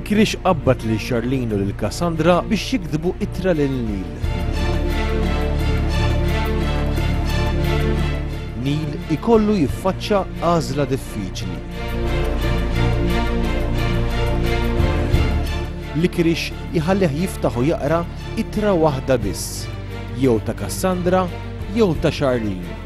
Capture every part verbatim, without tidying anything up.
Licorice qabbad lil Charlene u lil Cassandra biex jiktbu ittra lil Neil. Neil ikollu jiffaċċa għażla diffiċli. Licorice jħallih jiftaħ u jaqra ittra waħda biss, jew ta' Cassandra jew ta' Charlene.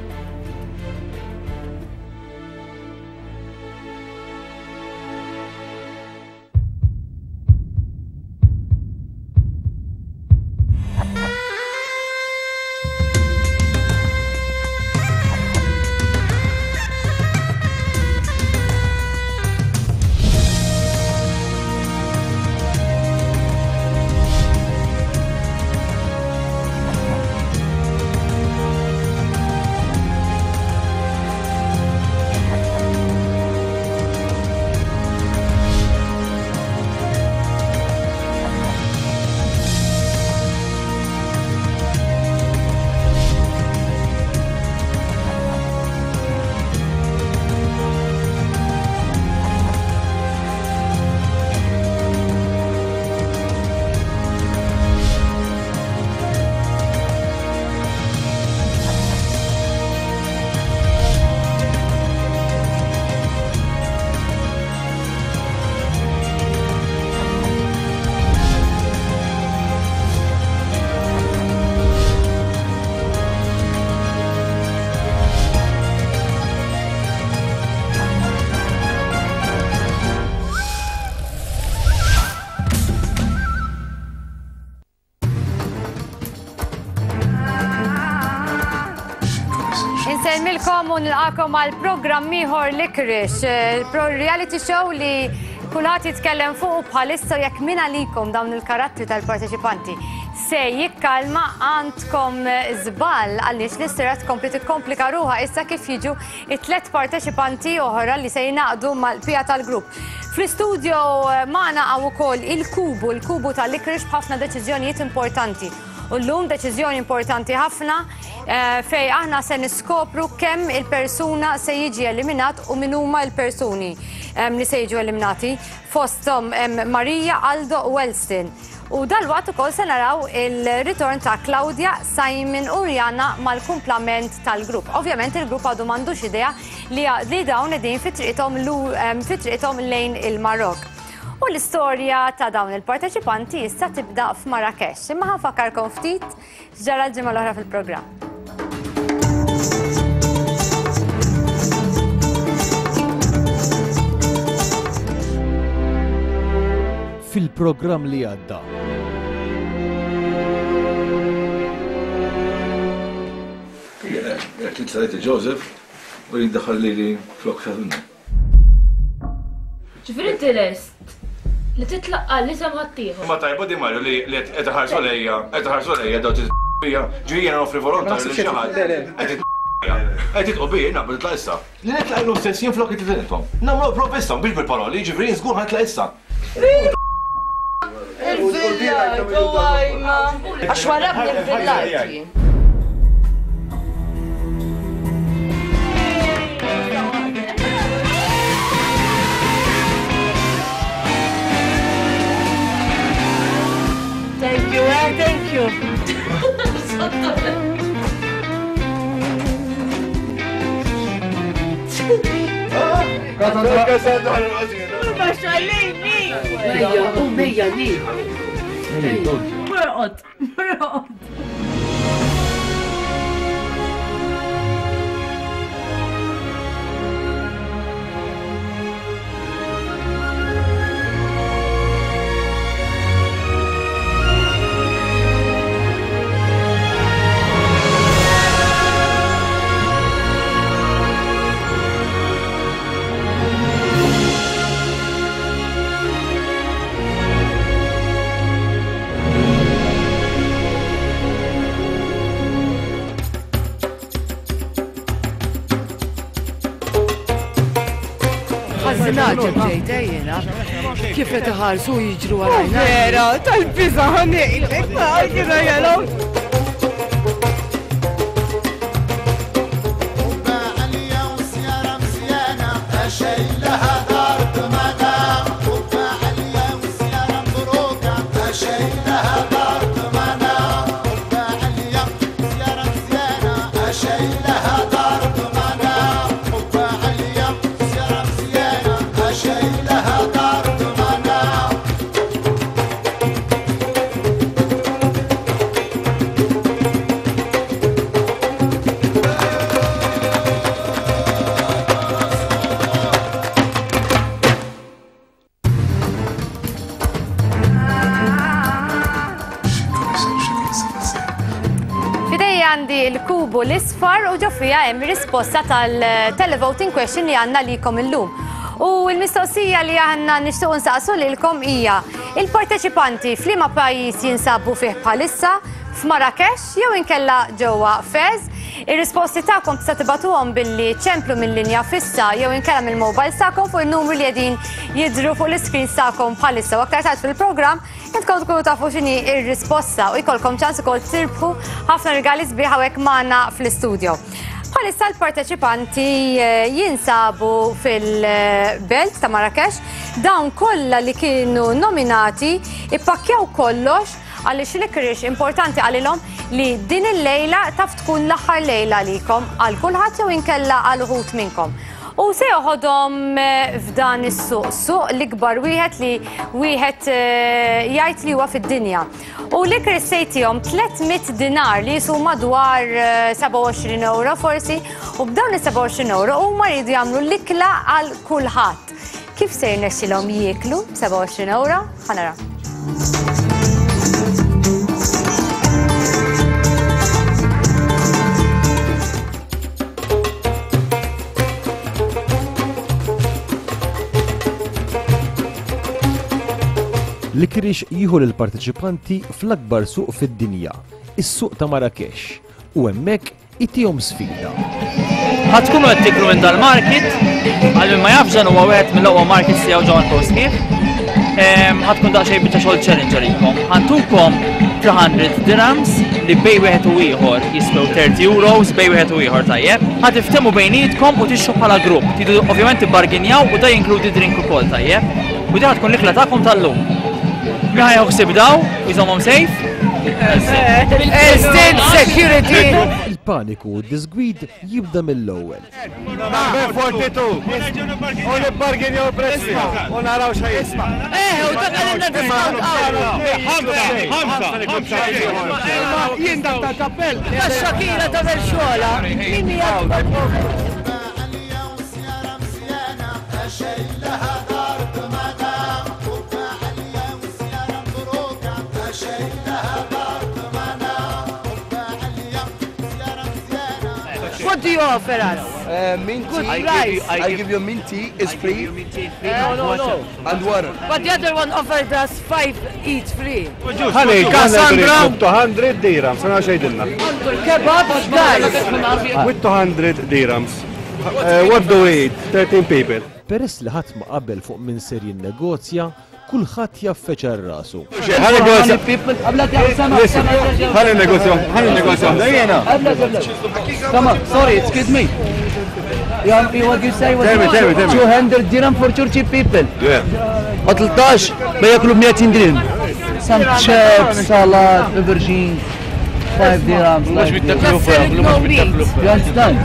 Insellmilkom u nilqakom għal programm ieħor Licorice, reality show li kulħadd jitkellem fuq bħalissa jekk min għalikom dawn il-karattri tal-parteċipanti se jikkalma għandkom żball għaliex l-istorja tkompli tikkomplika ruħha issa kif jiġu it-tliet parteċipanti oħra li se jingħaqdu mal-pija tal-grupp. Fl-istudio magħna hawn ukoll il-kubu, il-kubu tal-Licorice b'ħafna deċiżjonijiet importanti. U llum deċiżjoni importanti ħafna fej aħna se niskopru kemm il-persuna se jiġi eliminat u min huma l-persuni li se jiġu eliminati fosthom Marija, Aldo u Welston. U dalwaqt ukoll se naraw il-ritorn ta' Claudia, Simon u Rihanna mal-kumplament tal-grupp. Ovvjament il-grupp għadu m'għandux idea li dawn qegħdin fi triqithom lejn il-Marok. U l-istorja ta' dawn il-parteċipanti issa tibda f'Marrakesh. Imma ħanfakkarkom ftit x'ġara l-ġimgħa l-oħra fil-programm. Fil-programm li għadda. Jekk Joseph u jiddaħħal lili flok xaħdunna. Ġifieri inti lest li titlaqqa li sem ħaddieħor. Ma tajba di Mario li qed iħarsu lejja, qed iħarsu lejja daw titqija, ġifieri jiena noffri volontarju lil xi ħadd. Qed titqu bi naqbel nitlaq issa. Li nitlaq illum stess jien flok intom. Nagħmlu prova issa biex bil-paroli, ġifieri żgur ħa nitlaq issa. Il-villajt u għajma. Għax warabni il-villajt. Thank you, eh? Thank you. Murqot, murqot. Naġeb ġejta jena, kif qed iħarsu jiġru għalajna. Vera, tal-biża' ħanejlek, ma kienu jelaw. għandi l-kubu l-isfar u ġo fija hemm risposta tal-televoting question li għandna likom illum. U l-mistoqsija li għandna nixtiequ nsaqsu lilkom hija il-parteċipanti f'liema pajjiż jinsabu fih bħalissa, f'Marrakesh jew inkella ġewwa Fez. Ir-risposti tagħkom tista' tibatuhom billi ċemplu mill-linja fissa jew inkella mill-mobile tagħkom fuq in-numru li qegħdin jidhru fuq l-iscreen tagħkom bħalissa. U aktar tard fil-programm intkom tkunu tafu x'inhi r-risposta u jkollkom ċans ukoll tirbħu ħafna rigali sbieħ hawnhekk magħna fl-istudio. Bħalissa l-parteċipanti jinsabu fil-belt ta' Marrakesh. Dawn kollha li kienu nominati ippakkjaw kollox għaliex Licorice importanti għalilhom li din il-lejla taf tkun l-aħħar lejla għalikom għal kulħadd jew inkella għal uħud minnkom. U se joħodhom f'dan is-suq, suq l-ikbar wieħed li wieħed jgħid li huwa fid-dinja. U Licorice se jtihom tliet mitt dinar li jisu madwar sebgħa u għoxrin euro forsi, u b'dawn is-sebgħa u għoxrin euro huma jridu jagħmlu l-ikla għal kulħadd. Kif se jirnexxilhom jieklu sebgħa u għoxrin euro? Ħa nara. Licorice jieħu lill-parteċipanti fl-akbar suq fid-dinja, is-suq ta' Marrakesh, u hemmhekk itihom sfida. Ħa tkunu qed tiklu minn dal-market, għal min ma jafx dan huwa wieħed mill-aqwa markets tiegħu ġewwa l-post. Ħa tkun daqsxejn biċċa xogħol challenge għalikom. Ħantukom three hundred dirhams li bej wieħed u ieħor jiswew thirty euros bej wieħed u ieħor tajjeb. Ħa tiftehmu bejnietkom u tixtru bħala grupp. Tridu ovvjament tibbarginjaw u da jinkludi drink ukoll tajjeb. U di ħa tkun l-ikla tagħkom tal-lum. Min ħa jieħu daw u jżommhom safe? State security. Il-paniku u d-disgwid jibda mill-ewwel. U nibbarginjaw prezzi u naraw x'ħaj. Eh, u dak għalilna discount Ħamsa, jien dak tal-kappell. Ta' Shakira tagħmel xogħla. Min hija? What do you offer us? Uh, mint Good tea. price. I give you, I give you mint tea. It's free. Mint tea, no, no, no. And water. But the other one offered us five each free. Ħalli, Cassandra. two hundred dirhams. Sana xejdilna. Għandu l-kebab, guys. With two hundred dirhams. Uh, what do we eat? thirteen people. Peress li ħadd ma qabel fuq min ser jinnegozja, kulħadd jaffeċar rasu. Ħalli negozja, ħalli negozja. Come on, sorry, excuse me. You, what you say was tell me, tell me, tell me. two hundred dirham for thirty people. Yeah. ثلاثطاش بياكلوا ب مئتين درهم. Some chips, salad, aubergine, five dirhams. مش بالتكلفة، مش بالتكلفة. You understand?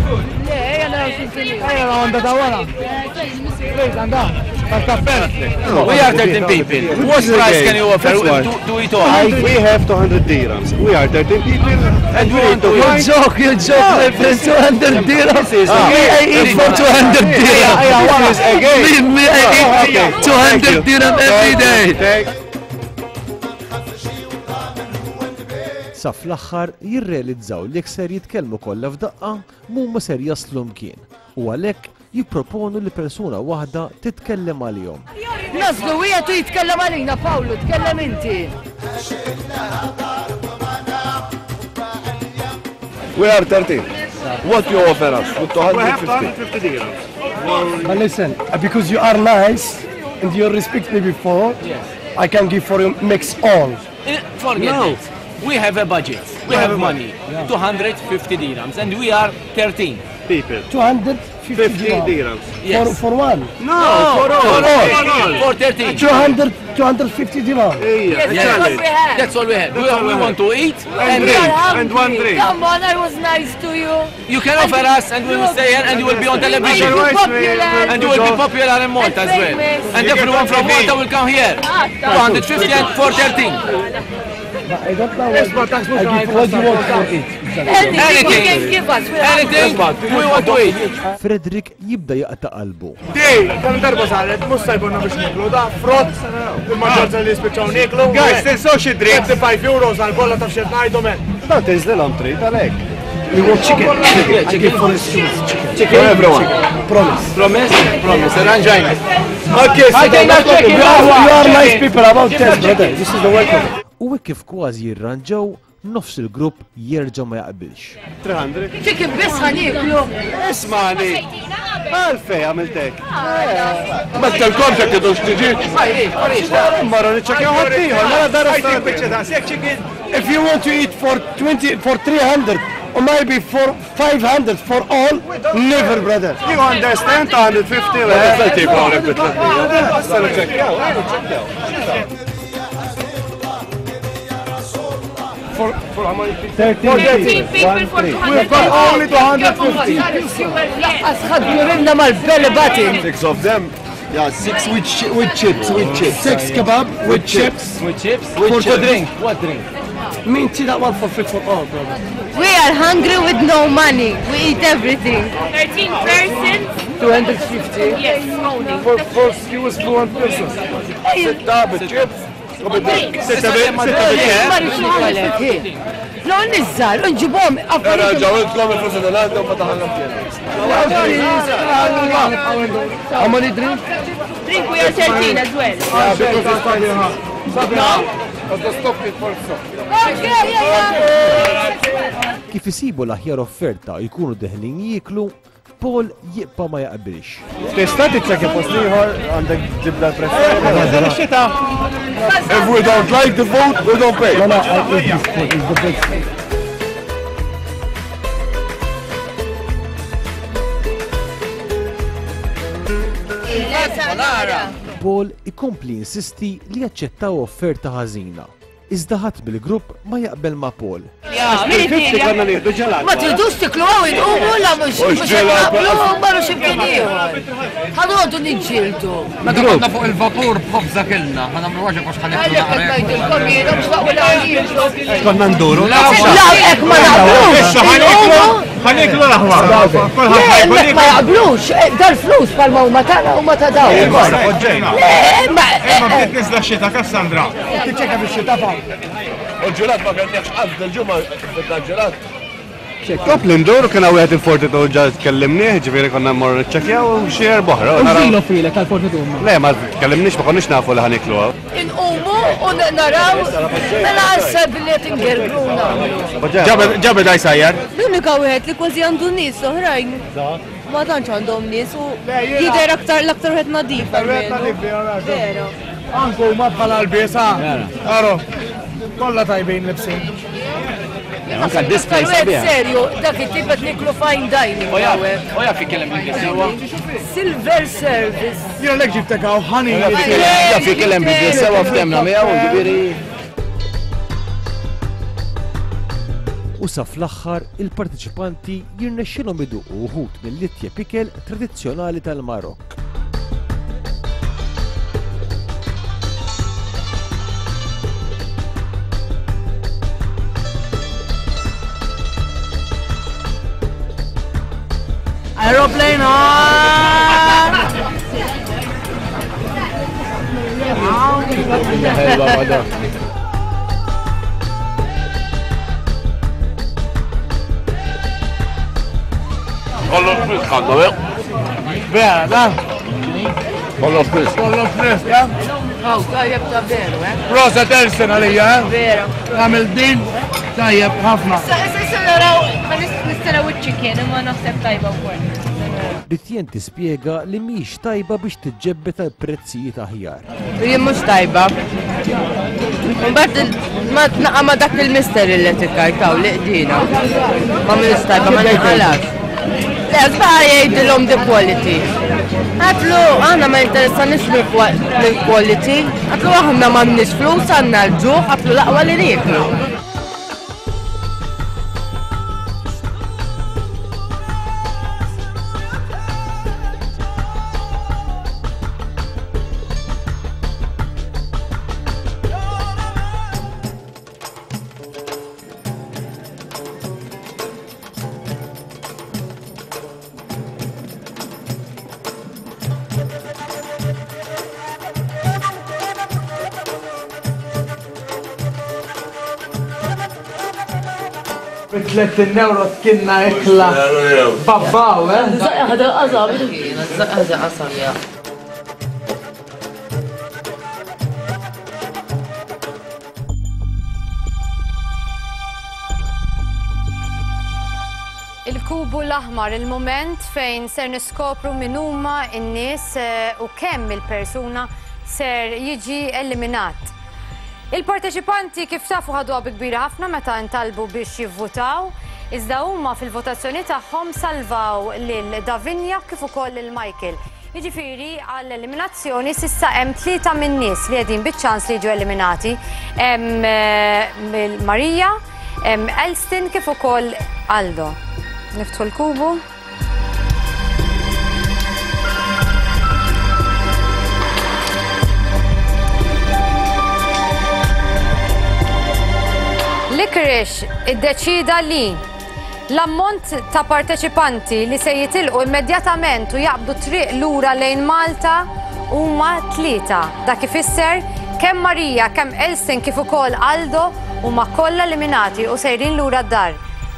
We are thirteen people. What price can you offer to, to eat all? We have two hundred dirhams. We are thirteen people and we need to You find... joke, you joke, my friend. two hundred dirhams. Me, I eat for two hundred dirhams. This is again. Me, me, I eat two hundred dirham every day. Sa fl-aħħar jirrealizzaw li jekk ser jitkellmu kollha f'daqqa mhuma ser jaslu mkien u għalhekk jipproponu li persuna waħda titkellem għalihom. Naslu wieħed u jitkellem għalina, Pawlu, tkellem inti. We are thirteen. What you offer us? With two hundred fifty. dirhams. But listen, because you are nice and you respect me before, I can give for you mix all. Forget it. We have a budget. We have money. two hundred fifty dirhams and we are thirteen people. two hundred fifty dirhams. Yes. For, for one? No, for all. For all. For thirteen. two hundred, two hundred fifty dirhams. Yeah, Yes, that's all we have. That's all we have. We, we want to eat and and drink. drink. And one drink. Come on, I was nice to you. You can offer us and we will stay here and you will be on television. And popular. And you will be popular in Malta as well. And everyone from Malta will come here. two hundred fifty and four thirteen. But I don't know what, I give, what you want for it. Anything you can give us. We're Anything we want to eat. Frederick jibda jaqta' qalbu. Dej, kemm darba saret, mhux se jkollna biex niklu, da frott, il-maġġoranza li jispiċċaw niklu. Guys, tinsew xi drink. thirty-five euros għal bolla ta' xi ngħidu men. Da tinżlilhom trid għalhekk. We want chicken. Chicken. I give for the students chicken. Chicken. For everyone. Chicken. Promise. Promise? Promise. Arranġajna. Okay, so You are, you are nice people about this, brother. This is the welcome. U hekk kif kważi jirranġaw, nofs il-grupp jerġa' ma jaqbilx. three hundred. Chicken biss ħa nieklu. Ismani. Għalfej għamiltek. Ma telkomx jekk tidux tiġi. Marru niċċekkjaw ħaddieħor, mela dara chicken. If you want to eat for twenty, for three hundred, or maybe for five hundred for all, never, brother. You understand? two hundred fifty. Issa niċċekkjaw, niċċekkjaw. For, for how many people? thirteen people for two hundred. We've got only two hundred fifty. Laqqas ħaddu mal-belly button. Six of them. Yeah, six with, chi with chips, with chips. Six kebab with chips. With chips? With For chips. drink. What drink? Me and that one for free for all, brother. We are hungry with no money. We eat everything. thirteen persons. two hundred fifty. Yes, only. For four skewers for one person. Sitta bit-chips. Sitta bit-chips. Ma rridx nikolek. No, nizzar, nġibhom affarijiet. Ġawiltkom il-flus tal-għadda u fataħalna mkien. How many drink? Drink we are thirteen as well. No? Stop it for so. Kif isibu l-aħjar offerta jkunu deħlin jieklu, Paul jibqa' ma jaqbilx. Tista' tiċċekkja post ieħor għandek ġibda l-prezz. If we don't like the food, we don't pay. No, no, I eat this food. It's the best. Paul ikompli insisti li jaċċettaw offerta ħażina. Iżda ħadd bil-grupp ma jaqbel ma' Paul. Ma tridux tiklu għaw inqumu la mhux mhux naqblu marru x'imkien ieħor. Ħanoqogħdu niġġieldu. Meta konna fuq il-vapur b'ħobża kilna, ħa nagħmlu ħaġa għax ħa nieklu Għalhekk qed ngħidilkom jiena mhux naqblu għalihom. Konna nduru. La hekk ma naqblux. Ħa nieklu l-aħwa. Le, hemmhekk ma jaqblux. Dal-flus bħalma huma tagħna huma ta' dawn. Le, ma Imma bdiet niżla x-xita, Kassandra. Tiċċekka bix-xita fa. U l-ġelat ma kellniex qatt dil-ġimgħa bidna l-ġelat. Top li nduru kien hawn wieħed il-Fortitude ġa tkellimnieh, ġifieri konna mmorru niċċekkjaw u xi erba' oħra. Filo filek għal-Fortitude. Le, ma tkellimniex ma konniex nafu li ħa nieklu hawn. Inqumu u naraw mela għasab li qed ingergruna. Ġabed għaj sajjar. L-unika wieħed li kważi għandu nies oħrajn. Ma tantx għandhom nies u jidher aktar l-aktar wieħed nadif. Vera. Anku ma bħala l-biesa. Aro, kollha tajbin libsin. Anka display sabiħ. Serju, dak it-tip qed niklu fine dining. U jaf ikellem bl-Ingliż sewwa. Silver service. Jiena lek ġibtek hawn ħani. Jaf ikellem bl-Ingliż sewwa ftemna miegħu, ġifieri. U sa fl-aħħar il-partiċipanti jirnexxilhom iduqu wħud mill-itjeb ikel tradizzjonali tal-Marokk. Aeroplane on! Kollox frisk għandu, eh? Vera, da? Kollox frisk. Kollox frisk, ja? Aw, tajjeb ta' veru, eh? Rosa Tersen għalija, eh? Vera. Għamil din, tajjeb ħafna. Issa issa naraw, ma nistaraw iċ-chicken imma naħseb tajba wkoll. Ritjen tispjega li mhix tajba biex tiġġebbet għal prezzijiet aħjar. Jien mhux tajba. Mbagħad ma tnaqa' ma dak il-mister li qed ikkartaw li qdina. Ma mhix tajba ma nqalax. Le, sbaħ jgħidilhom the quality. Għatlu, aħna ma jinteressanix mill-quality. Għatlu aħna m'għandniex flus, għandna l-ġuħ, għatlu l-aqwa li nieklu. tletin euro tkinna ikla. Babbaw, eh? Ħada qasam. Ħada qasam, ja. Il-kubu l-aħmar, il-moment fejn ser niskopru min huma n-nies u kemm il-persuna ser jiġi eliminat. Il-parteċipanti kif tafu ħaduha bi kbira ħafna meta ntalbu biex jivvutaw, iżda huma fil-votazzjoni tagħhom salvaw lil Davinia kif ukoll lil Michael. Jiġifieri għall-eliminazzjoni s'issa hemm tlieta min-nies li qegħdin biċ-ċans li jiġu eliminati. Hemm Marija, hemm Elston kif ukoll Aldo. Niftħu l-kubu. Licorice iddeċida li l-ammont ta' parteċipanti li se jitilqu immedjatament u jaqbdu triq lura lejn Malta huma tlieta. Dak ifisser kemm Marija, kemm Elston kif ukoll Aldo huma kollha eliminati u sejrin lura d-dar.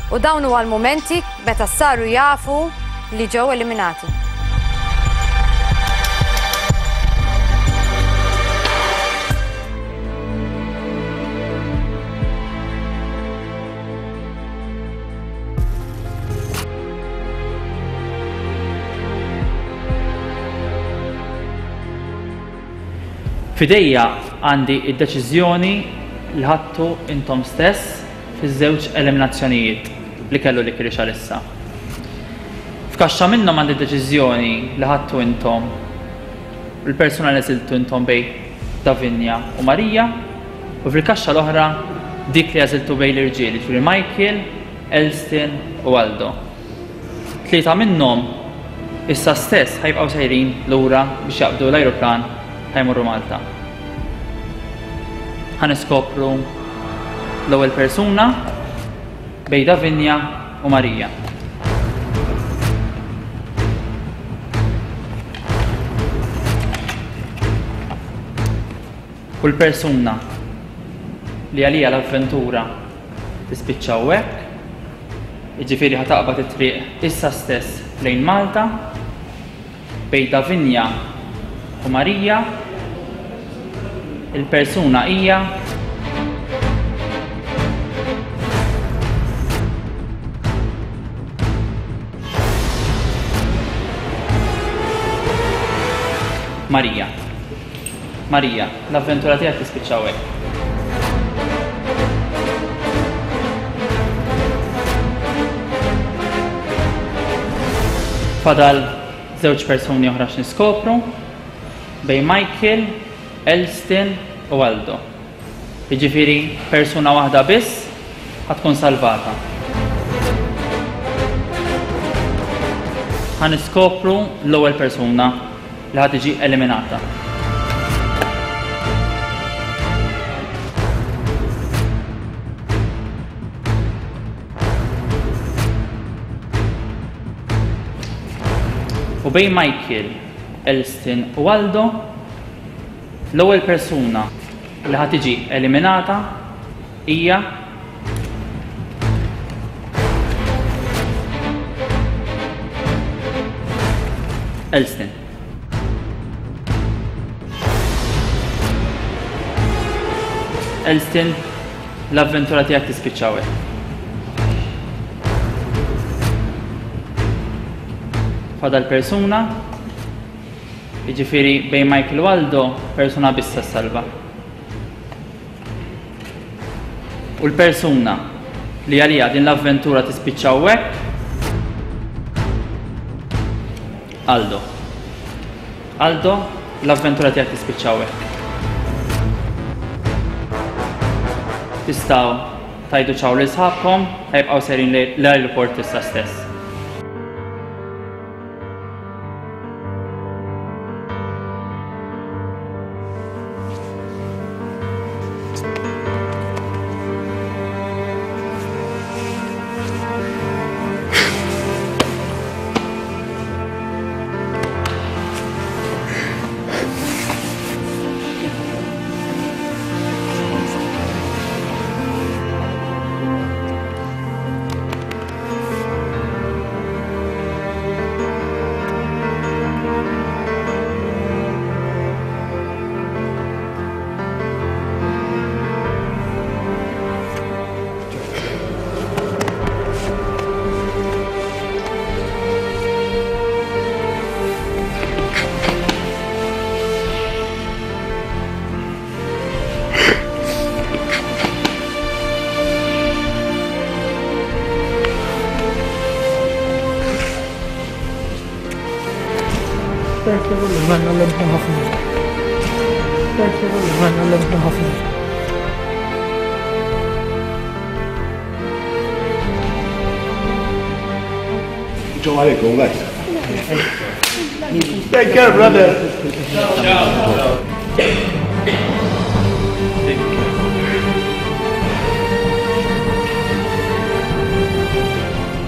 U dawn huwa l-mumenti meta saru jafu li ġew eliminati. Fidejja għandi id-deċiżjoni li ħadtu intom stess fiż-żewġ eliminazzjonijiet li kellu li Licorice għalissa. F'kaxxa minnhom għandi deċiżjoni li ħadtu intom il-persuna li għażiltu intom bej Davinia u Marija, u fil-kaxxa l-oħra dik li għażiltu bej l-irġiel, jiġifieri Michael, Elston u Aldo. Tlieta minnhom issa stess ħajbqgħu sejrin lura biex jaqbdu l-ajruplan ħajmorru Malta. Ħa niskopru l-ewwel persuna bej Davinia u Marija. U l-persuna li għalija l-avventura tispiċċa hawnhekk, jiġifieri ħa taqbad it-triq issa stess lejn Malta bej Davinia u Marija, il-persuna hija Marija. Marija, l-avventura tiegħek tispiċċa hawnhekk. Fadal żewġ persuni oħra x'niskopru bej Michael, Elston u Aldo. Jiġifieri persuna waħda biss ħa tkun salvata. Ħa niskopru l-ewwel persuna li ħa tiġi eliminata. U bej Michael, Elston u Aldo, l-ewwel persuna li ħa tiġi eliminata hija Elston. Elston, l-avventura tiegħek tispiċċa hawnhekk. Fadal persuna, jiġifieri bej Michael u Aldo, persuna biss salva. U l-persuna li għalija din l-avventura tispiċċa hawnhekk, Aldo. Aldo, l-avventura tiegħek tispiċċa hawnhekk. Tistgħu tajdu ċaw lil sħabkom, ħajbqgħu sejrin l-aeroport issa stess. Thank you, għallimtna ħafna. Thank you, għallimtna ħafna. Ġo għalikum, guys. Take care, brother. Ciao.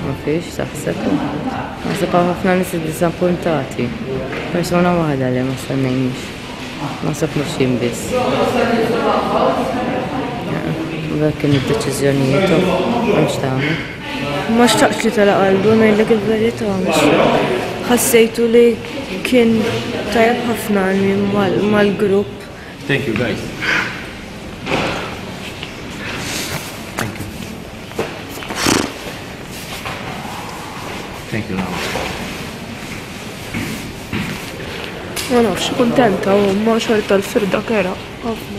Ma fiex taħseb. Naħseb hawn ħafna nies iddiżappuntati. Persuna waħda li ma stennejniex. Naħseb mhux jien biss. Dak kien id-deċiżjonijiet u m'hemmx tagħmel. Ma xtaqtx li telaq Aldo, ngħidlek il-verità. Ħassejtu li kien tajjeb ħafna mal-grupp. Thank you guys. Thank you. Thank you. Ma nafx, kuntenta u ma xorta l-firda kera. Ħafna.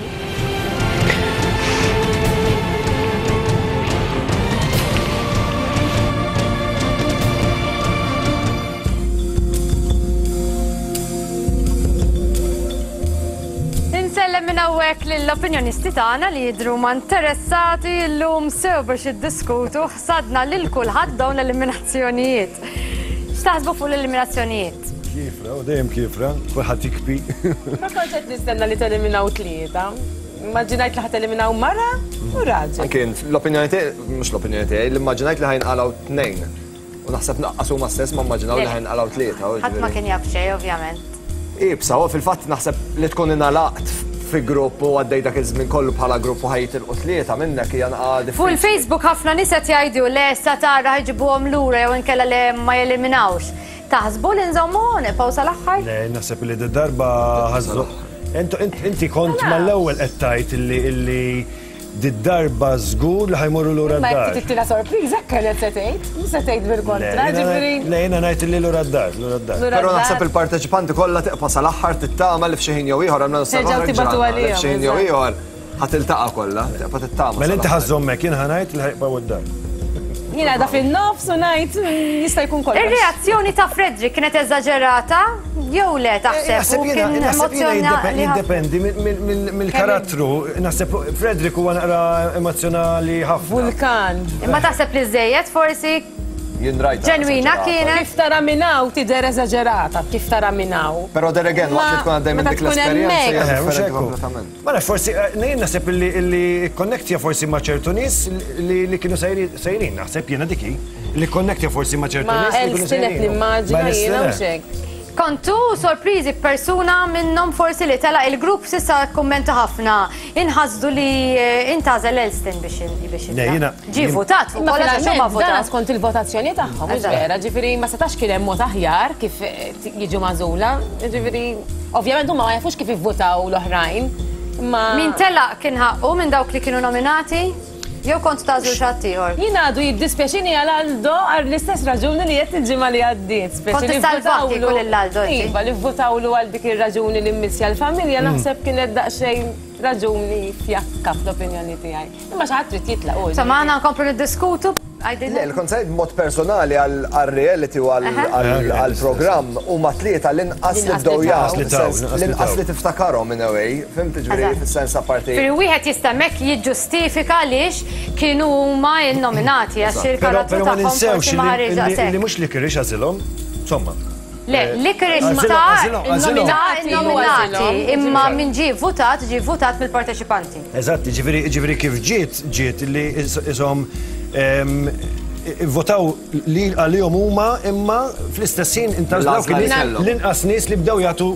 Insellem minn hawnhekk lill-opinjonisti tagħna li jidhru ma interessati llum sew biex jiddiskutu ħsadna lil kulħadd dawn l-eliminazzjonijiet. X'taħsbu fuq l-eliminazzjonijiet? Kifra, u dejjem kifra, kulħadd jikbi. Ma kontx qed nistenna li teliminaw tlieta. Immaġinajt li ħateliminaw mara u raġel. Anke l-opinjoni tiegħi, mhux l-opinjoni tiegħi, l-immaġinajt li ħajnqalgħu tnejn. U naħseb naqqas huma stess ma immaġinaw li ħajnqalgħu tlieta. Ħadd ma kien jaf xejn, ovvjament. Ibsa, u fil-fatt naħseb li tkun ingħalaqt fi grupp u għaddej dak iż-żmien kollu bħala grupp u ħajtilqu tlieta minnek hija naqgħa diffiċli. Fuq il-Facebook ħafna nies qed jgħidu le sa tara ħajġibuhom lura jew inkella le ma jeliminawx. Taħsbu li nżommu nibqgħu sal-aħħar? Le, naħseb li d-darba ħażu. Inti kont mal-ewwel qed tgħid illi d-darba żgur li ħajmorru lura d-dar. Ma jekk tittina sorpriża kienet se tgħid, mhux se tgħid bil-kontra, ġifieri. Le, jiena ngħid illi lura d-dar, lura d-dar. Però naħseb il-parteċipanti kollha tiqpa' sal-aħħar tittama li f'xi ħin jew ieħor għamlu f'xi ħin jew ieħor ħa tiltaqa' kollha, tiqpa' tittama. Mela inti ħażżommek, jien ħa ngħid li ħajqbgħu d-dar. Jiena da fin-nofs u ngħid jista' jkun kollox. Ir-reazzjoni ta' Frederick kienet eżaġerata jew le taħseb? U kien emozzjonali. Jiddependi mill-karattru. Naħseb Frederick huwa naqra emozjonali ħafna. Vulkan. Imma taħseb li żejjed forsi Jien rajta. Ġenwina kienet. Kif tara minn hawn tidher eżaġerata, kif tara minn hawn. Però there again, waqt li tkun għaddej minn dik l-esperjenza. Kompletament. Ma nafx, forsi jien naħseb illi konnektja forsi ma' ċertu nies li kienu sejrin, naħseb jiena diki, li konnektja forsi ma' ċertu nies li kienu sejrin. Ma qed nimmaġina jiena u xek. Kontu sorpriżi persuna minnhom forsi li telaq il-grupp s'issa kkummenta ħafna. Inħasdu li intażel Elston biex biex ġie votat fuq kollha xi ma votat. Skont il-votazzjoni tagħhom, mhux vera, ġifieri ma setax kien hemm mod aħjar kif jiġu magħżula, ġifieri ovvjament huma ma jafux kif ivvutaw l-oħrajn. Min telaq kien ħaqqu minn dawk li kienu nominati? Jew kont tażlu xi ħadd ieħor? Jien għadu jiddispjaċini għal Aldo għal l-istess raġuni li qed il-ġimgħa li għaddiet. Kont issalvat kieku lil Aldo inti. Iva, li vvutawlu għal dik ir-raġuni li mmissja l-familja naħseb kienet daqsxejn raġuni fjakka fl-opinjoni tiegħi. Imma xi ħadd trid jitlaq u. Insomma, aħna nkomplu niddiskutu. Le, l-kont mod personali għal-reality u għal-programm u ma tlieta l-inqas li bdew jagħtu, l-inqas li tiftakarhom in a way, fimt ġifieri fis-sens apparti. Ġifieri wieħed jista' hemmhekk jiġġustifika għaliex kienu huma nnominati għax il-karattru tagħhom forsi ma ħareġ daqshekk. Li mhux li kirix għażilhom, insomma. Le, li kirix ta' nominati, imma min ġie votat, ġie votat mill-parteċipanti. Eżatt, ġifieri kif ġiet, ġiet li ishom votaw li għalihom huma imma fl-istess ħin intaż dawk l-inqas nies li bdew jagħtu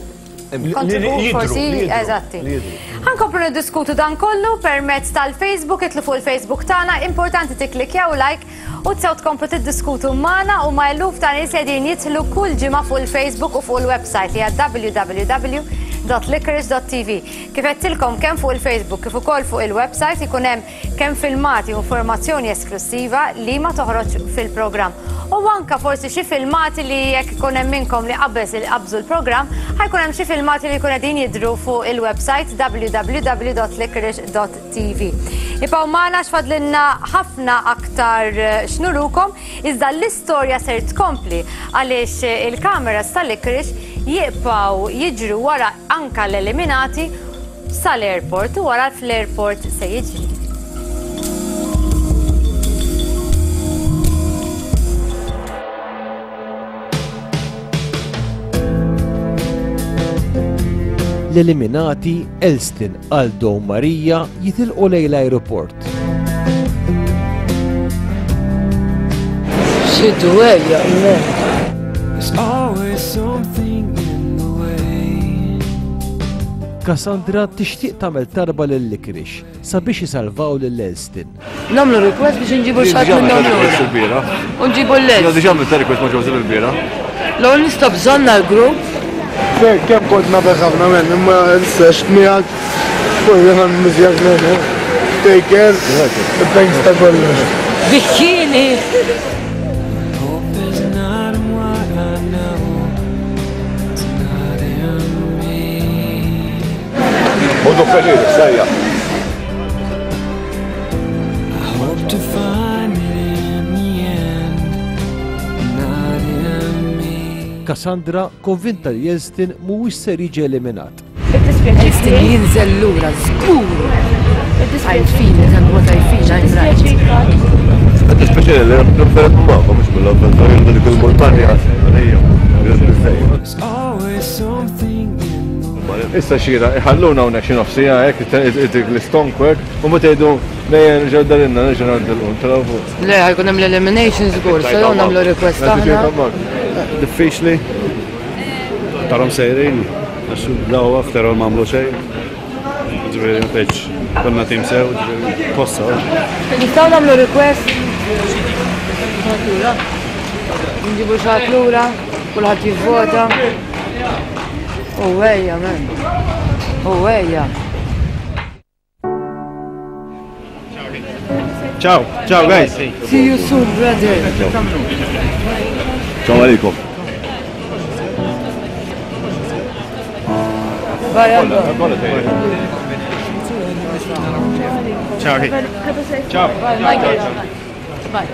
kontribut forsi, eżatti. Ħankomplu niddiskutu dan kollu permezz tal-Facebook, itlu fuq il-Facebook tagħna, importanti tikklikjaw like u tsew tkomplu tiddiskutu magħna u ma' eluf ta' nies qegħdin jidħlu kull ġimgħa fuq il-Facebook u fuq il-website li hija w w w dot licorice dot t v. Kif għedtilkom kemm fuq il-Facebook kif ukoll fuq il-website ikun hemm kemm filmati u informazzjoni esklusiva li ma toħroġ fil-programm. U anka forsi xi filmati li jekk ikun hemm minnkom li qabeż il-qabżu l-programm, ħajkun hemm xi filmati li jkun qegħdin jidhru fuq il-website w w w dot licorice dot t v. Ibqgħu magħna x'fadlilna ħafna aktar x'nurukom, iżda l-istorja ser tkompli għaliex il-kameras tal-Licorice jibqgħu jiġru wara anka l-eliminati sal-airport u wara fl-airport se jiġri. L-eliminati Elston, Aldo u Marija jitilqu lejn l-aeroport. Xiddu ejja, There's always something in the way. Cassandra tixtieq tagħmel tarba lil Licorice sabiex isalvaw lil Elston. Nagħmlu request biex nġibu xi ħadd minnhom lura. U nġibu l-les. Diġà għamilt request ma' Joseph il-bieraħ. L-ewwel nista' bżonna l-grupp. Kemm kont nafek ħafna men, imma issa xtmijak, fuq jena nmissjak men. Take care, thanks ta' kollox. Bikkini! Hope is not what I know. It's not in me. Ħodu pjaċir, sajja. I hope to find it in the end. Not in me. Cassandra konvinta li Elston mhuwiex ser jiġi eliminat. Elston jinżel lura, żgur! I feel it and what I feel, I'm right. Qed nispeċjali li preferat magħkom mhux mill-avventura jien dik il-montanja. There's always something in Issa xira, iħalluna hawnhekk xi nofsija hekk dik l-istonk hekk u meta jgħidu nejja nerġgħu darinna nerġgħu nagħmlu ntilgħu fuq. Le, ħa jkun hemm l-elimination żgur, se jew nagħmlu request aħna. Diffiċli. Tarom sejrin, għax daw after all m'għamlu xejn. Ġifieri ma tgħidx konna tim sew, ġifieri tossa. Nistgħu nagħmlu request? Nġibu xi ħadd lura, kulħadd jivvota. U ejja, men. U ejja. Ciao, ciao guys. See you soon, brother. Ciao għalikom. Bye, Aldo. Ciao. Ciao. Bye, Michael. Bye.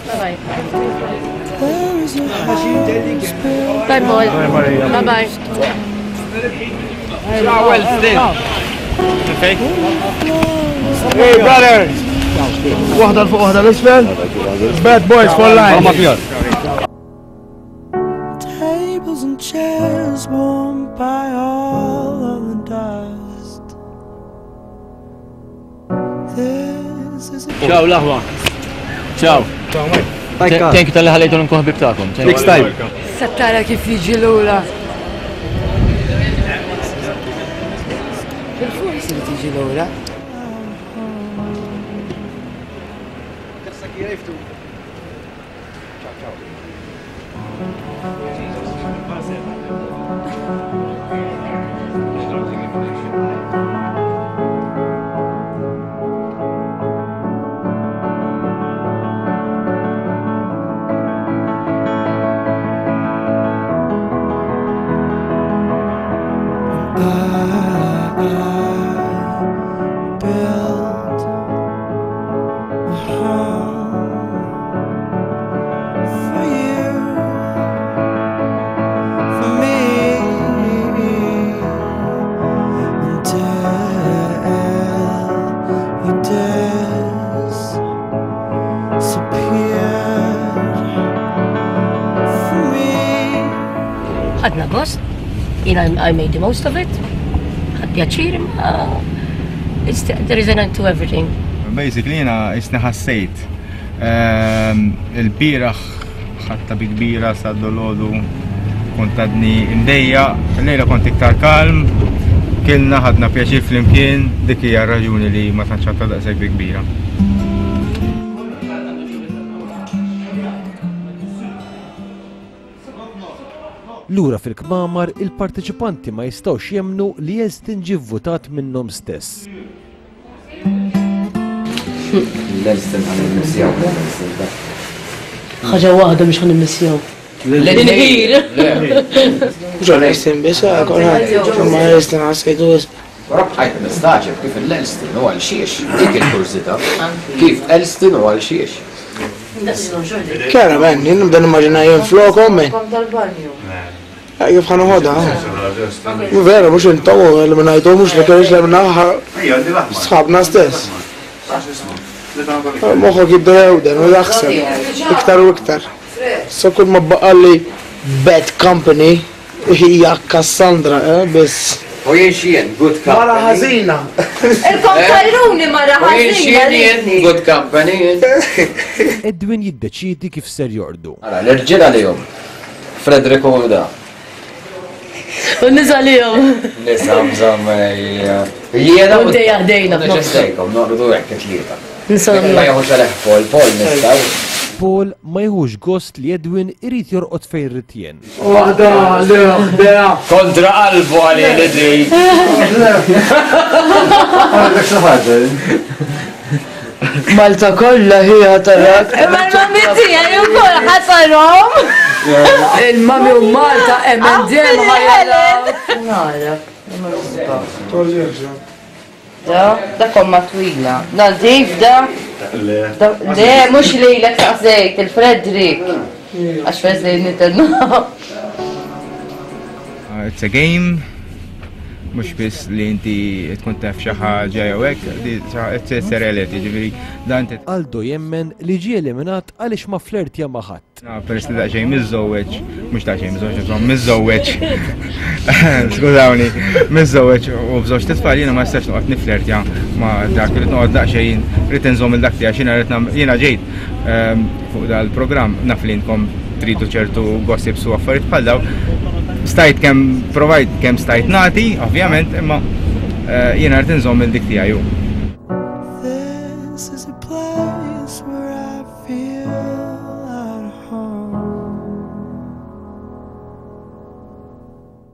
Bye. Bye, Paul. Bye, bye. Ciao, Elston. Hey, brother. Waħda l-fuq, waħda l-isfel. Bad boys for life. Tables and chairs worn by all of the dust. This is a Ciao l-aħwa. Ciao. Thank you talli ħallejtu nkun ħbib tagħkom. Next time. Sattara kif jiġi lura. Bil-forsi li tiġi lura. I built a home for you, for me, until you disappeared for me. ħadna gost, jien I I made the most of it, ħadt pjaċir, imma it's, there is an end to everything. Basically jiena jisni ħassejt. Ehm, Il-bieraħ ħadtha bi kbira sa dolodu kont għadni imdejjaq, lejla kont iktar kalm, kilna ħadna pjaċir flimkien, dik hija r-raġuni li ma tantx ħadtha daqshekk bi kbira. Lura fil-kmamar, il-parteċipanti ma jistgħux jemnu li Elston ġie vvutat minnhom stess. L-Elston ħa nimmissjaw. Ħaġa waħda mhux ħa nimmissjaw. L-inħir. Mhux Elston biss, kulħadd, imma Elston ħassejtu wisq. Però bqajt mistagħġeb kif l-Elston u għal xiex, dik il-kurżità. Kif Elston u għal xiex. Chiarament, jien nibda nimmaġina jien flokom, men. Kom tal-banju. Kif ħa noħodha? Vera, mhux intom eliminajtu, mhux li kellix l-eliminaħ sħabna stess. Moħħok jibda jewden u jaħseb iktar u iktar. So kull ma baqalli bad company hija Cassandra, eh, biss. U jien xien, good company. Mara ħażina. Il-kontajruni mara U jien xien jien, good company. Edwin jiddeċidi kif ser jordu. Ara, l-irġiel għalihom. Frederick u da. U nisa lihom. Nisa, mżomm, jiena. U dejja ħdejna. Neġestejkom, noqdu hekk it-tlieta. Nisa Ma jieħux għalih Paul, Paul nistgħu. Paul ma jieħux gost li Edwin irid jorqod fejn irid jien. Waħda, le, waħda. Kontra qalbu għalih li di. Għandek xi ħaġa. Malta kollha hija tarak. Imma l-mami tiegħi wkoll ħasarhom. Il-mami u Malta M and M ħajja. Nara. Da, da komma twila. Nazif da. Le. Le, mhux lilek taqsejt il-Frederick. Għax Frederick nitenna. It's a game, mhux biss li inti tkun taf xi ħaġa jew hekk, it's a reality, ġifieri dan inti. Aldo jemmen li ġie eliminat għaliex ma flirtja ma' ħadd. Peress li daqsxejn miżżewweġ, mhux daqsxejn miżżewweġ, insomma miżżewweġ. Skużawni, miżżewweġ u b'żewġ tfal jiena ma nistax noqgħod niflertja ma' dak li noqgħod daqsxejn rrid inżomm il dak tiegħi x'jiena rrid nagħmel jiena ġejt fuq dal-programm naf li intom tridu ċertu gossips u affarijiet bħal daw. Stajt kemm provajt kemm stajt nagħti, ovvjament, imma jiena rrid inżomm il dik tiegħi. This is a place where I feel at home.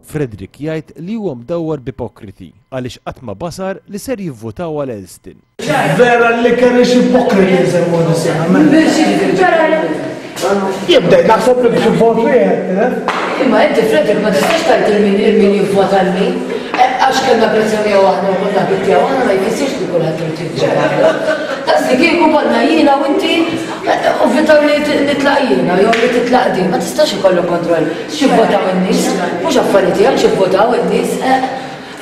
Frederick jgħid li huwa mdawwar b'ipokriti għaliex qatt ma basar li ser jivvutaw għal Elston. Vera li kellix ipokriti jsemmu nisema. Jibda naħseb li b'xi vot wieħed, Imma inti Frederick ma tistax tgħid il-min il-min jivvota għal min. Għax kellna pressjoni miegħu aħna u konna ħbieb tiegħu aħna ma jfissirx li kulħadd irid jivvota. Daqs li kieku konna jiena u inti u vitaw li nitlaq jiena jew li titlaq din, ma tistax ikollok kontroll x'jivvotaw in-nies, mhux affarijiet tiegħek x'jivvotaw in-nies.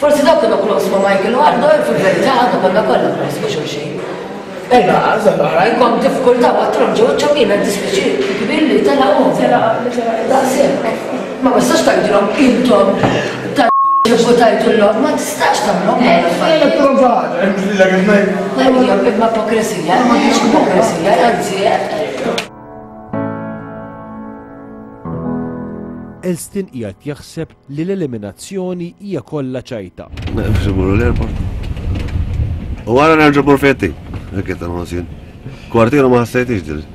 Forsi dawk kienu close ma' Michael u Arno, fil-verità aħna konna kollha close ma' xulxin. Ejja, oħrajn kom diffikultà għatrom ġew ċamina dispiċi kbir li telaqhom. Daqshekk. Ma tistax tgħidilhom intom ta' votajtu l-lom, ma tistax tagħmlhom dawn l-affarijiet. Imma ipokresija, ma kienx ipokresija, anzi. Elston qiegħed jaħseb li l-eliminazzjoni hija kollha ċajta. Biex imorru l-airport. U wara nerġa' mmur fetti. Hekk qed nħoss jien. Kwartiera ma ħassejtix dil.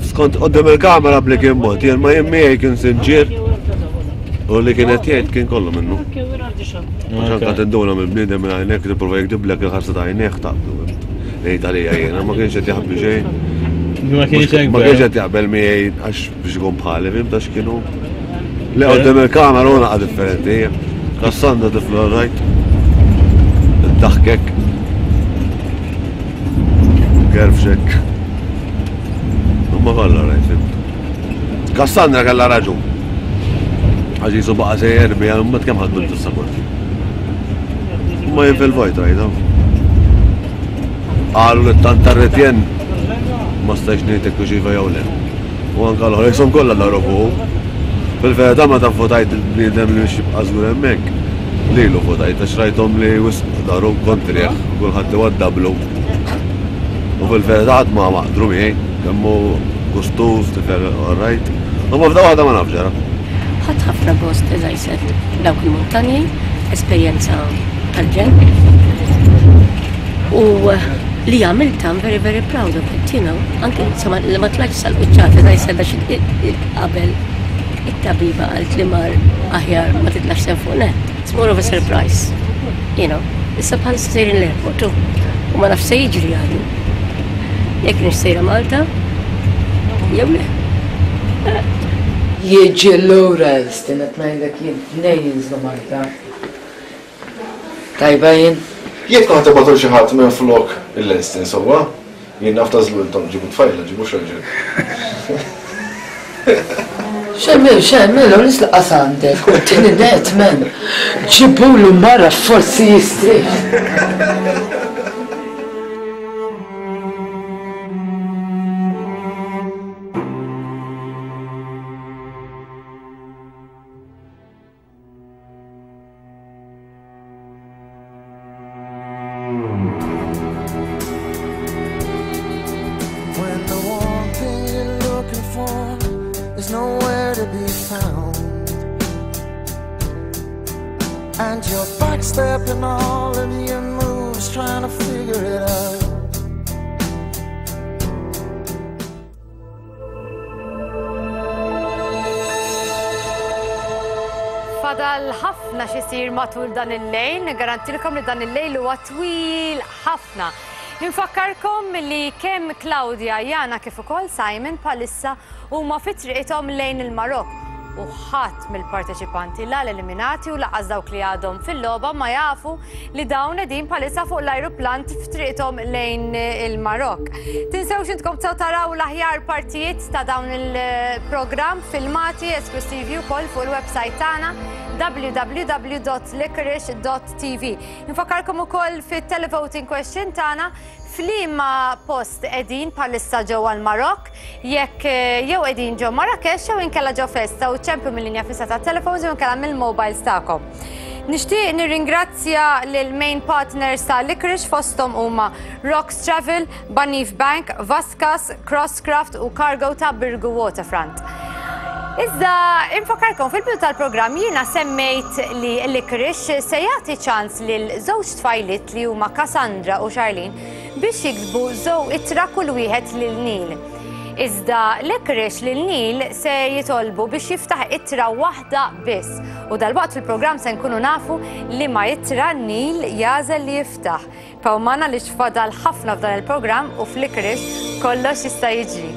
Skont qudiem il-kamera bli kien mod, jien ma jien miegħi kien sinċier. U li kien qed jgħid kien kollu minnu. Għax anke tinduna minn bniedem minn għajnejk tipprova jikdiblek il-ħarsa ta' għajnejh taqblu. Ngħid għalija jiena ma kienx qed jaħbi xejn. Ma kienx hekk. Ma kienx qed jaqbel miegħi għax biex ikun bħali, fimt għax kienu. Le qudiem il-kamera u naqa' differenti. Cassandra tifla rajt. Daħkek. Gerfxek. Ma kollha rajt, fimt. Cassandra kellha raġun. Għax jisu baqa' sejjer biha, mbagħad kemm ħaddu l-tissaporti. Ma jien fil-vojt rajta. Qalu li tant tar-retjen ma stajx ngħidlek hux iva jew le. U anke l-oħra jisom kollha daru fuq. Fil-verità ma taf votajt il-bniedem li biex jibqa' żgur hemmhekk. Lilu votajt għax rajthom li wisq daru kontrih, kulħadd iwaddablu. U fil-verità ħadd ma maqdru miegħi, kemm hu gustuż, tifel all right. U ma f'da waħda ma nafx ġara. Ħadd ħafna gost, as I said, dawk il-muntanji, esperjenza tal-ġenn. U li għamilt, I'm very, very proud of it, you know. Anke, insomma, li ma tlajtx sal-quċċata, as I said, għax qabel it-tabiba qalt li mar aħjar ma titlax sen fuq net. It's more of a surprise, you know. Issa bħalissa sejrin l-airport, u ma nafx se jiġri għadu. Jekk nix sejra Malta, jew le. Jiġi l-ura Elston, qed ngħidlek jien tnejn jinżlu Malta. Tajba jien. Jekk kont tibgħatu xi ħadd minn flok il-Elston sewwa, jien naf tażlu intom ġibu tfajla, ġibu xraġel. Xejn Tagħmilx hemm, mela nis laqas għandek. U t-tieni net, men. Ġibulu mara forsi jistrieħ. When the one thing you're looking for is nowhere to be found, and you're backstepping all of your moves trying to figure it out. Fadal ħafna xisir matul dan il-lejl, nigarantilkom li dan il-lejl huwa twil ħafna. Infakkarkom li kemm Claudia, Jana kif ukoll Simon palissa huma fi triqithom lejn il-Marokk u ħadd mill-parteċipanti la l-eliminati u laqas dawk li għadhom fil-logħba ma jafu li dawn qegħdin palissa fuq l-ajruplan f'triqithom lejn il-Marokk. Tinsewx intkom tistgħu taraw l-aħjar partijiet ta' dawn il-programm filmati esklusivi wkoll fuq il-website tagħna w w w dot licorice dot t v. Infakkarkom ukoll fit-televoting question tagħna f'liema post qegħdin bħalissa ġewwa l-Marokk, jekk jew qegħdin ġew Marrakesh jew inkella ġew Festa u ċempju mill-linja fissa tat-telefons jew inkella mill-mobiles tagħkom. Nixtieq nirringrazzja lil main partners ta' Licorice fosthom huma Rocks Travel, Banif Bank, Vaskas, Crosscraft u Cargo ta' Birgu Waterfront. Iżda infakarkom fil-bidu tal-programm jiena semmejt li Licorice se jagħti ċans lil żewġ tfajliet li huma Cassandra u Charlene biex jiktbu żew ittra kull wieħed lil Neil. Iżda Licorice lil Neil se jitolbu biex jiftaħ ittra waħda biss. U dalwaqt fil-programm se nkunu nafu li ma ittra Neil jażel li jiftaħ. Pawmana li xfadal ħafna f'dan il-programm u f'Licorice kollox jista' jiġri.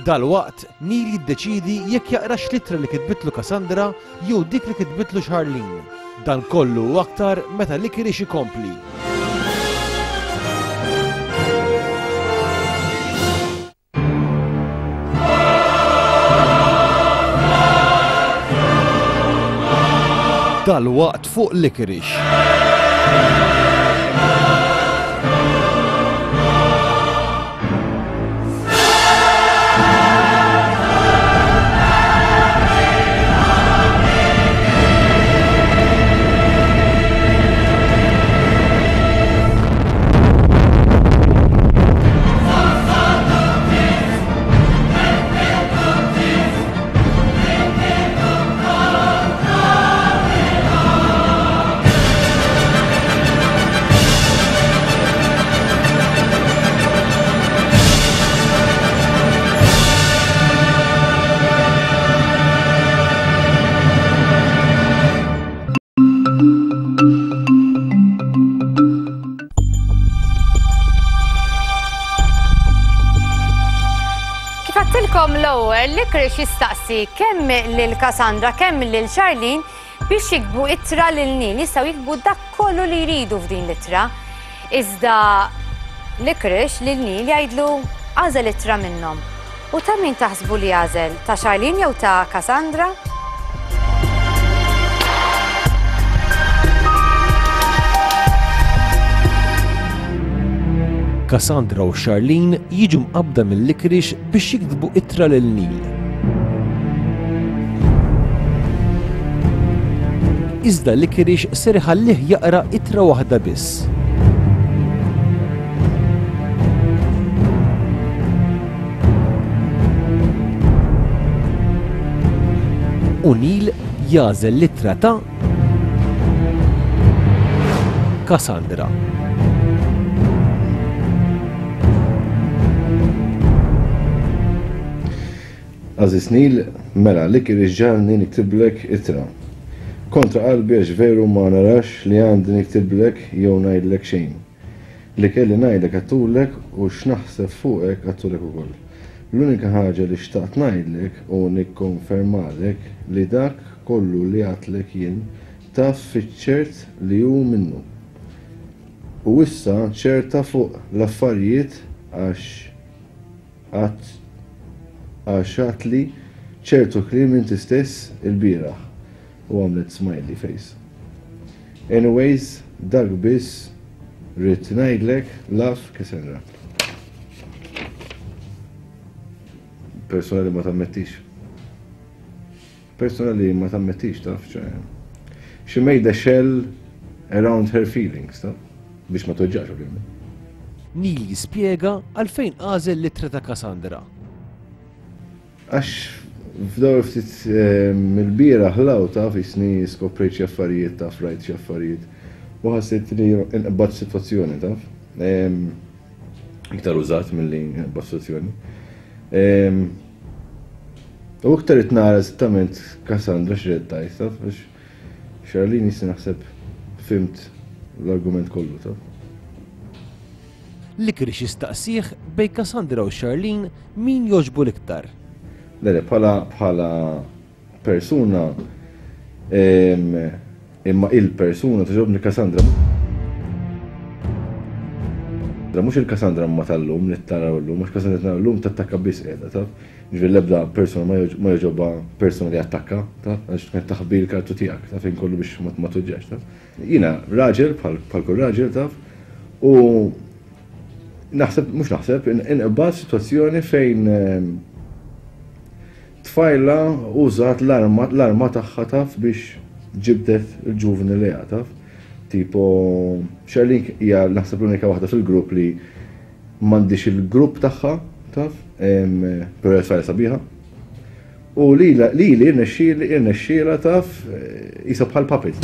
Dalwaqt, Neil jiddeċidi jekk jaqrax l-ittra li kitbitlu Cassandra jew dik li kitbitlu Charlene. Dan kollu u aktar meta Licorice ikompli. Dalwaqt fuq Licorice. L-ewwel Licorice jistaqsi kemm lil Cassandra kemm lil Charlene biex jiktbu ittra lil Neil, jistgħu jiktbu dak kollu li jridu f'din l-ittra. Iżda Licorice lil Neil jgħidlu għażel ittra minnhom. U ta' min taħsbu li għażel? Ta' Charlene jew ta' Cassandra? Cassandra u Charlene jiġu mqabbda mill-Licorice biex jiktbu ittra lil Neil. Iżda Licorice ser iħallih jaqra ittra waħda biss. U Neil jagħżel l-ittra ta' Cassandra. Aziz Neil, mela, Licorice ġalni niktiblek ittra. Kontra qalbi għax veru ma narax li għandi niktiblek jew ngħidlek xejn. Li kelli ngħidlek għattulek u x'naħseb fuqek għattulek ukoll. L-unika ħaġa li xtaqt ngħidlek u nikkonfermalek li dak kollu li għatlek jien taf fiċ-ċert li hu minnu. U issa ċerta fuq l-affarijiet għax għax għatli ċertu kliem inti stess il-bieraħ. U għamlet smiley face. Anyways, dak biss rrid ngħidlek, love Cassandra. Persona li ma tammettix. Persona li ma tammettix, taf, ċe. She made a shell around her feelings, taf, biex ma toġġax, ovvjament. Neil jispjega għalfejn għażel l-ittra ta' Cassandra. Għax f'daw ftit mill-bieraħ law taf jisni skoprejt xi affarijiet, taf rajt xi affarijiet. U ħassejt li nqbad sitwazzjoni, taf. Iktar użat milli nqbad sitwazzjoni. U iktar qed nara eżattament Cassandra x'ried tgħid, taf, għax Charlene jisni naħseb fimt l-argument kollu, taf. Licorice jistaqsih bejn Cassandra u Charlene min jogħġbu l-iktar. Le, le, bħala, bħala persuna, imma il-persuna togħġobni Cassandra. Mhux il-Cassandra ma tal-lum li taraw l-lum, mhux Cassandra taraw l-lum tattakka biss qiegħda, taf. Ġifieri l-ebda persuna ma jogħġobha persuna li attakka, taf, għax tkun taħbi l-kartu tiegħek, taf, inkollu biex ma tuġġax, taf. Jiena raġel bħal kull raġel, taf, u naħseb, mhux naħseb, inqbad sitwazzjoni fejn tfajla użat l-arma tagħha, taf, biex ġibdet il-ġuvni lejha, taf. Tipo, Charlene hija naħseb l-unika waħda fil-grupp li m'għandix il-grupp tagħha, taf, però hija tfajla sabiħa. U lili irnexxiela, taf, qisha bħal puppet.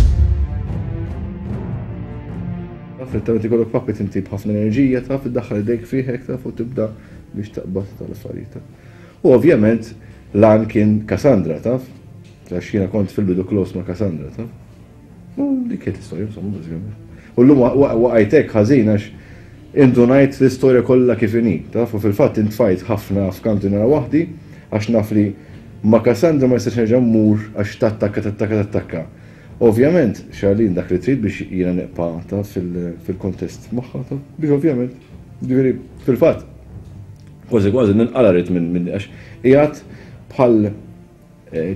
Taf, li tagħmel ikollok puppet inti b'ħafna enerġija, taf, iddaħħal idejk fih hekk, taf, u tibda biex taqbad tal-affarijiet. U ovvjament lan kien Cassandra, taf, għax jiena kont fil-bidu close ma' Cassandra, taf. U dik kienet l-istorja, insomma, bażikament. U llum waqajtek ħażin għax indunajt l-istorja kollha kif inhi, taf, u fil-fatt intfajt ħafna f'kantuniera waħdi għax naf li ma' Cassandra ma nistax nerġa' mmur għax tattakka, tattakka, tattakka. Ovvjament, Charlene dak li trid biex jiena nibqa' taf fil-kontest magħha, taf, biex ovvjament, ġifieri fil-fatt kważi kważi ninqala rrid minn għax qiegħed bħal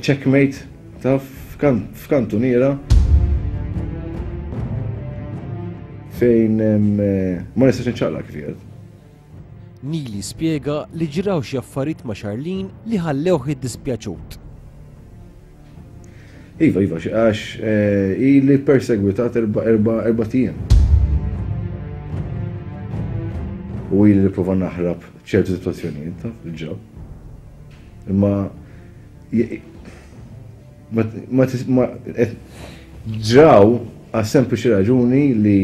checkmate, taf, f'kantuniera fejn ma nistax nċaqlaq kif qiegħed. Neil jispjega li ġraw xi affarijiet ma' Charlene li ħallewh iddispjaċut. Iva, iva, għax ili persegwitat erba' ijiem. U ili nipprova naħrab ċertu sitwazzjonijiet, taf, il-ġab. Imma ma ġraw għas sempliċi raġuni li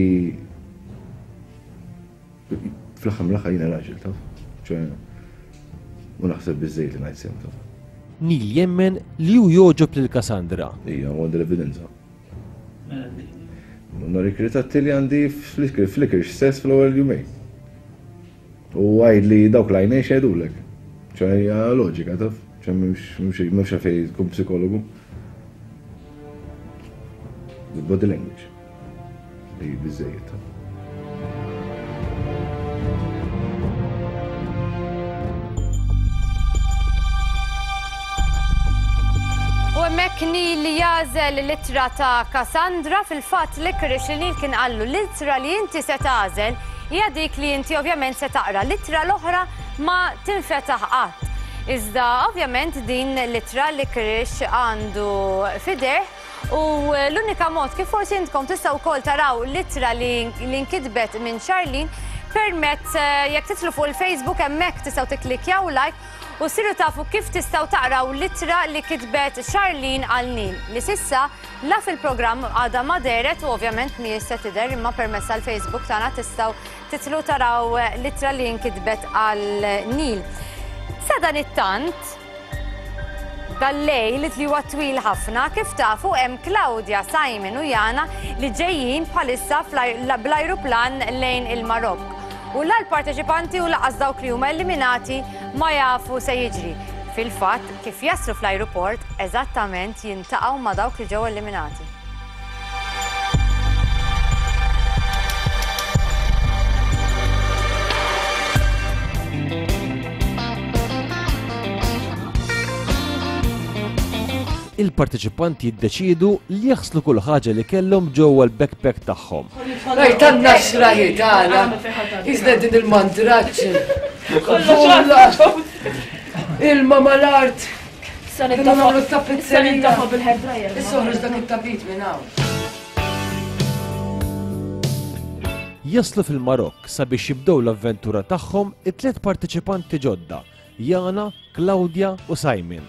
fl-aħħar mill-aħħar jiena raġel, taf. ċe, u naħseb biżżejjed li ngħid sew, taf. Neil jemmen li hu jogħġob lil Cassandra. Ija, għandi l-evidenza. Nori ritratti li għandi flickr stess fl-ewwel jumejn. U għajd li dawk l-għajnejn xejdulek. ċe, hija loġika, taf. ċe, m'hemmx għalfejn tkun psikologu. The body language. Li biżżejjed, taf. U hemmhekk Neil jagħżel l-ittra ta' Cassandra, fil-fatt Licorice li Neil kien qallu l-ittra li inti se tagħżel hija dik li inti ovvjament se taqra, l-ittra l-oħra ma tinfetaħ qatt. Iżda ovvjament din l-ittra Licorice għandu fideh u l-unika mod kif forsi intkom tistgħu wkoll taraw l-ittra li nkitbet minn Charlene permezz jekk titlu fuq il-Facebook hemmhekk tistgħu tikklikjaw like u siru tafu kif tistgħu taqraw l-ittra li kitbet Charlene għal Neil li sissa la fil-programm għadha ma dehret u ovvjament mhijiex se tidher, imma permezz tal-Facebook tagħna tistgħu titlu taraw l-ittra li nkitbet għal Neil. Sa dan it-tant dal-lejl li huwa twil ħafna, kif tafu hemm Claudia, Simon u Jana li ġejjin bħalissa bl-ajruplan lejn il-Marokk. U la l-parteċipanti u laqas dawk li huma eliminati ma jafu se jiġri. Fil-fatt, kif jaslu fl-ajruport, eżattament jintaqgħu ma' dawk li ġew eliminati. Il-parteċipanti jiddeċiedu li jaħslu kull ħaġa li kellhom ġewwa l-backpack tagħhom. Rajt għandna xraħi tagħna. Iżda din il-mandraġġ. Ilma mal-art. Kienu nagħmlu t-tapizzerija. bil-hair dryer. Issa oħroġ dak it-tapit minn hawn. Jaslu fil-Marokk sabiex jibdew l-avventura tagħhom it-tliet parteċipanti ġodda, Jana, Claudia u Simon.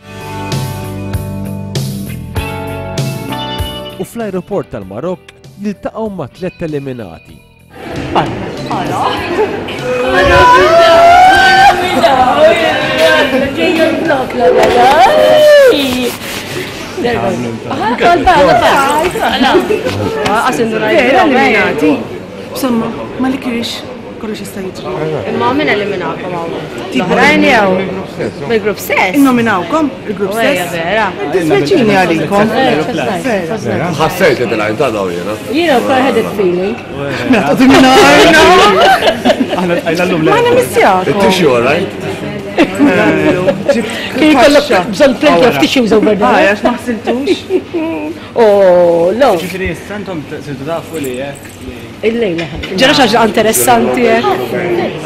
U fl-aeroport tal-Marokk jiltaqgħu ma' tliet eliminati. Vera eliminati. Insomma, ma li kirix kollox jista' jiġri. Imma min eliminakom hawn? L-oħrajn jew? Mill-grupp stess? Innominawkom il-grupp Ejja, stess. vera. Dispjaċini għalikom. Ħassejt li tilgħin ta' daw jiena. Jiena wkoll had that feeling. Mela tqogħdu minn Aħna tqajna llum Ma nemmissjakom. It-tissue, all right? Kien jkollok bżonn plenty of tissues over Ah, there. għax ma ħsiltux. Oh, no. Ġifieri issa intom sirtu tafu li hekk li Il-lejla. Ġara xi ħaġa interessanti hekk.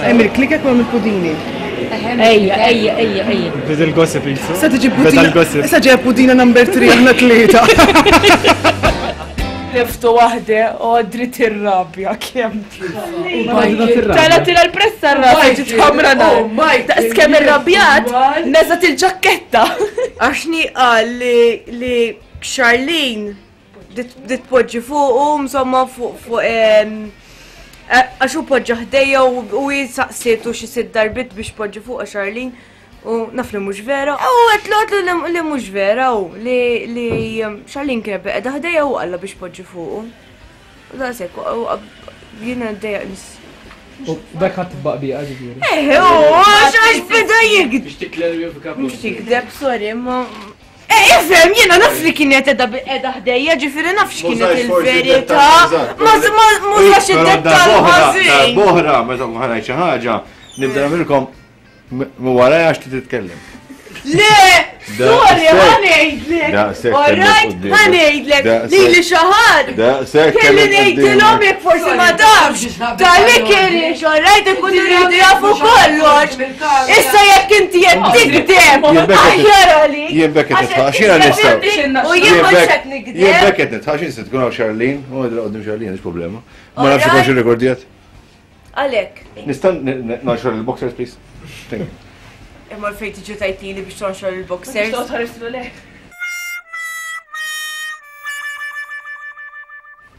Hemm il-klikek u hemm il-pudini. Ejja, ejja, ejja, ejja. Beda l-gossip jisu. Issa tiġi Beda pudina. l-gossip. Issa ġej pudina number three aħna tlieta. Liftu waħde u għadrit ir-rabja kemm. Tala Tala tila l-pressa r-rabja ġiet ħamra nar. Oh, Michael, Daqs kemm irrabjat, neżat il-ġaketta. Għaxni qal li li Charlene dit poġġi fuq u insomma fuq fuq em, eh, għax u poġġa ħdejja u u jisaqsietu xi sitt darbit biex poġġi fuq Charlene u naf li mhux vera. U għetlu għetlu li- li mhux vera u li li em, Charlene kienet qiegħda ħdejja u qalla biex poġġi fuqu. U daqshekk u jiena ddejjaq nis. U dak ħadd tibqa' biha ġifieri. Eh, u għax għax beda jikdeb. Biex tikklarifika. Mhux tikdeb, sorry, ma. Eh, ifhem, jiena naf li kienet edha edha ħdejja, ġifieri naf x'kienet il-verità. Ma ma mużax id-dettall ħażin. Boħra, meta nkun ħanajt xi ħaġa, nibda nagħmilkom minn warajja għax titkellem. Le, sorry, Daqshekk. ħa ngħidlek. Daqshekk All right, kellek ħa ngħidlek. Daqshekk. Lili xi ħadd. Daqshekk Kelli kellek ngħidilhom quddiemek. jekk forsi ma tafx. Tal-li kienx, all right, ikunu jridu jafu kollox. Issa jekk inti qed tikdeb, Jien bekk qed- aħjar għalik. Jien bekk qed nitħaq, x'jiena nistgħu. U jien ma qed nikdeb. Jien bekk qed nitħaq, x'in se tkun hawn Charlene, u għedra qudiem Charlene, mhix problema. Ma nafx ikunx irrekordjat. Għalek. Nista' nonxor il-boxers, please? Thank you. Imma l-fejn tiġi tajtili biex tonxor il-boxers.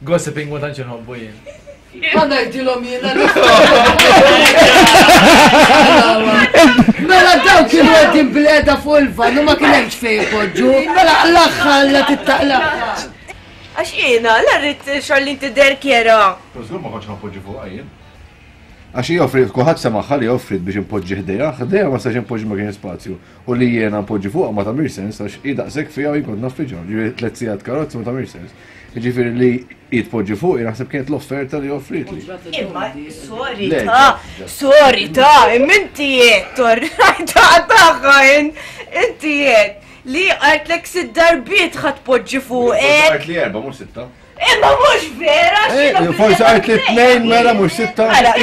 Gossiping ma tantx inħobbu jien. Ma ngħidilhom jiena. Mela daw kienu qegħdin bil-qeda fuq il-van u ma kien hemmx fejn ipoġġu. Mela l-aħħar la tittaqla. Għax jiena, la rrid Charlene tidher kjera. Però żgur ma kontx ħanpoġġi fuqha jien. Għax hi offrit, kulħadd semaħħa li offrit biex impoġġi ħdejha, ħdejha ma stax impoġġi ma kien spazju. U li jiena npoġġi fuqha ma tagħmilx sens għax hi daqshekk fiha u jien kont naffiġha. Ġifieri tliet sigħat karozza ma tagħmilx sens. Jiġifieri li hi tpoġġi fuq, jien naħseb kienet l-offerta li offritli. Imma, sorry Le, ta, sorry ta, imma inti jett, ta' taħħa, inti jett, li għartlek sitt darbiet ħa tpoġġi fuqek. Għart li erba' mhux sitta. Imma mhux vera, Eh, Forsi għart li tnejn mela mhux sitta. Mela,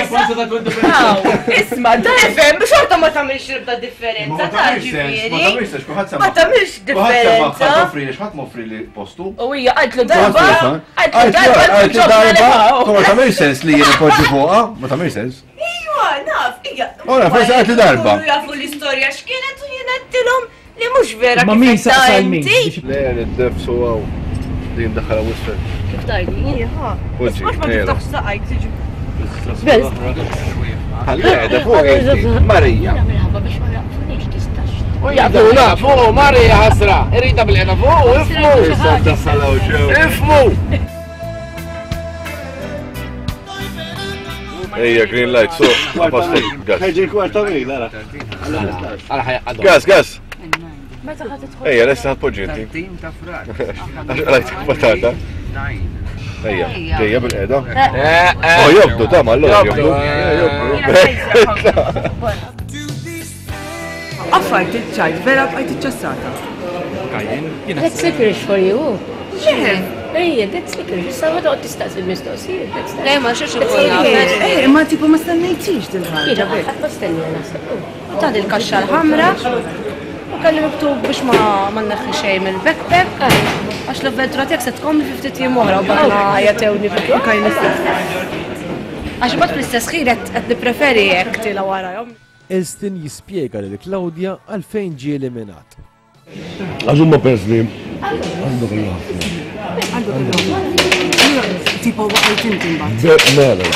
Isma, da ifhem, xorta ma tagħmilx ribda differenza, Ma ta' tagħmilx sens, ma ġifieri. tagħmilx sens, kulħadd Ma tagħmilx differenza. Ħadd offri li ħadd m'offri li postu. U hija qaltlu darba, qaltlu Għart darba, li ġobna darba, ma tagħmilx sens li jien ipoġġi fuqha, ma tagħmilx sens. Iva, naf, ija. Ora, forsi għart li darba. Ikunu jafu l-istorja x'kienet u jien għedtilhom li mhux vera Ma kif min qed ta' saqsa l-min? inti. Le, id-defs u għaw. Li jimdaħħala wisfel. Kif tajdi? Poġġi, Mhux ma ejja. tiftaħx saqajk tiġi. Ħalli qiegħda fuq inti, Marija. Minħabba biex ma jaqfunix tistax. Jaqbuna fuq, Marija ħasra. Irrita bil-qeda fuq, ifmu. Issa daħħala u ġew. Ifmu. Ejja, green light, so, pastor, gas. Ħeġi kwarta mil, ara. Gas, gas. Meta ħa tidħol? Ejja, lesta ħatpoġġi inti. Għax għalajt patata. Ejja, ġejja bil-qeda. Oh, jobdu, ta' ma allora jobdu. Affajt iċ-ċajt, vera bqajt iċċassata. Kajjen. That's licorice for you. Ejja, that's licorice. Issa ma toqgħod tistaqsi l-mistoqsijiet. Le, ma xiex Eh, ma tipo ma stennejtix dil-ħaġa. Ħadd ma stennija naħseb. Ta' dil-kaxxa l-ħamra u kelli miktub biex ma ma nneħħi xejn mill-backpack. Għax l-avventura tiegħek se tkompli fi ftit jiem oħra u barra jagħtewni fil-kajn istess. Għax imbagħad fl-istess ħin qed nippreferi hekk tila warajhom. Elston jispjega lil Claudia għalfejn ġie eliminat. Għax huma persni għandu kollu ħafna. Għandu kollu. Tipo waqgħet inti mbagħad. Mela.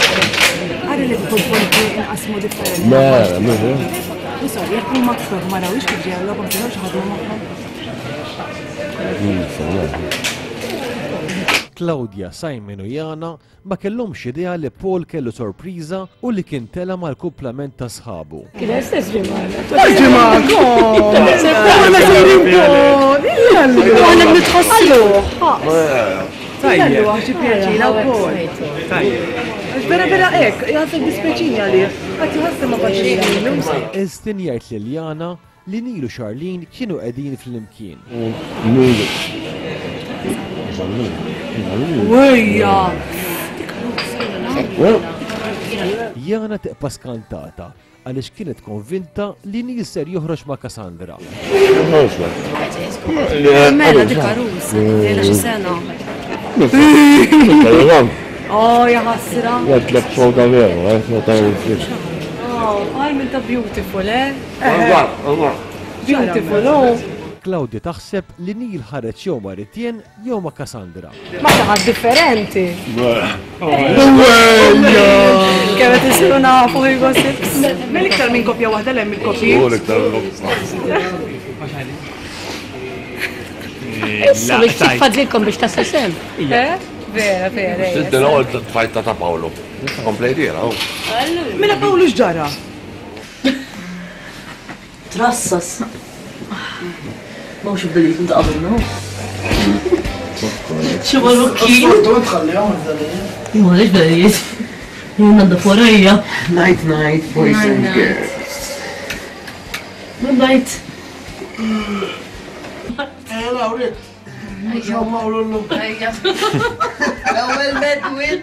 Għarri li tkun inqasmu differenti. Mela, mela. Sorry, jekk huma aktar ma rawix kif ġew logħom kienu xi ħadu magħhom. Claudia, Simon u Jana ma kellhomx idea li Paul kellu sorpriża u li kien tela mal-kumplament ta' sħabu. Kien stess ġimgħa. Aħna nitħossu. Tajjeb. Għax pjaċina wkoll. Tajjeb. Għax vera vera hekk, jħassek dispeċini għalih. Għad jħassem ma faċili. Elston jgħid lil Jana li Neil u Charlene kienu qegħdin flimkien. Nilu. Wejja! Jana tibqa' skantata għaliex kienet konvinta li Neil ser joħroġ ma' Cassandra. Mela dik arus, ila xi sena. Oh, ja ħasra. Għedtlek xogħol veru, eh, ma tagħmel Oh, għaj minn ta' beautiful, eh? Beautiful, oh. Claudia taħseb li Neil ħareġ jew ma' Ritjen jew ma' Cassandra. Ma xi ħadd differenti. Kemm qed isiru nafu il-gossips. Mill-iktar minn kopja waħda l hemm il-kopji. Issa biex titfadlilkom biex tasal sem. Eh? Vera, vera. Sidda l-ewwel tfajta ta' Paolo. Komplejtira, oh. Mela Paolo x'ġara? Trassas. Mhux bdeliet inta qabel, no? Xi marrukki. Imma għaliex bdeliet? Jien għandha forajja. Night night, boys and girls. Good night. Eh, Lawrit. L-ewwel medwin,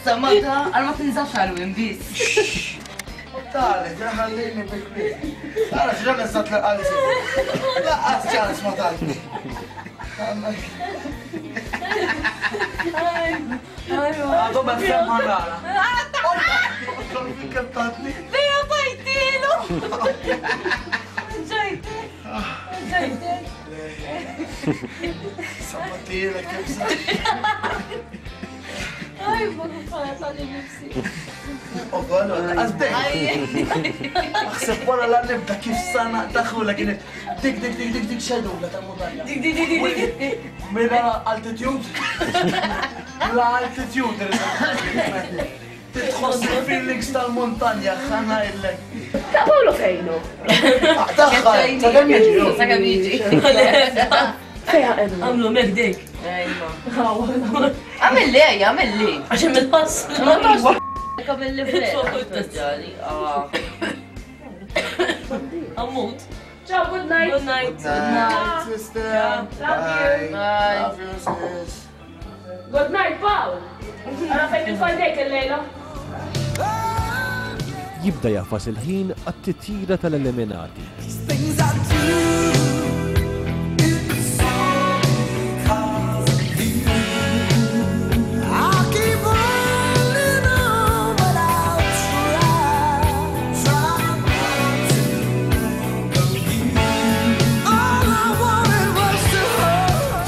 samata, għal ma tinżax għal-win biss. Tale, ħallini bil-kwiet. Ara x'ġan eżatt l-qalsi. Laqqas ċans ma tajtni. Għadu bessem ħarrara. Kemm tatni? Vera tajtilu! Ġajtek! Ġajtek! Sammatilek kemm sa. Aj, ma kif għalli nifsi. Għazdek. Aħseb wara la nibda kif sana daħula kienet dik dik dik dik dik xedula tal-muntanja. Dik dik dik dik dik. Mela altitude. La altitude. Titħoss il-feelings tal-muntanja ħana illek. Ta' Paolo fejnu? Taħħa, ta' kemm jiġi. Ta' kemm jiġi. Fejha qegħdu. Għamlu mek dik. Għamilli, ejja, għamilli. Għax hemm il-pass. Għamilli vera. Ammut. Ciao, good night. Good night. Good night, sister. Love you. Bye. Love you, sis. Good night, Paul. Ara fejn il-faldejk il-lejla. Jibda jafas il-ħin għat-titjira tal-eliminati. Things I do, it's all because of you. I keep running on, but I'll try, try not to think of you. All I wanted was to hold.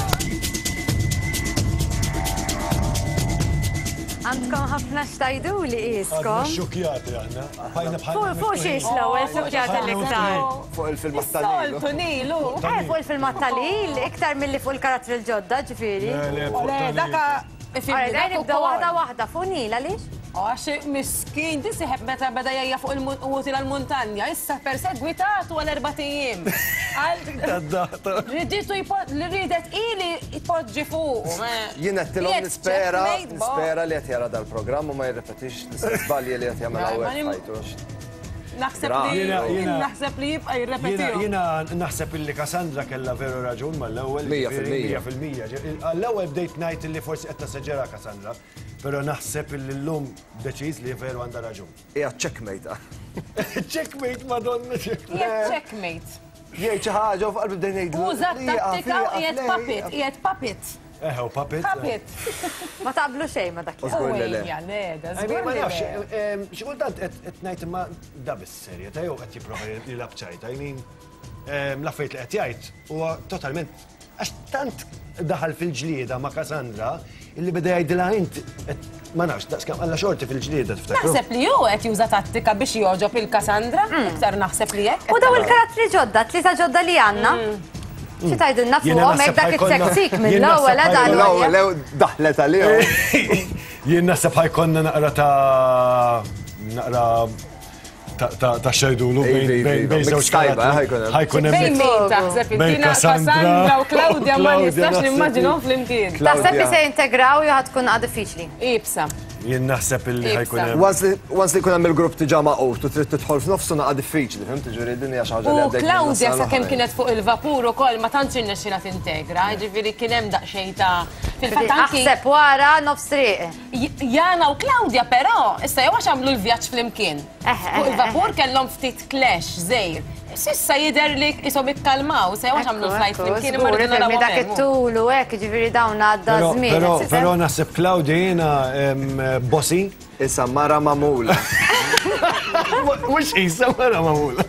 Għandkom ħafna xtajdu li iskom. Xukjati aħna. Bajna bħal. Fuq fuq xiex l-ewwel xukjati l-iktar. Fuq il-filmat tal-Nilu. Soltu Nilu. Eh, fuq il-filmat tal-il, iktar milli fuq il-karattri l-ġodda, ġifieri. Le, le, fuq Le, tal-Nil. daka. Alright, daj nibda waħda waħda fuq Nil, għaliex? Għax miskin, tisiħeb meta beda jgħajja fuq il-muti l-muntanja, issa persegwitatu għal erbat ijiem. Riditu li ridet ili jpoġġi fuq. Jien qed nispera, nispera li qed jara dal-programm u ma jirrepetix l-istess żbalji li qed jagħmel hawnhekk f'ħajtu. Naħseb li naħseb li jibqa' jirrepetihom. Jiena naħseb illi Cassandra kellha veru raġun mal-ewwel. Mija fil-mija. Mija fil-mija. Għall-ewwel bdejt ngħid illi forsi qed tassaġera Cassandra, però naħseb illi llum deċiż li veru għandha raġun. Hija checkmate. Checkmate, madonna, checkmate. Hija checkmate. Jgħid xi ħaġa u f'qalbi bdejn ngħidlu. Uża tattika u qiegħed puppet, qiegħed puppet. Eħe, u puppet. Puppet. Ma taqblu xejn ma dak. Żgur li le. Ejja, le, da żgur Ma li nafx, le. xi kultant qed ngħid imma da bis-serjetà jew qed jipprova jilgħab ċajta, I mean, l-affarijiet li qed jgħid huwa totalment għax tant daħal fil-ġlieda ma' Cassandra illi beda jgħidilha int ma nafx, daqskemm alla xorti fil-ġlieda tiftakru. Naħseb li hu qed juża tattika biex jogħġob il-Cassandra, iktar naħseb li hekk. U daw il-karattri ġodda, tlieta ġodda li għandna. Xi tgħidilna fuqhom hekk dak it-seksik mill-ewwel għadha L-ewwel daħlet għalihom. Jien naħseb ħajkonna naqra ta' naqra ta' xejdulu bejn żewġ karattri. Ħajkun hemm Bejn min taħseb inti Cassandra u Claudia ma nistax nimmaġinhom flimkien. Taħseb li se jintegraw jew ħad tkun għad diffiċli? Ibsa. Jien naħseb illi ħajkun hemm. Once li jkun hemm il-grupp diġà maqut u trid tidħol f'nofsu naqa' diffiċli, fhimt? Ġifieri din hija xi ħaġa li U għaddejt minnha Claudia s-sena sakemm l-oħra. kienet fuq il-vapur ukoll ma tantx irnexxilha tintegra, jiġifieri kien hemm daqsxejn ta' fil-fatt anki Aħseb wara nofs triq. Jana u Claudia però issa jew għax għamlu l-vjaġġ flimkien. Fuq il-vapur kellhom ftit clash żgħir. Sissa jidher li ishom ikkalmaw, se jew għax għamlu l-flight flimkien imma rridu narawhom Dak hemm. it-tul u hekk, jiġifieri dawn għadda żmien. Però però naħseb Claudia jiena bossi. Issa mara magħmula. Mhux isa mara magħmula.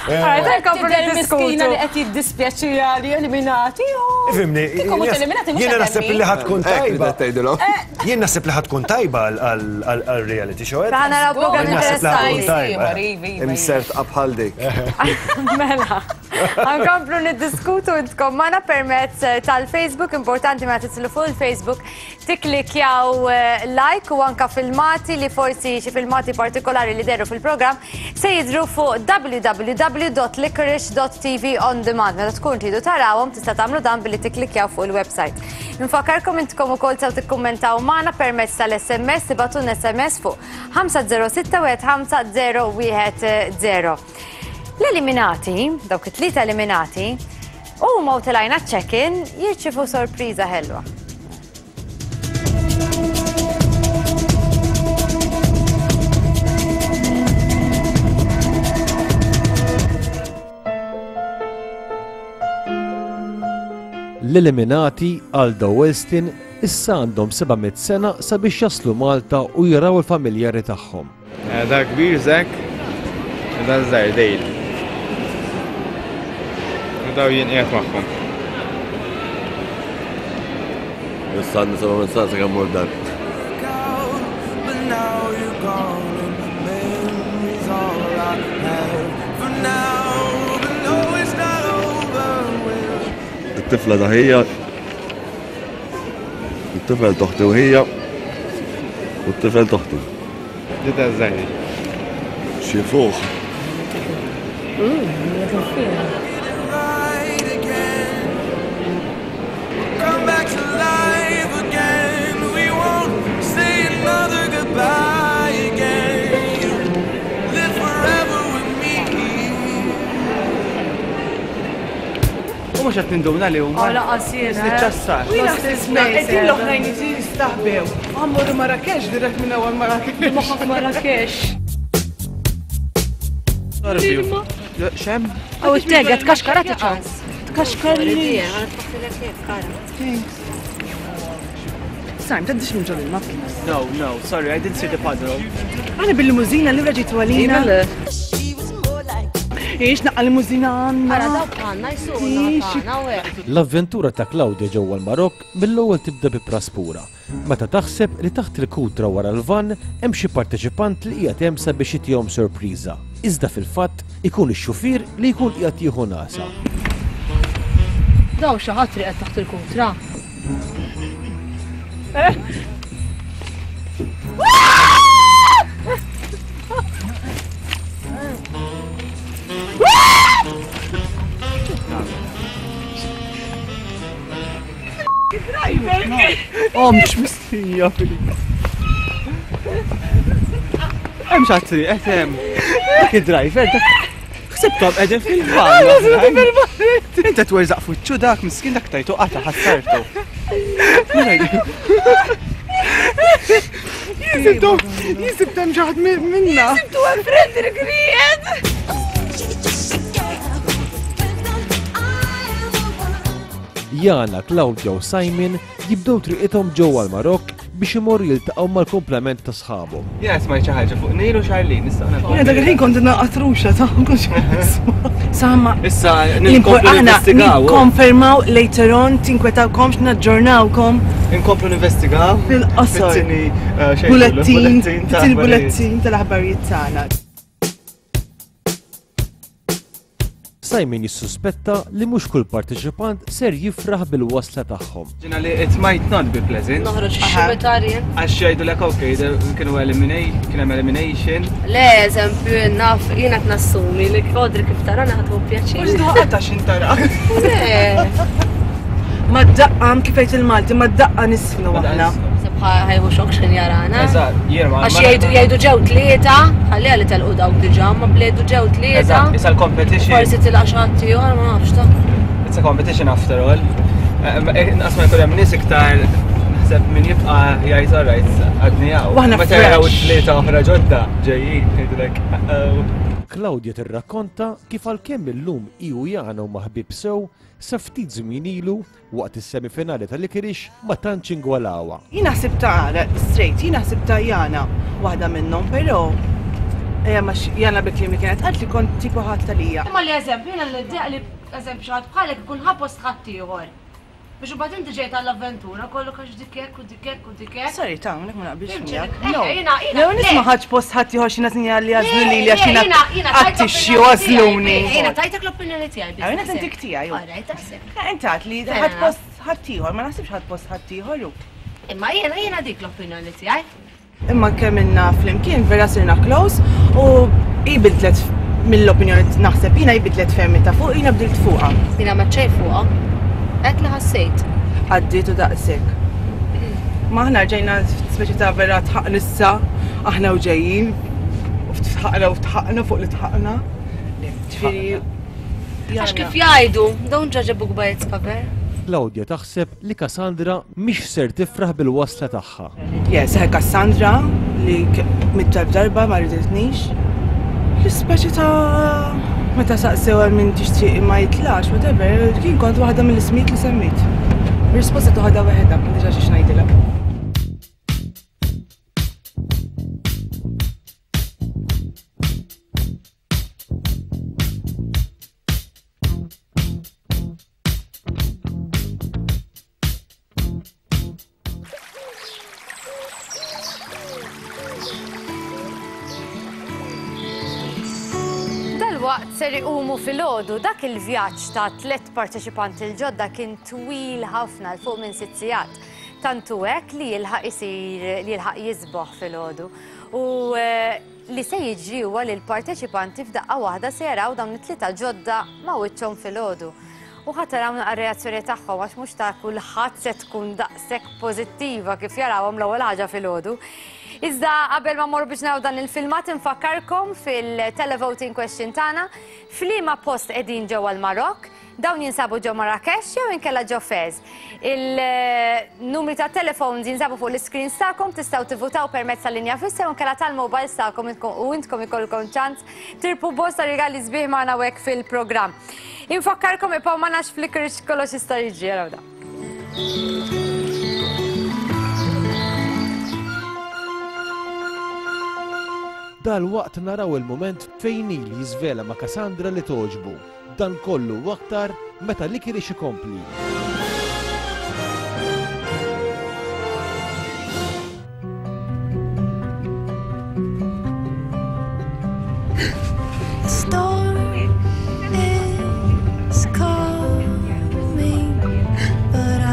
Tidher miskina li qed jiddispjaċiha li eliminati. Ifhimni, Kieku mhux eliminati mhux jiena naħseb li ħad tkun tajba. Jien naħseb li ħad tkun tajba għal-reality show. Ħa naraw program Jien naħseb li ħad tkun interessanti. tajba. Imsert bħal dik. Mela, għankomplu niddiskutu intkom magħna permezz tal-Facebook, importanti ma titlu fuq il-Facebook, tiklikjaw like u anka filmati li forsi xi filmati partikolari li deru fil-programm se jidru fuq w w w dot licorice dot t v on demand. Meta tkun tridu tarawhom tista' tagħmlu dan billi tiklikjaw fuq il-website. Nfakkarkom intkom ukoll sew tikkummentaw magħna permezz tal-S M S, tibatun S M S fuq ħamsa zero sitta wieħed ħamsa zero wieħed zero. L-eliminati, dawk it-tlieta eliminati, huma u telajna check-in jirċievu sorpriża ħelwa. L-eliminati Aldo Wellston issa għandhom seba' mitt sena sabiex jaslu Malta u jaraw il-familjari tagħhom. Da kbir Zach, u da żgħir Dale. U daw jien qiegħed magħhom. Issa għandna seba' mitt sena sakemm mur dar. It-tifla ta' ħija, it-tifel toħti u ħija, u t-tifel toħti. Dita żgħiri. Xi fuq. Come back to life again. We won't say another goodbye again. You live forever with me. U mhux qed ninduna li huma. Oh, laqas jiena. Niċċassar. U jiena qegħdin l-oħrajn jiġi jistaħbew. Għammorru Marrakesh, dirett minn ewwel Marrakesh. Moħħok Marrakesh. Xem? U t-tega, tkaxkara ċans. Tkaxkar li. Sajm, taddix minn ġol ilma, please. No, no, sorry, I didn't see the puddle. Għana bil-limuzina li raġitu għalina. Ix naqqa limuzina għanna. Ara dawk għanna jisuna. L-avventura ta' Claudia ġewwa l-Marokk mill-ewwel tibda bi praspura. Meta taħseb li taħt il-kutra wara l-van hemm xi parteċipant li qiegħed hemm sabiex itihom sorpriża. Iżda fil-fatt ikun ix-xufier li jkun qiegħed jieħu nasa. Daw xi ħadd riqed taħt il-kutra. Oh, mhux mistija, Filip. Hemm xi ħadd riqed hemm. Dak id-driver, ħsibtom qegħdin fil-van. Inti twerżaq fuċċu dak miskin dak tajtu qata ħassartu. Jisibtom, jisibtom ġaħad minna. Jisibtu għal Frederick Ried. Jana, Claudia u Simon jibdew triqithom ġewwa l-Marokk biex imorru jiltaqgħu mal-komplement ta' sħabhom. Jiena smajt xi ħaġa fuq Neil u Charlene, issa Jiena dak il-ħin kont naqatruxa ta' konx Samma. Issa ninkomplu ninvestigaw. Nikkonfermaw later on tinkwetawkomx naġġornawkom. Inkomplu ninvestigaw. Fil-qosor. Bulettin, fit-tieni tal-aħbarijiet tagħna. Simon jissuspetta li mhux kull parteċipant ser jifraħ bil-wasla tagħhom. Ġina li it might not be pleasant. Noħroġ ix-xibetarjen. Għax jgħidulek okay, kienu eliminate, kien hemm elimination. Le, eżempju, naf jiena qed nassumi li Audrey kif tara naħdu pjaċir. Mhux daqqa x'intara. Le. Ma daqqa kif jgħid il-Malti, ma daqqa nisfnu aħna. Ħajħu xok x'ħin jarana. Eżatt, jiena ma. Għax jgħidu jgħidu ġew tlieta, ħalliha li telqu dawk diġà, ma bledu ġew tlieta. Eżatt, issa l-competition. Forsi tilqa' xi ħadd ieħor, ma nafx ta. It's a competition after all. Inqas ma jkun hemm nies iktar naħseb min jibqa' jgħid alright għadni hawn. Waħna Meta jaraw tlieta oħra ġodda ġejjin jgħidulek. Claudia tirrakkonta kif għalkemm illum hi u Jana huma ħbieb sew sa ftit żmien ilu waqt is-semifinali tal-Licorice ma tantx ingwalawha. Jiena ħsibta straight, jiena ħsibta Jana waħda minnhom, però ma Jana bil-kliem li kienet qalt li kont tipo ħadd talija. Imma li eżempju jiena li li eżempju xi ħadd bħalek ikun ħa post ħadd ieħor. Biex imbagħad inti ġejt għall-avventura kollok għax dik hekk u dik hekk u dik hekk. Sorry, ta' hawnhekk ma naqbilx miegħek. No, nisma' ħadd post ħadd ieħor xi nasinja li għażlu lili għax jiena qattixxi u għażluni. Jiena tajtek l-opinjoni tiegħi. Jiena tintik tiegħi. Alright, taħseb. Inti għad li ħadd post ħadd ieħor, ma naħsibx ħadd post ħadd ieħor. Imma jiena jiena dik l-opinjoni tiegħi. Imma kemm ilna flimkien vera sirna close u hi bidlet mill-opinjoni naħseb jiena hi bidlet fermi ta' fuq, jiena bdilt fuqha. Jiena ma xejn fuqha. Hekk li ħassejt. Għaddiet u daqshekk. Ma aħna rġejna speċi ta' vera tħaqna issa, aħna u ġejjin, u tħaqna u tħaqna fuq li tħaqna. Ġifieri. Għax kif jgħidu, don't judge a book by its cover. Claudia taħseb li Cassandra mhix ser tifraħ bil-wasla tagħha. Yes, Cassandra li mit-tarb darba ma riditnix. L-ispeċi ta' meta saqsew għal min tixtieq ma jitlax, whatever, kien kont waħda mill-ismijiet li semmit. Risposta toħodha waħedha, ma diġà xi ngħidilha. Dalwaqt ser iqumu filgħodu dak il-vjaġġ ta' tliet parteċipanti l-ġodda kien twil ħafna l fuq minn sitt sigħat. Tantu hekk li jilħaq isir li jilħaq jisboħ filgħodu. U li se jiġri huwa li l-parteċipanti f'daqqa waħda se jaraw dawn it-tlieta ġodda ma' wiċċhom filgħodu. U ħadd taraw naqra reazzjoni tagħhom għax mhux ta' kulħadd se tkun daqshekk pożittiva kif jarawhom l-ewwel ħaġa filgħodu. Iżda qabel ma morru biex naraw dan il-filmat infakkarkom fil-televoting question tagħna f'liema post qegħdin ġewwa l-Marokk, dawn jinsabu ġew Marrakesh jew inkella ġew Fez. Il-numri ta' telefons jinsabu fuq l-screens tagħkom, tistgħu tivvutaw permezz tal-linja fissa jew inkella tal-mobiles tagħkom u intkom ikollkom ċans tirpu bosta rigali sbieħ magħna hekk fil-programm. Infakkarkom ibqgħu ma nafx flickers kollox jista' jiġri jaraw da. Dalwaqt naraw il-moment fejn Neil jiżvela ma' Cassandra li toġbu. Dan kollu u aktar meta Licorice ikompli. Storm is coming, but I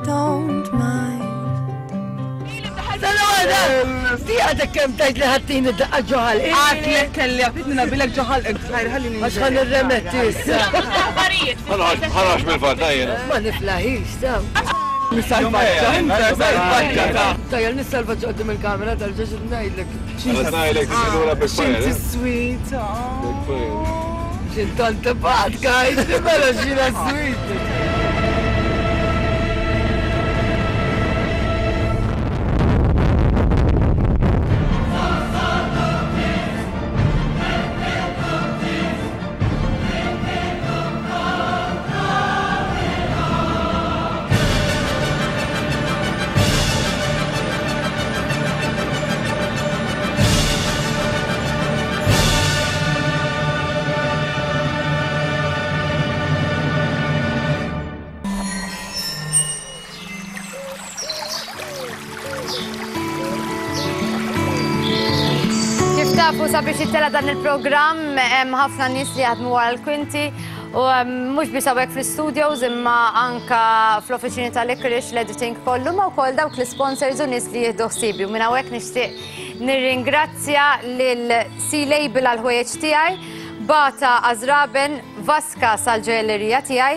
don't mind. Di għadek kem tajt li ħattini daqqa ġoħal. Għatlek kelli għafitni nabilek ġoħal, ħalli Għax ħan irremetti issa. Ħanax mill-fatt, jiena. Ma niflaħix, ta. Salvaġġa, salvaġġa ta'. Tajjel nissalvaġġa qudiem il-kamera tal-ġeġ ngħidlek. Ngħidlek tiġi Xinti sweet. Xintant bat, guys, mela xina sweet. Tafu sabiex jittela dan il-programm hemm ħafna nies li jaħdmu wara l-kwinti u mhux biss hawnhekk fl-studios imma anka fl-offiċini tal-Licorice l-editing kollu ma wkoll dawk l-sponsors u nies li jieħdu ħsiebi. U minn hawnhekk nixtieq nirringrazzja lil C-Label għall-ħwejjeġ tiegħi, Bata Azraben, Vaska sal-ġojellerija tiegħi,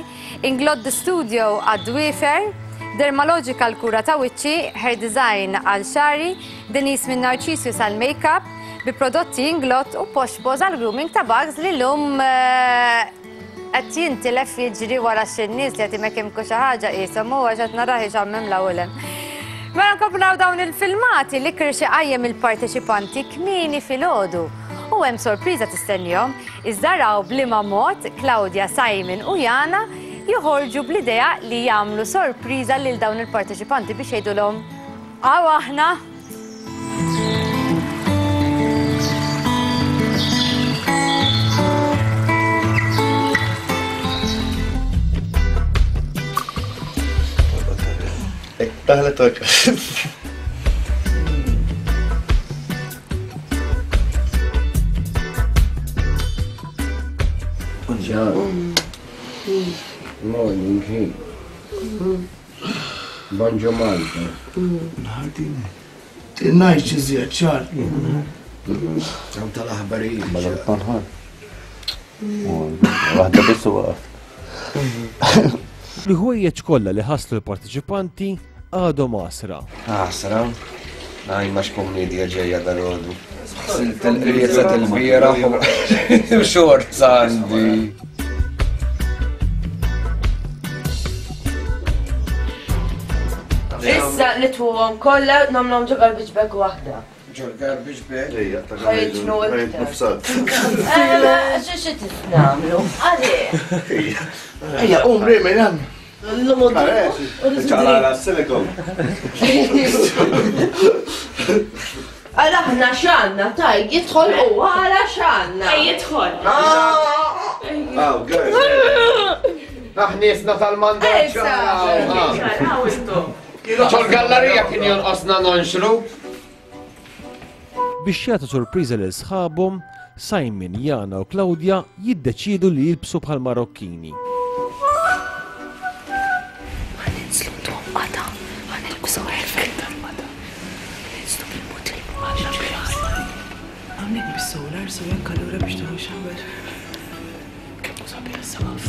Inglod the Studio għad-Dwifer, Dermalogica l-kura ta' wiċċi, Hair Design għal xari, Denise minn Narcisius għal-makeup, bi prodotti Inglot u Posh Paws għal grooming ta' Bugs li l-lum qed jintilef jiġri wara xi nies li qed imekimku xi ħaġa qishom u għax qed narah ixammem l-ewwel. Mela nkomplu naraw dawn il-filmati li Licorice iqajjem il-parteċipanti kmieni filgħodu. U hemm sorpriża tistennihom, iżda raw b'liema mod Claudia, Simon u Jana joħorġu bl-idea li jagħmlu sorpriża lil dawn il-parteċipanti biex jgħidulhom hawn aħna. Daħlet ok. Morning, hi. Bonġu Malta. Nħartini. Tinajx iżjed ċar. Għam tal-aħbarijiet. Waħda biss u waqaf. L-ħwejjeġ kollha li ħaslu l-parteċipanti għadhom għasra. Għasra? Għaj, ma x'komedja ġejja dal-għodu. Silt il-qrieza tal-bieraħ u xorts għandi. Issa nitwuhom kollha nagħmluhom ġo garbage bag waħda. Ġo garbage bag? Ħajġnu iktar. Xi xi nagħmlu? Għalih. Ejja, qum rimi hemm. Ċaqla silikon. Għala ħna xanna, taj, jidħol u għala xanna. Ej, jidħol. Aw, guys. Aħniesna tal-mandaċ. Ċol-gallerija kien jonqosna nonxru. Biex jagħtu sorpriża lil sħabhom, Simon, Jana u Claudia jiddeċidu li jilbsu bħal Marokkini. Hawnhekk bis-solar, so jekk allura biex tieħu shower. Kemm hu sabiħ is-saqaf.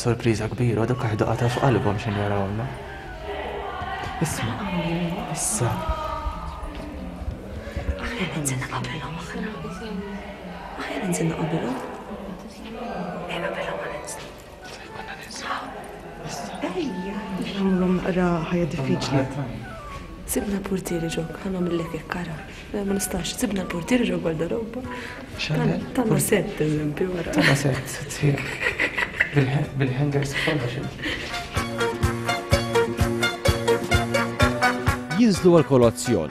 Sorpriża kbira, dak ħajdu qata f'qalbhom x'in jarawna. Isma', issa. Aħna ninżilna qabilhom aħna. Aħna ninżilna qabilhom. Ej qabilhom ma ninżlu. Ejja. Nagħmluhom naqra ħajja diffiċli. Sibna l-portieri ġok, ħa nagħmillek hekk ara. Ma nistax, sibna l-portieri ġo gwardaroba. Tagħna sett eżempju wara. Tagħna sett, sett bil-hangers kollox. Jinżlu għal-kolazzjon.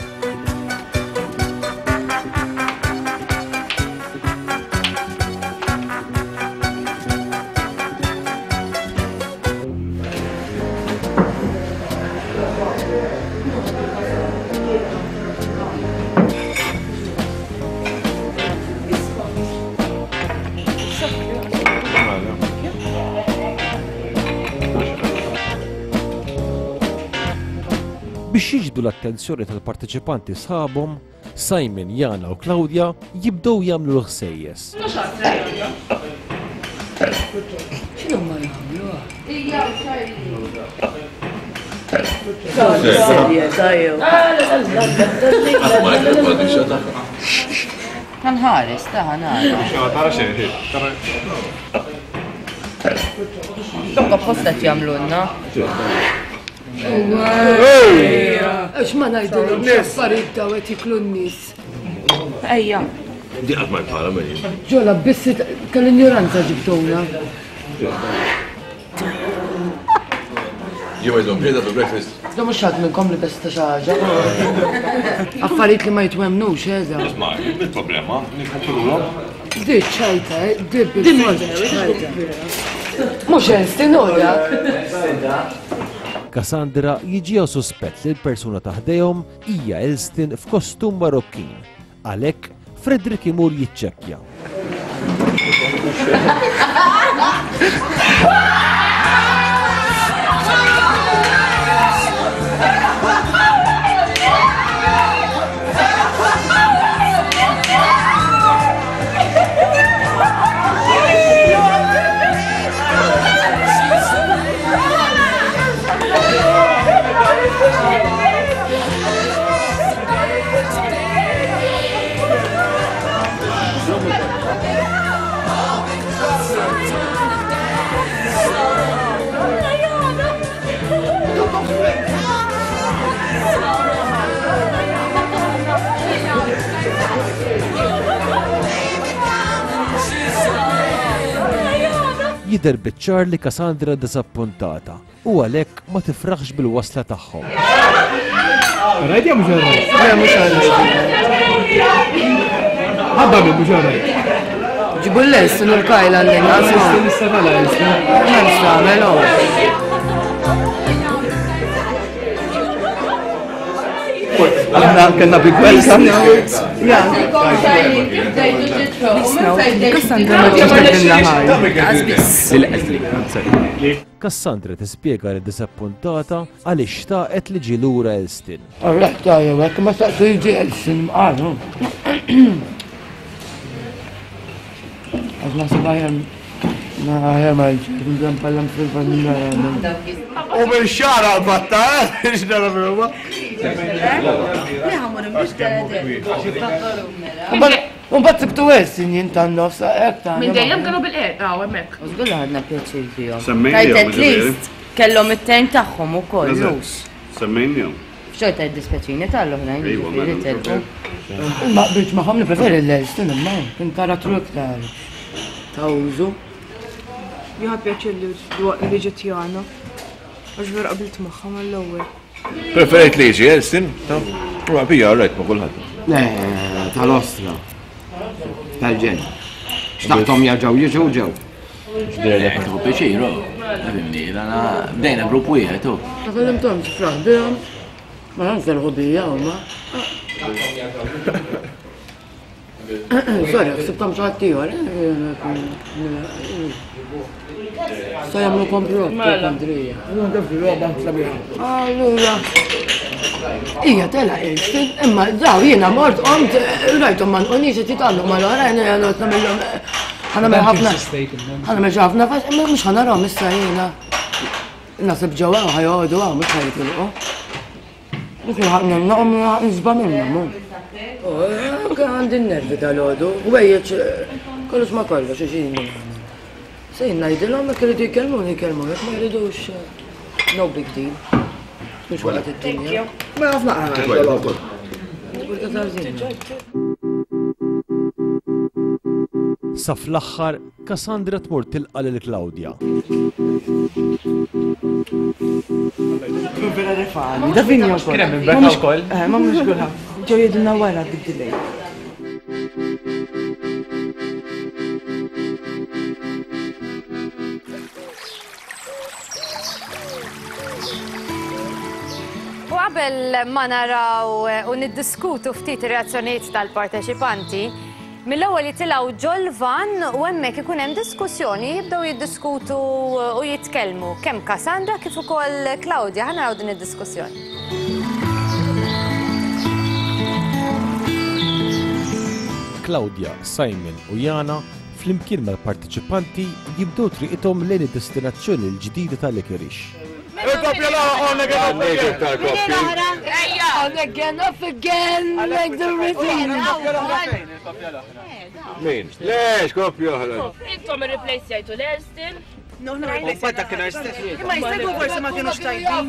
Biex jiġbdu l-attenzjoni tal-parteċipanti sħabhom, Simon, Jana u Claudia jibdew jagħmlu l-ħsejjes. X'inhu ma jagħmlu? Ħanħares, ta' ħanara. Tara xejn, tara. Tokka posta jagħmlulna. Għax ma ngħidilhom x'affarijiet daw qed jiklu n-nies. Ejja. Di qatt ma bħala minn. Ġola biss tal-injoranza ġibtuna. Jew għidhom ġejda to breakfast. Da mhux ħadd minnkom li besta xi ħaġa. Affarijiet li ma jitwemnux, eża. Isma' il-problema nikkontrollhom. Di ċajta, di bil-ċajta. Mhux Elstin ora. Cassandra jiġiha suspett li l-persuna ta' ħdejhom hija Elstin f'kostum Marokkin. Għalhekk Frederick imur jiċċekkja. Jidher biċ-ċar li Cassandra disappuntata u għalhekk ma tifraħx bil-wasla tagħhom. Rajt jew mhux rajt? Le mhux rajt. Ħabba minn mhux rajt. Ġibu l-lest u l-kajla l-inqas. M'hemmx tagħmel oh. Aħna kellna big welcome. Cassandra tispjega li disappuntata għaliex xtaqet li ġie lura Elstin. Arraħ tajja, hekk ma staqsu jiġi Elstin mqalu. Għax naħseb aħjar ma aħjar ma jiġi npallam fil-familja. U bil-xara għal-batta, x'dara fil-huma. Mbagħad sibtu Elstin jien tan-nofs hekk ta' Minn dejjem kienu bil-qed, hawn hemmhekk. Żgur li ħadna pjaċir fihom. Semmejnihom, Tajt at ġifieri. least kellhom it-tejn tagħhom ukoll, Eżatt. mhux. Semmejnihom. Xorta jiddispjaċini tal-oħrajn Ejwa, ġifieri mela, telqu. Ma qbiltx magħhom nippreferi l-Elstin imma kien karattru iktar ta' użu. Jieħu pjaċir li li ġiet Jana. Għax vera qabilt magħha mal-ewwel. Preferejt li jiġi Elstin? Ta' bija rajt ma' kulħadd. Le, tal-ostra. Tal-ġen. Xtaqtom jarġaw jiġu ġew. Xdirlek tieħu pjaċir, oh. Fimni, dana bdejna grupp wieħed, oh. Ma kellimthomx fraħ bihom. Ma tantx ferħu bija huma. Sorry, ħsibthom xi ħadd ieħor. Sa jagħmlu komplott kontrija. Allura. Ija tela Elstin, imma daw jiena mort qomt rajthom ma nqonix qed jitgħallu mal-oħrajn jiena noqgħod nagħmilhom ħa nagħmel ħafna. Ħa nagħmel xi ħafna fax, imma mhux ħa narahom issa jiena. Naħseb ġewwa hawn ħajoqogħdu hawn mhux ħajitilqu. Mhux nilħaq nagħmlhom nilħaq nisba' minnhom. Anke għandi n-nervi dal-għodu, ħwejjeġ kollox ma kollox għax jien Se jien ngħidilhom jekk iridu jkellmuni jkellmu, jekk ma jridux no big deal. Mhux waqgħet id-dinja. Ma ħafna Sa fl-aħħar, Cassandra tmur tilqa' lil Claudia. Vera refani, da vinja wkoll. Kien hemm inbeka wkoll. Eh, ma mhux kulħadd. Ġew jgħidulna wara bid-delay. U qabel ma naraw u niddiskutu ftit ir-reazzjonijiet tal-parteċipanti, mill-ewwel jitilgħu ġol-van u hemmhekk ikun hemm diskussjoni, jibdew jiddiskutu u jitkellmu kemm Cassandra kif ukoll Claudia. Ħa naraw din id-diskussjoni. Claudia, Simon u Jana flimkien mal-partiċipanti jibdew triqithom lejn id-destinazzjoni l-ġdida tal-Licorice. Il-koppja l-oħra on again, off again. On again, off again, like the rhythm. Min? Lex, koppja oħra. Intom ir-replace jgħidu l-Elston. No, no, Imma jistgħu forsi ma kienux tajbin.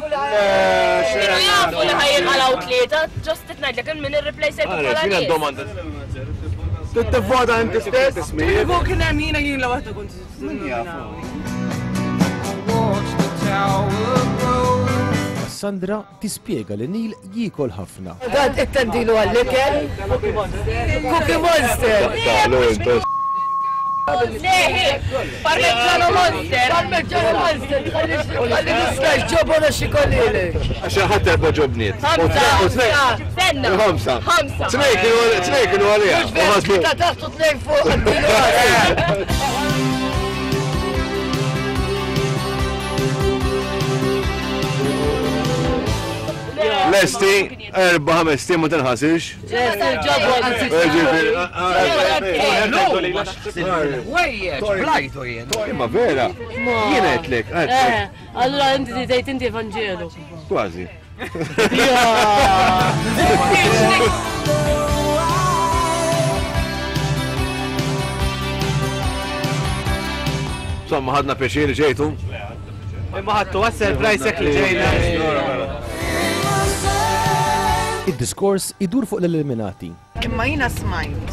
Kienu jafu li ħajjinqalgħu tlieta, ġost titngħidlek min ir-replace jgħidu bħala nies. domanda. Tittivvota inti stess? Kieku kien hemm jiena jien la waħda kont. Min jafu? Cassandra tispjega li Neil jiekol ħafna. Dan ittendilu għall-ikel. Cookie Monster. Parmigiano Monster. Parmigiano Monster. Għalli nistax ġobona xikolili. Għaxa ħadd erba' ġobniet. Ħamsa. Senna. Ħamsa. Ħamsa. Tnejn kienu tnejn kienu għalija. Mhux veru tlieta taħt u tnejn fuq. Għaddilu għalija. Lesti, erba' ħames tim ma tinħasirx. Wejjeġ, blajtu jien. Imma vera, jien għedtlek, għedtlek. Allura inti tgħid inti Evanġelu. Kważi. Insomma, ħadna pjaċir li ġejtu. Imma ħadtu għas-surprise hekk li ġejna. Id-diskors idur fuq l-eliminati. Imma jiena smajt.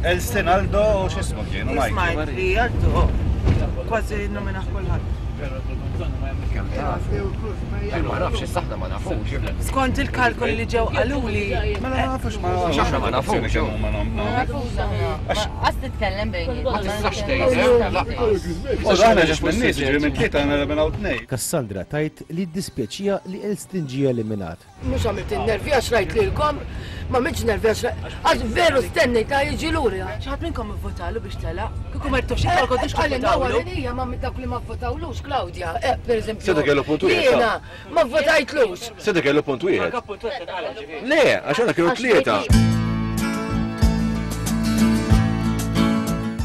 Elston Aldo u x'ismu kienu Mike. Smajt li Aldo kważi nominaħ kulħadd. Ma nafx, issa aħna ma nafux. Skont il-kalkoli li ġew qaluli. Ma nafux ma nafux. Aħna ma nafux. Għas titkellem bejni. Ma tistax tgħid. Aħna ġex minn nies, ġifieri minn tlieta aħna eliminaw tnejn. Cassandra tajt li ddispjaċija li Elston ġie eliminat. Mhux għamilt in-nervi għax rajt lilkom, ma għamiltx nervi għax għax veru stennejt ta' jiġi lura. Xi ħadd minnkom ivvotalu biex telaq? Kieku ma rtux jitolku kontux tivvotawlu. Għalli ma minn dawk li ma vvotawlux, Claudia, eh, per eżempju. Seta kellu punt wieħed. Jiena ma vvotajtlux. Seta kellu punt wieħed. Le, għax għandna kienu tlieta.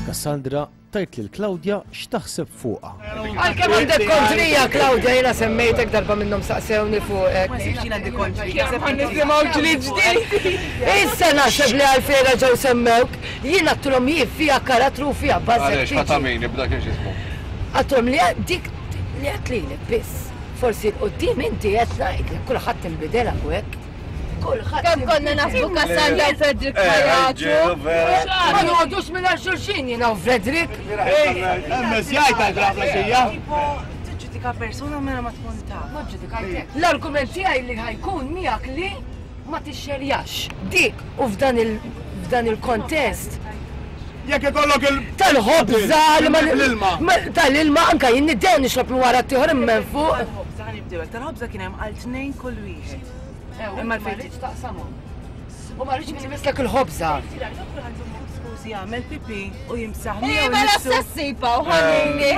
Cassandra tajt lil Claudia x'taħseb fuqha. Għalkemm għandek kontrija, Claudia, jiena semmejtek darba minnhom saqsewni fuqek. Ma sibx jien għandi kontrija. Nisimgħu ġlied ġdid. Issa naħseb li għalfejn ġew semmewk, jien għadtilhom jien fiha karattru u fiha bażek. Għaliex ħadd għamini b'dak x'ismu. Għadtilhom li dik li għedt lilek biss. Forsi l-qudiem inti qed ngħidlek kulħadd inbidel hawnhekk. Kulħadd. Kemm konna naħsbu Cassandra u Frederick ħajatu. Ma noqogħdux mingħajr xulxin jiena u Frederick. Emmes jgħid għal xija. Tiġġudika persuna mela ma tkun taf. Ma ġġudikajtek. L-argument tiegħi li ħajkun miegħek li ma tixxerjax. Dik u f'dan il f'dan il-kontest. Jekk ikollok il tal-ħobża li ma l-ilma. Tal-ilma anka jien niddew nixrob minn wara t-tieħor immen fuq. Tal-ħobża ħanibdew, tal-ħobża kien hemm għal tnejn kull wieħed. Imma ma rridx taqsamhom. U ma rridx min imislek il-ħobża. Skużi jagħmel pipi u jimsaħ Ej, mela s-sassipa u ħanini.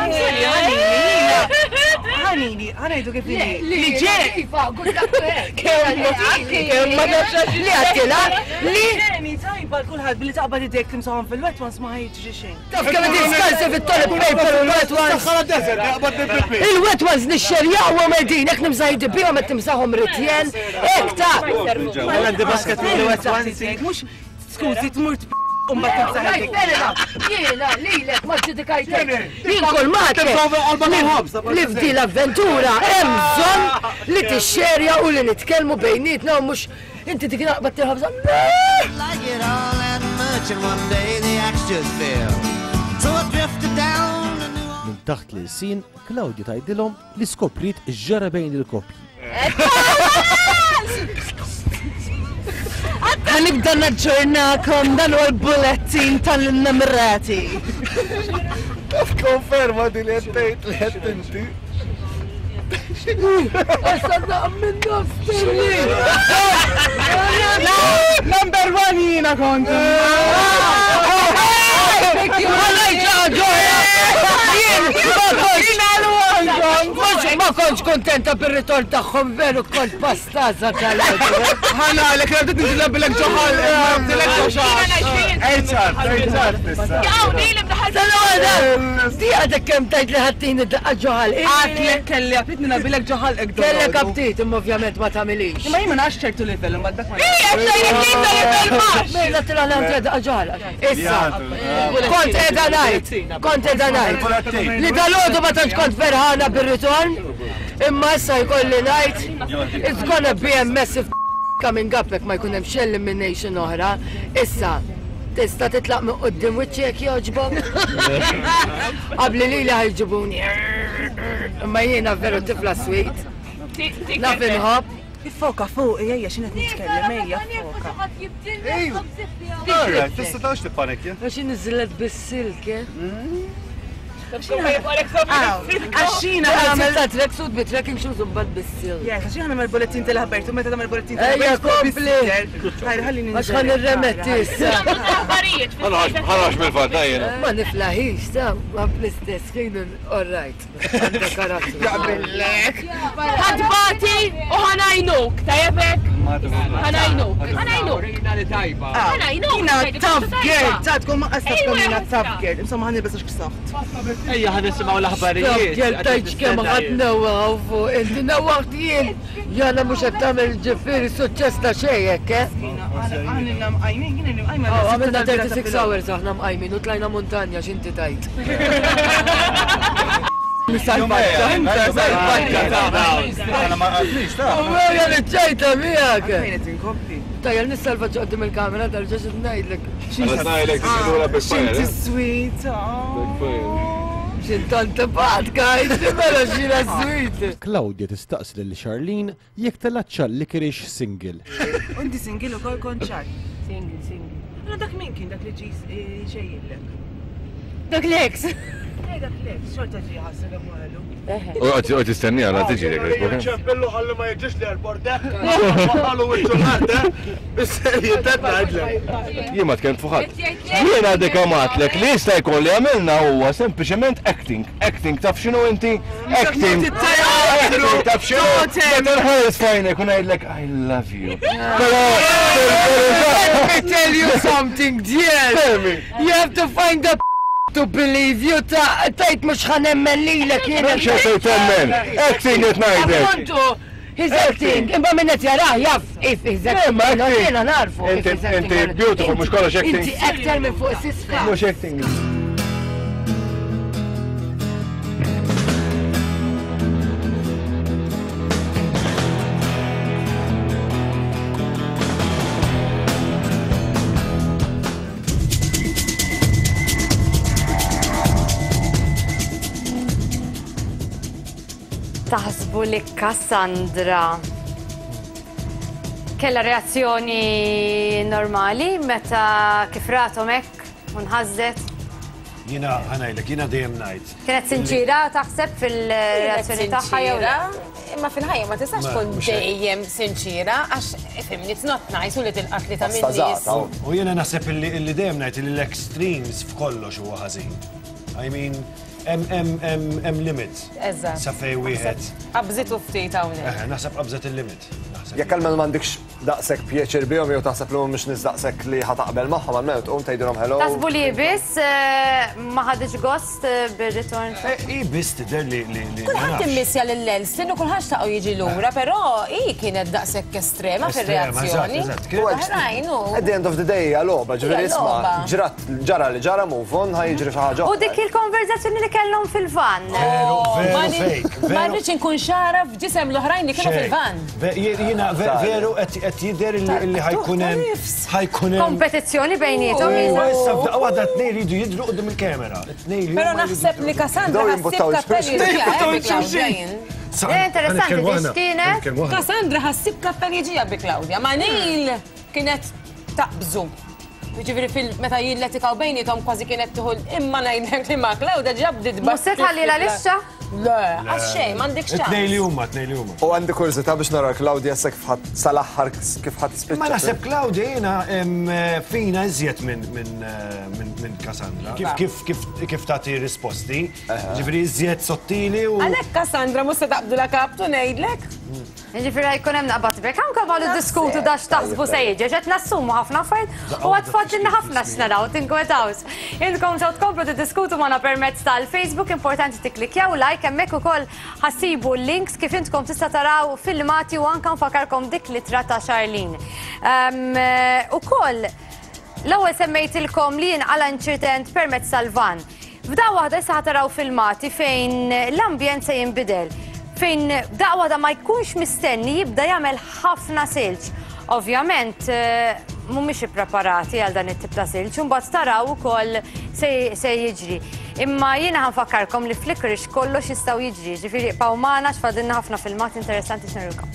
Ħanini, ħanejdu kif li. Li ġej. Iva, good luck to her. Kemm ma nafx li għattila li Ġeni tajba l-kulħadd billi taqbad idejk timsaħhom fil-wet once ma ħajġri xejn. Taf kemm qed jiskalsi fit-toilet paper u l-wet ones. Saħħara desert, jaqbad bil-pipi. Il-wet ones nixxerjawhom qegħdin, hekk nimsaħ bihom qed timsaħhom ritjen, hekk ta' Għandi basket mill-wet ones. Mhux skużi tmur u mbagħad timsaħ idejk. Jiena lilek ma ġudikajtek. Jien kull ma li f'di l-avventura hemm bżonn li tixxerja u li nitkellmu bejnietna u mhux inti dik naqbad tilħobża. Like it all that much and one day the axe just fell. So I drifted down to New Minn taħt l-sin, Claudia tgħidilhom li skopriet ġara bejn il-koppji. Ħanibda naġġornakom dan huwa l-bullettin tal-innamrati. Taf konferma di li qed tgħid li qed inti. Issa naqam minn nofs Number one jiena kont. Jien ma kontx. Ma Ma kontx kontenta bir-ritorn tagħhom veru kont pastaza tal-għodu. Ħana għalek, għabdet nġilab bilek ġoħal, għabdilek ġoħal. Ejċar, ejċar tissa. Di għadek kem tajt li ħattini daqqa ġoħal. Għatlek kelli għabdet nilab ġoħal ekdu. Kellek aptit, imma ovvjament ma tamilix. Imma jien ma nafx ċertu livell, imma dak ma. Ija, xejn livell baxx. Mela tilgħana għandi daqqa ġoħal. Issa, kont qiegħda ngħid, kont qiegħda ngħid. Li dal-għodu ma tantx kont ferħana bir-ritorn, imma issa jkolli ngħid, it's gonna be a massive coming up jekk ma jkun hemm xi elimination oħra. Issa, tista' titlaq minn quddiem wiċċi jekk jogħġbok. Qabli lili ħajġibuni. Imma jiena veru tifla sweet. Naf inħobb. Iffoka fuq, ejja x'inhu qed nitkellem, ejja foka. Alright, tista' tawx tippanikja. Għax inniżlet bis-silk, eh? Għaxina għamil ta' tracksuit bi trekking shoes u mbagħad bis-silk. Yes, għaxina nagħmel bulletin tal-ħabertu, meta tagħmel bulletin Ejja kompli. Ħajr ħalli Għax ħan nirremetti issa. Ħanax mill-fatt jiena. Ma niflaħix, ta' ma fl-istess ħin all right. Għandek karattru. Jaqbillek. Ħadbati u ħanajnuk, tajjebek? Ħanajnuk, ħanajnuk. Ħanajnuk. Jina tough girl, ta' tkun ma qasab kemm jiena tough girl. Insomma ħanilbes għax ksaħt. Ejja, ħan nisimgħu l-aħbarijiet. Tough girl tajt kemm ħadd newwaħ fuq inti newwaħt jien. Jana mhux qed tagħmel ġifieri suċċess ta' xejn hekk, eh? Aħna mqajmin, jiena mqajma. Għamilna thirty-six hours aħna mqajmin u tlajna muntanja x'inti tajt. Salvaġġa, inta salvaġġa ta' Għana ma għadlix, ta' Uwja li ċajta miegħek. Fejn qed inkompli. Tajjel nissalvaġġa qudiem il-kamera tal-ġax ngħidlek. Ngħidlek tiġilura bil-fire. Xinti sweet. Xintant patka, inti mela xina sweet. Claudia tistaqsi lil Charlene jekk telatx Licorice single. Inti single ukoll kont ċar. Single, single. Allora dak min kien dak li ġi xejjillek? Dak l-ex. Eh, dak l-ex, xorta ġi ħasser għalu. U għod tistenni għala tiġi lek. ċempillu ħalli ma jiġix l-airport, eh? Ħallu wiċċu l-art, eh? Bis-serjetà ngħidlek. Jien ma tkellimt fuq ħadd. Jien għadek għamatlek li jista' jkun li għamilna huwa sempliċement acting. Acting taf x'inhu inti? Acting. Acting taf x'inhu? Meta nħares fajnek u ngħidlek I love you. Però Let me tell you something, dear. Tell me. You have to find a to believe you ta' tajt mux ħanemmen lilek jiena. Mhux qed temmen. Acting qed ngħidlek. Appuntu, he's acting. Imma minn qed jarah jaf if he's acting. Imma acting. Jiena narfu. if Inti he's acting inti or not. beautiful mhux kollox acting. Inti actor minn fuq s-isfa. Mhux acting. Taħsbu li Cassandra kella reazzjoni normali meta kif rathom hekk u nħażet? Jiena ħanajlek, jiena dejjem ngħid. Kienet sinċira taħseb fil-reazzjoni tagħha jew le? Imma fil-ħajja ma tistax Ma, tkun mhux hekk. dejjem sinċira għax ifhimni it's not nice u li tilqat li ta' minn nies. U jiena naħseb illi illi dejjem ngħid illi l-extremes f'kollox huwa ħażin. I mean, hemm hemm hemm hemm limit. Eżatt. Sa fejn wieħed. Qabżitu ftit hawnhekk. Eh, naħseb qabżet il-limit. Naħseb. Jekk għalmenu m'għandekx daqshekk pjaċir bihom jew taħseb li mhumiex nies daqshekk li ħataqbel magħhom għalmenu tqum tgħidilhom hello. Taħsbu li biss eh, ma ħadx gost eh, bir-ritorn? I biss tidher li li li ma Kulħadd nafx. immissja lil Elsin u kulħadd xtaqgħu jiġi lura, però hi kienet daqshekk estrema Estrema, fir-reazzjoni. eżatt, eżatt. Oħrajn u At the end of the day hija logħba, ġifieri Hija isma' logħba. ġrat ġara li ġara move on ħa jiġri xi ħaġa. U dik il-konverzazzjoni li kellhom fil-van. Veru, Ma veru ni- fake. Ma Veru. rridx inkun xara f'ġisem l-oħrajn li kienu Xejn. fil-van. Ve- Jiena ve- veru qed qed jidher illi illi ħajkun hemm ħajkun hemm. Kompetizzjoni bejniethom. U jisa. issa f'daqqa waħda tnejn jridu jidhru quddiem il-kamera. Tnejn li Però huma jridu naħseb li jidhru. Cassandra Bdew ħassib jimbuttaw kappelli il-xulxin. ġija bi Claudia jien. Sa- Eh, interessanti, ħanitkellmu di aħna, x'kienet? ħanitkellmu aħna. Cassandra ħassib kappelli ġija bi Claudia, ma Neil kienet taqbżu. Ġifieri fil meta jilletikaw bejniethom kważi kienet tieħu imma ngħidlek li ma' Claudia ġabdit Mhux se tħalli la lixxa? Le, għax xejn, m'għandekx ċans. Tnejn li huma, tnejn li huma. U għandi kurżità biex nara Claudia se kif ħadd sal-aħħar kif ħadd tispiċċa. Ma naħseb Claudia jiena fina iżjed minn Cassandra. Kif kif kif tagħti risposti, ġifieri iżjed sottili u. Għalhekk Cassandra mhux se taqbdu la kaptu ngħidlek. Ġifieri jkun hemm naqbad brek, anke għalu diskutu dax taħsbu se jiġi, qed nassumu ħafna affarijiet u għad tfaddilna ħafna x'naraw, tinkwetawx. Intkom sew tkomplu tiddiskutu magħna permezz tal-Facebook, importanti tikklikjaw like hemmhekk ukoll ħassibu links kif intkom tista' taraw filmati u anke nfakarkom dik l-ittra ta' Charlene. Ukoll l-ewwel semmejtilkom li jinqala inċident permezz tal-van. F'daqqa waħda issa ħataraw filmati fejn l-ambjent se jinbidel, fejn daqqa waħda ma jkunx mistenni jibda jagħmel ħafna silġ. Ovvjament mhumiex ippreparati għal dan it-tip ta' silġ, u mbagħad taraw ukoll se jiġri. Imma jiena ħanfakkarkom li f'Licorice kollox jistgħu jiġri, ġifieri ibqgħu magħna x'fadilna ħafna filmat interessanti x'nurikom.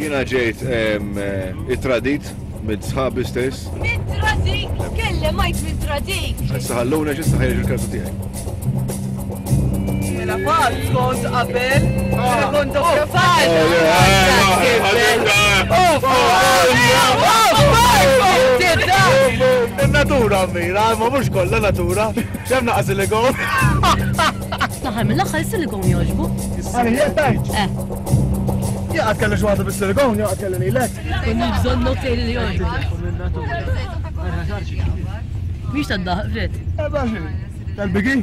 Jiena ġejt it-tradit minn sħabi stess. Min tradik? Kellem għajt min tradik. Issa ħalluna x'issa ħajġ il-kartu tiegħi. Mela fal kont qabel, mela kont doppja fal. Il-natura mira, ma mhux kollha natura. X'hemm naqas silikon. Fl-aħħar mill-aħħar is-silikon jogħġbu. Eh. Jaqgħad kellu xi waħda bis-silikon, jaqgħad kellu lilek. Konna bżonn notej li jogħġbu. Mhix tad-daħq, Fred. Eh, baxi. Tal-bigi?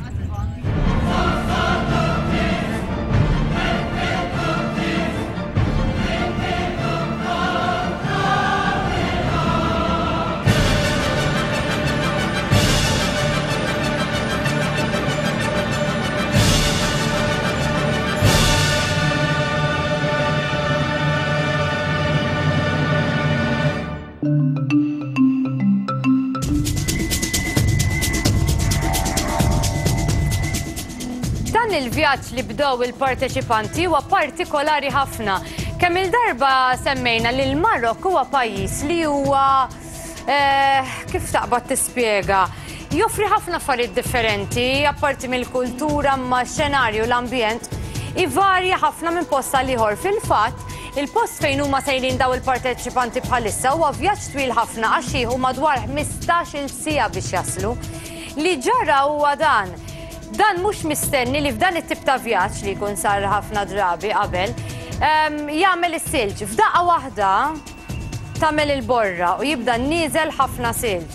Dan il-vjaġġ li bdew il-parteċipanti huwa partikolari ħafna. Kemm il-darba semmejna li l-Marokk huwa pajjiż li huwa kif taqbad tispjega, joffri ħafna affarijiet differenti, apparti mill-kultura ma' xenarju l-ambjent, ivarja ħafna minn post għal ieħor. Fil-fatt, il-post fejn huma sejrin daw il-parteċipanti bħalissa huwa vjaġġ twil ħafna għax jieħu madwar ħmistax-il siegħa biex jaslu. Li ġara huwa dan. Dan mhux mistenni li f'dan it-tip ta' vjaġġ li jkun sar ħafna drabi qabel, jagħmel is-silġ. F'daqqa waħda tagħmel il-borra u jibda nieżel ħafna silġ.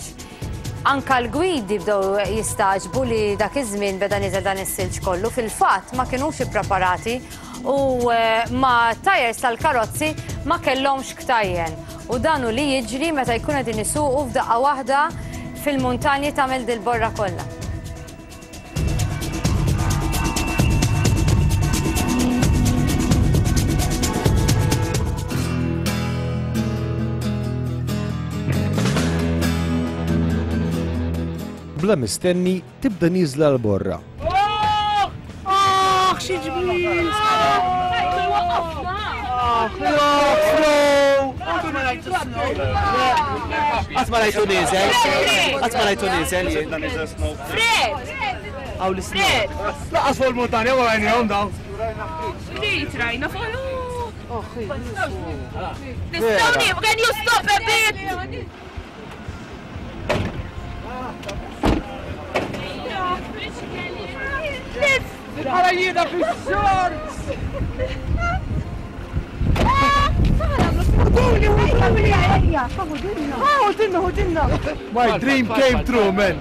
Anka l-gwidi bdew jistaġbu li dak iż-żmien beda nieżel dan is-silġ kollu. Fil-fatt ma kinux ippreparati u ma tajers tal-karozzi ma kellhomx ktajjen. U dan hu li jiġri meta jkun qegħdin isuqu f'daqqa waħda fil-muntanji tagħmel dil-borra kollha. Bla mistenni tibda nieżla l-borra. Aħ, xi ġmiel! Qatt ma rajtu nieżel, qatt ma rajtu nieżel jien. Fred! Hawn l-isnow. Laqas fuq il-muntanja wara għajnihom dawn. Ftit rajna fuq. Nistgħu, can you stop a bit? Għara jiena fix-shorts! My dream came true, man!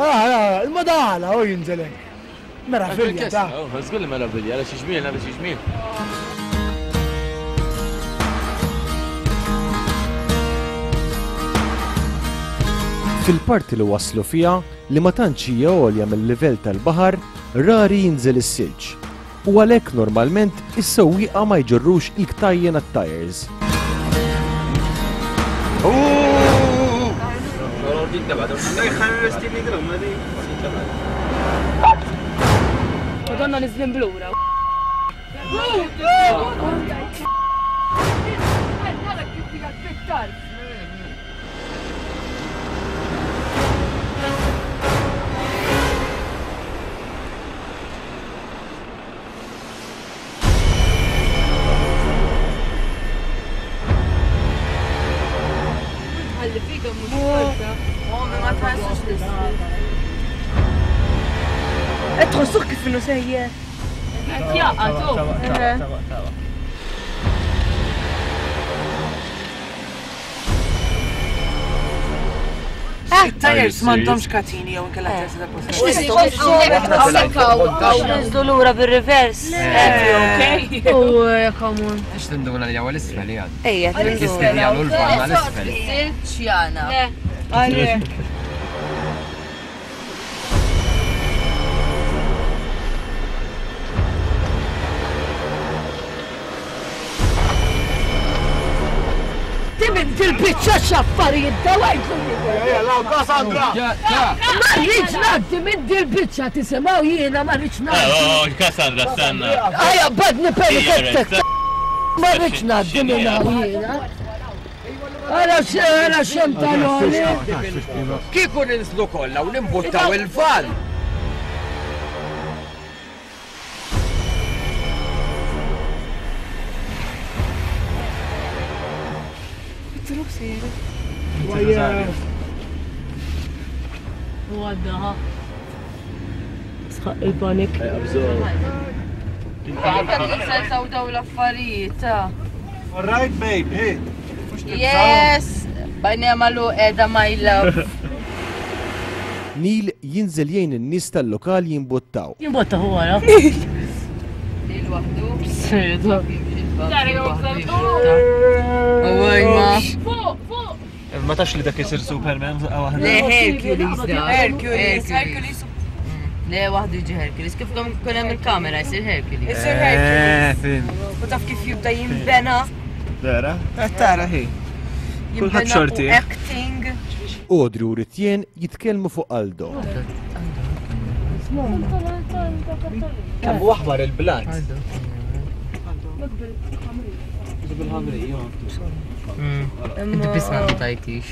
Ah, il-madala, u jinżelek. Meravilja, ta' Żgur li meravilja, għala xi ġmiel, għala xi ġmiel. Fil-parti li waslu fiha li ma tantx hija għolja mill-livell tal-baħar, rari jinżel is-silġ u għalhekk normalment is-sewwieqa ma jġorrux il-ktajjen għat-tires. Madonna niżlin blura. Tħossuh kif inhu sejjer. Qed jaqa' tu. It-tires m'għandhomx katini jew inkella tires ta' posta. Ninżlu lura bir-reverse. U come on. Għax tinduna li għal isfel jgħad. Ejja, Jistidjalu l-vanna l-isfel. Ċjana. Fil-bicċa xaffarijiet dawajtu. Ma rridx ngħaddi minn dil-bicċa tisimgħu jiena ma rridx ngħaddi. Oh, Cassandra, stanna. Ejja, badni penikettek. Ma rridx ngħaddi minn hawn jiena. Ara ara xem tal-oli. Kieku ninżlu kollha u nimbuttaw il-van. U għadda, sħaq il-panik. Għadda daw l-affarijiet, ta. All right, babe, hey. Yes, bajni għamalu edha my love. Neil jinżel jgħin in-nies tal-lokal jimbuttaw. Jimbottaw wara. Neil waħdu. Sejda. Fuq, fuq. Ma tafx li dak isir Superman waħda. Le Hercules da. Hercules, Hercules. Le waħdu jiġi Hercules. Kif kun hemm il-kamera jsir Hercules. Isir Hercules. U taf kif jibda jinbena. Vera? Qed tara hi. Kulħadd xorti. Acting. Audrey u Ritjen jitkellmu fuq Aldo. Kemm hu aħmar il-blat. Inti biss ma tajtix.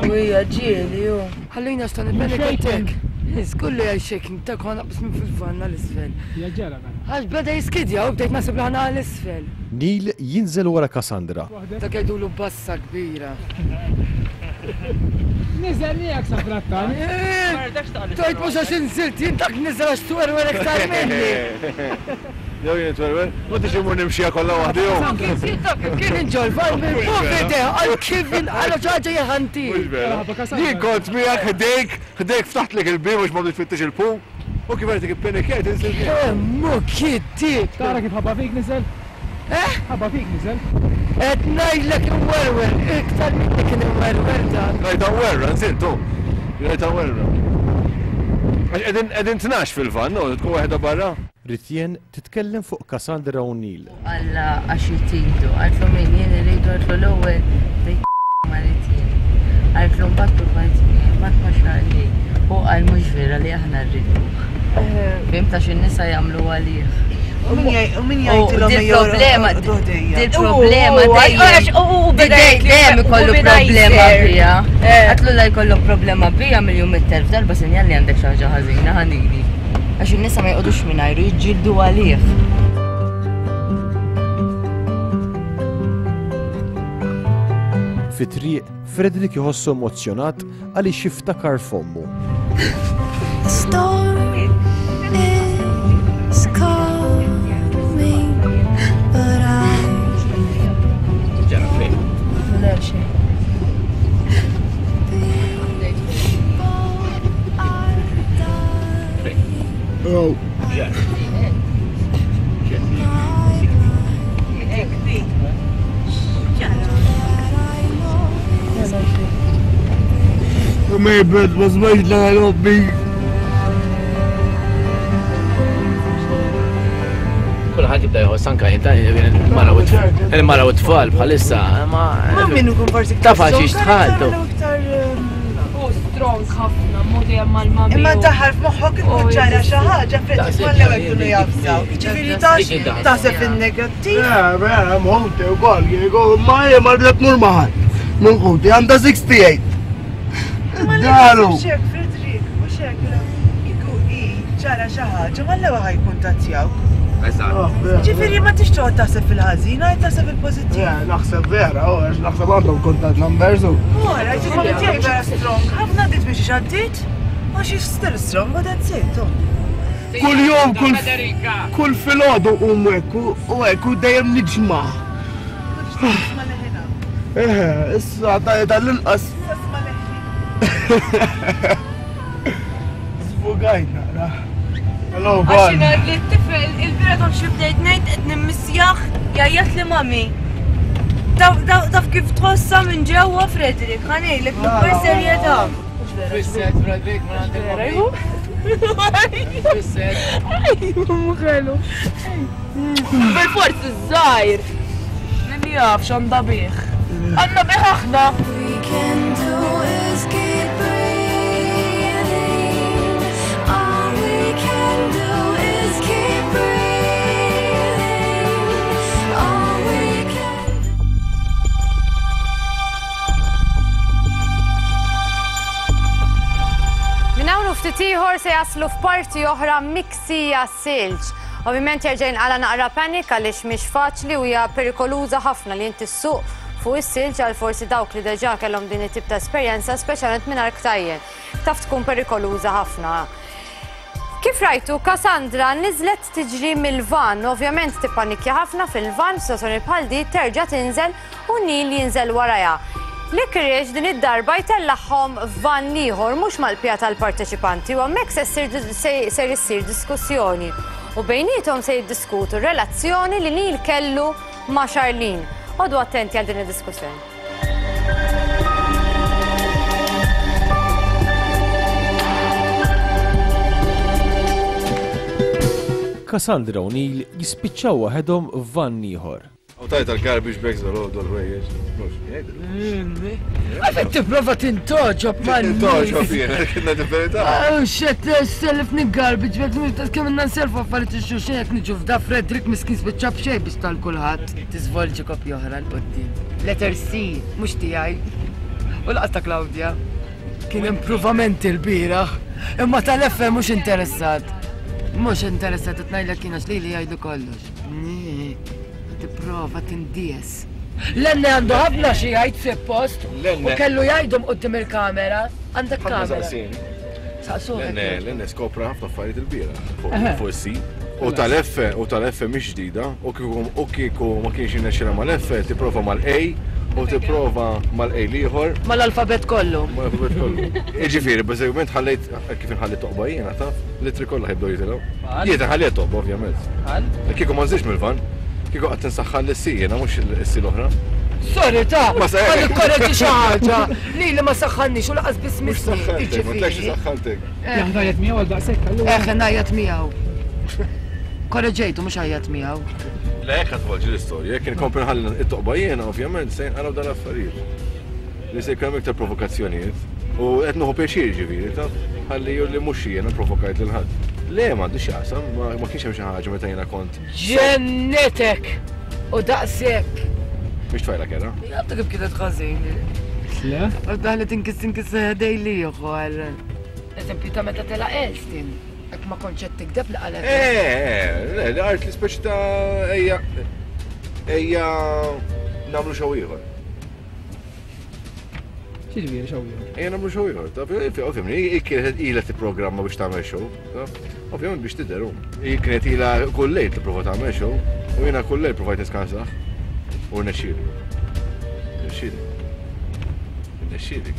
Ujja ġieli ju. Ħallina x'ta nibbenek. Kullu għal shaking ta' kon naqbis minn fil-vanna l-isfel. Għax beda jiskidja u bdejt nasib li ħana l-isfel. Neil jinżel wara Cassandra. Ta' jgħidulu bassa kbira. Niżel miegħek sa frattan. Tajt mhux għax inżilt, jien dak niżel għax twerwer iktar minni. Jew jien twerwer, ma tix imur nimxija kollha waħdi jew. Kien inġol, mill-pubblite, għal kif għal ċaġa jaħanti. Jien kont miegħek ħdejk, ħdejk ftaħtlek il-bib biex ma tfittix il-pu. U kif għedik il-penikiet inżil. Emmu kitti. Tara kif ħabba fik niżel? Eh? Ħabba fik niżel. Qed ngħidlek imwerwer, iktar minni kien imwerwer dan. Rajta werra, nżiltu. Rajta werra. Għax qegħdin tnax fil-van, no, tkun waħda barra. Ritjen titkellem fuq Cassandra u Neil. Alla għax jtidu, għaltlu min jien irridu għaltlu l-ewwel bejt ma Ritjen. Għaltlu mbagħad provajt miegħi, mbagħad ma xaqli. U qal mhux vera li aħna rriduh. Fim ta' x'in-nisa jagħmlu għalih. U min jgħidilhom Dil-problema, dil-problema dejjem. Dejjem ikollu problema bija. Għatlu la jkollu problema bija miljun mit-telf darba sinjal li għandek xi ħaġa ħażina ħanili. Għax in-nisa ma jqogħdux mingħajru jiġġieldu għalih. Fit-triq, Frederick jħossu emozjonat għaliex jiftakar f'ommu. Storm is coming, but I Oh. Mejbet, ma smajx l-għal ommi. Kulħadd jibda jħoss anke il-mara u t-tfal bħalissa, ma. Ma min ikun forsi Taf għal xiex tħaltu. U strong ħafna, modi mal-mami. Imma daħal f'moħħok ikun ġara xi ħaġa Fredrik mal-ewwel jkunu jafsaw. Jiġifieri tax taħseb fin-negattiv. Eh, vera, mħuti u kol, ma jie ma rridet mur maħat. Minn ħuti, għanda sixty-eight. Ma Daru. naħsibx hekk Fredrik, mhux hekk kieku hi ġara xi ħaġa mal-ewwel ħajkuntattjawk. Ġifieri ma tix toqgħod taħseb fil-ħażin, għid taħseb fil-pożittiv. Eh, naħseb vera, u għax naħseb għandhom contact numbers u. Ora, ġifieri tiegħi vera strong. Ħafna għaddit biex għaddit, għax she's still strong, but that's it. oh. Kull jum, kull kull filgħodu u hekk u hekk u dejjem niġma'. Eh, issa tal-inqas. Sfugajt naqra. Hello, Għax jina li t-tifel, il-bira taf xi bdejt ngħid qed nimmisjaħ jgħajjat li mami. Taf kif tħossa minn ġewwa Fredrik, ħa ngħidlek b'ikbar serjetà. Fisset, Fredrik, ma għandek Fisset. Mħelu. Bil-forsi żgħir. Min jaf x'għandha bih. Għandna bih aħna. We can do is keep breathing. All we can do is keep breathing. All we can Minn hawn u ftit ieħor se jaslu f'parti oħra miksija silġ. Ovvjament jerġa' jinqala naqra panik għaliex mhix faċli u hija perikoluża ħafna li inti ssuq fuq is-silġ għal forsi dawk li deġà kellhom din it-tip ta' esperjenza, speċjalment mingħajr ktajjen. Taf tkun perikoluża ħafna. Kif rajtu, Cassandra niżlet tiġri mill-van, ovvjament tippanikja ħafna fil-van, f'sitwazzjoni bħal di terġa' tinżel u Neil jinżel warajha. Licorice din id-darba jtellagħhom f'van ieħor mhux mal-pija tal-parteċipanti u hemmhekk se ssir ser issir diskussjoni. U bejniethom se jiddiskutu r-relazzjoni li Neil kellu ma' Charlene. Oqogħdu attenti għal din id-diskussjoni. Cassandra u Neil jispiċċaw waħedhom f'van ieħor. U tajt għal-garbage bags dal-għodu l-ħwejjeġ. Għafet tipprova tintoġob ma' Tintoġob jiena, kienna di-verità. Oh shit, sellifni garbage bag, mux tas kemm inna nselfu affarijiet ix-xulxin jekk niġu f'da Fredrik miskin spiċċa b'xejn biex tal kulħadd. Tiżvolġi kopja oħra 'l quddiem. Letter C, mhux tiegħi. U laqas ta' Claudia. Kien improvamenti l-bieraħ, imma tal-F mhux interessat. Mhux interessat qed ngħidlek kien għax lili jgħidu kollox. Tipprova tindies. Lenne għandu ħafna xi jgħid suppost u Lenne. kellu jgħidhom quddiem il-kamera. Għandek Ħafna kamera. saqsini. Saqsuh. Lenne, Lenne skopra ħafna affarijiet il-bira Eħe. fuq is-si. U tal-F, u tal-F mhix ġdida, u kieku u kieku ma kienx jirnexxilha mal-F, tipprova mal-A u tipprova mal-A l-ieħor. Mal-alfabet kollu. Mal-alfabet kollu. Jiġifieri, bażikament ħallejt kif inħalli toqba jiena taf, litri kollha ħibdew jitilgħu. Jiena ħallejt toqba ovvjament. Kieku ma nżilx mill-van, kieku qatt insaħħan lis-si jiena mhux is-si l-oħra. Sorry ta' Ma sa- ma nikkorreġi xi ħaġa. Lili ma saħħanniex u laqas biss misni. Saħħantek, ma tlekx saħħantek. Jaħdajat miegħu għal daqshekk allura. Eħe ngħajjat miegħu. Korreġejtu mhux għajjat miegħu. Le hekk ħatvolġi l-istorja, jekk inkompli nħalli it-toqba jiena ovvjament se jinqaraw dan l-affarijiet. Li se jkun hemm iktar provokazzjonijiet. U qed nieħu pjaċir ġifieri, taf, ħalli jur li mhux jiena provokajt lil ħadd. Le m'għandix x'jaqsam, ma ma kienx hemm xi ħaġa meta jiena kont Ġennetek! U daqshekk. mhix tfajla kera. Jgħabta kif kienet ħażin. Le? U daħlet inkis inkis dejli ieħor. Eżempju ta' meta tela' Elstin. Hekk ma kontx qed tikdeb li qalet. Eh, le, li qalt li speċi ta' ejja ejja nagħmlu xew ieħor. X'jiġifieri xew ieħor? Ejja nagħmlu xew ieħor, taf, ovvjament, hi kienet ilha tipprogramma biex tagħmel show, taf? Ovvjament biex tidher hu. Hi kienet ilha kull lejl tipprova tagħmel show u jiena kull lejl provajt niskansah. U rnexxieli. Rnexxieli. Rnexxieli.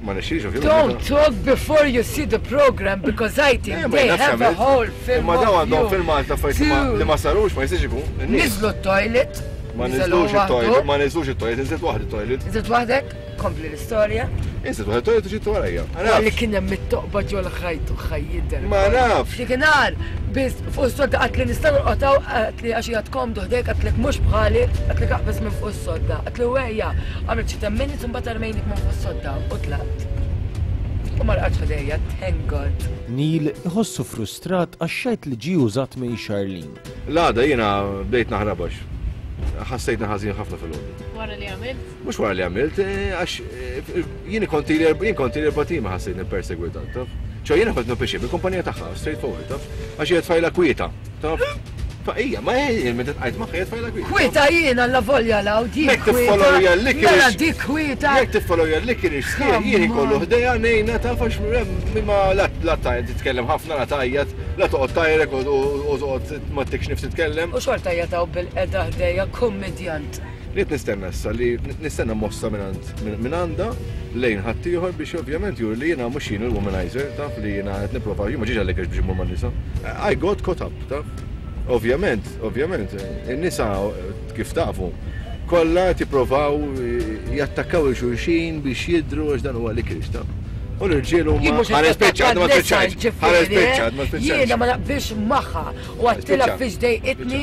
Ma rnexxielix ovvjament. Don't talk before you see the program because I think Eh, ma they jnafx have a għamilt. whole film Imma daw of għandhom you. filmat ta' affarijiet li ma- li ma sarux ma jistax ikun. Niżlu t-toilet. Ma niżlux it-toilet, ma niżlux it-toilet, inżilt waħdi it-toilet. Inżilt waħdek? Kompli l-istorja. Inżilt waħdi it-toilet u ġiet warajja. Li kien hemm it-toqba ġol ħajt u ħajjidher. Ma nafx. Dik biss fuq is-sodda qatt li nista' norqotaw qatt li għax qiegħed komdu ħdejk qatt lek mhux bħali qatt lek aqbeż minn fuq is-sodda. Qatt li wejja għamilt xi ten minutes u mbagħad armejnik minn fuq is-sodda u tlaqt. U ma rqadx ħdejja, thank God. Neil iħossu frustrat għax-xejt li ġie użat minn Charlene. L-għada jiena bdejt naħrabax. Ħassejtni ħażin ħafna fil-għodu. Wara li għamilt? Mhux wara li għamilt, għax jien kont ili jien kont ili erba' tim ħassejtni persegwitat, taf? ċo jiena kont nopixi bil-kumpanija tagħha, straightforward, taf? Għax hija tfajla kwieta, taf? Fa hija, ma hija meta tqajt magħha hija tfajla kwieta. Kwieta jiena la volja law dik Jekk tiffollowja l-licorice. Mela dik kwieta. Jekk tiffollowja l-licorice, jien ikollu ħdejja ngħinha taf għax ma la tajjed titkellem ħafna, la tajjed, la toqgħod tajrek u toqgħod ma tikx nifs titkellem. U xorta jataw bil-qeda ħdejja kummedjant. Li qed nistenna issa li nistenna mossa minn għandha lejn ħaddieħor biex ovvjament juri li jiena mhux jien il-womanizer, taf li jiena qed nipprova jien ma ġiex għal-licorice biex immur man-nisa. I got caught up, taf. Ovvjament, ovvjament, in-nisa kif tafu, kollha tipprovaw jattakkaw il-xulxin biex jidru għax dan huwa licorice, taf. U l-irġiel huma ħa nispiċċa, ma spiċċajtx, ħa nispiċċa, ma spiċċajtx. Jiena ma naqbilx magħha u għattilha fiex dejqitni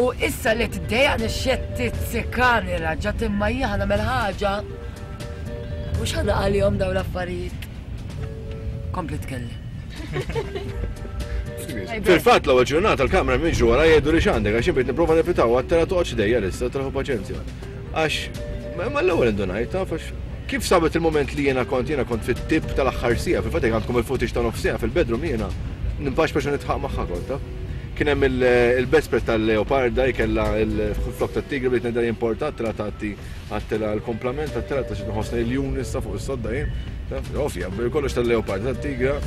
u issa li tdejjaqni xetti tsikani raġa' imma jien nagħmel ħaġa. Mhux ħa għalihom dawn l-affarijiet. Kompli tkellem. Fil-fatt l-ewwel ġurnata l-kamra minn ġu wara jgħidu li x'għandek għax jien bdejt nipprova nevitaw għattela toqgħodx dejja issa traħu paċenzja. Għax ma l-ewwel indunajt taf għax kif sabet il-moment li jiena kont jiena kont fit-tip tal-aħħar siegħa, fil-fatt jekk għandkom il-footage ta' nofs siegħa fil-bedroom jiena nimpax biex nitħaq magħha kont taf. Kien hemm il-bedspread tal-leoparda jkella il-flok tat-tigri bdejt ngħidha importat tela tagħti għattela l-komplament għattela ta' xi nħossni l-jun issa fuq is-sodda jien. Taf, ovvja, kollox tal-leoparda tat-tigra.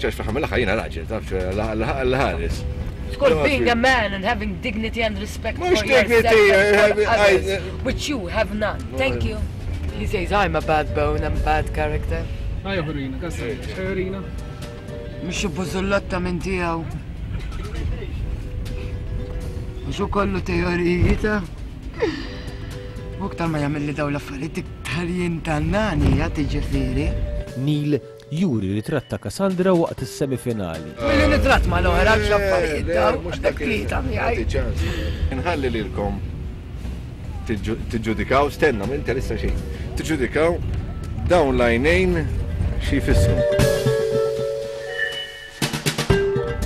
ċax fl-aħħar mill-aħħar jiena raġel, taf, l-ħares. It's called being a man and having dignity and respect for Mhux yourself dignity, and for I- I- others, which you have none. Thank you. He says I'm a bad bone, I'm a bad character. Ħajja ħurina, Cassandra, ħurina. Mhux bużullotta minn tiegħu. Mhux kollu teoriji ta' U aktar ma jagħmel li dawn l-affarijiet iktar jintannani ja tiġifieri. Neil juri ritratt ta' Cassandra waqt is-semifinali. Milli nitratt ma l-oħra x'affarijiet dawn, mhux dak tlieta miegħi. Nħalli lilkom tiġġudikaw, stenna, ma interessa xejn. Tiġġudikaw dawn l-għajnejn xi jfissru.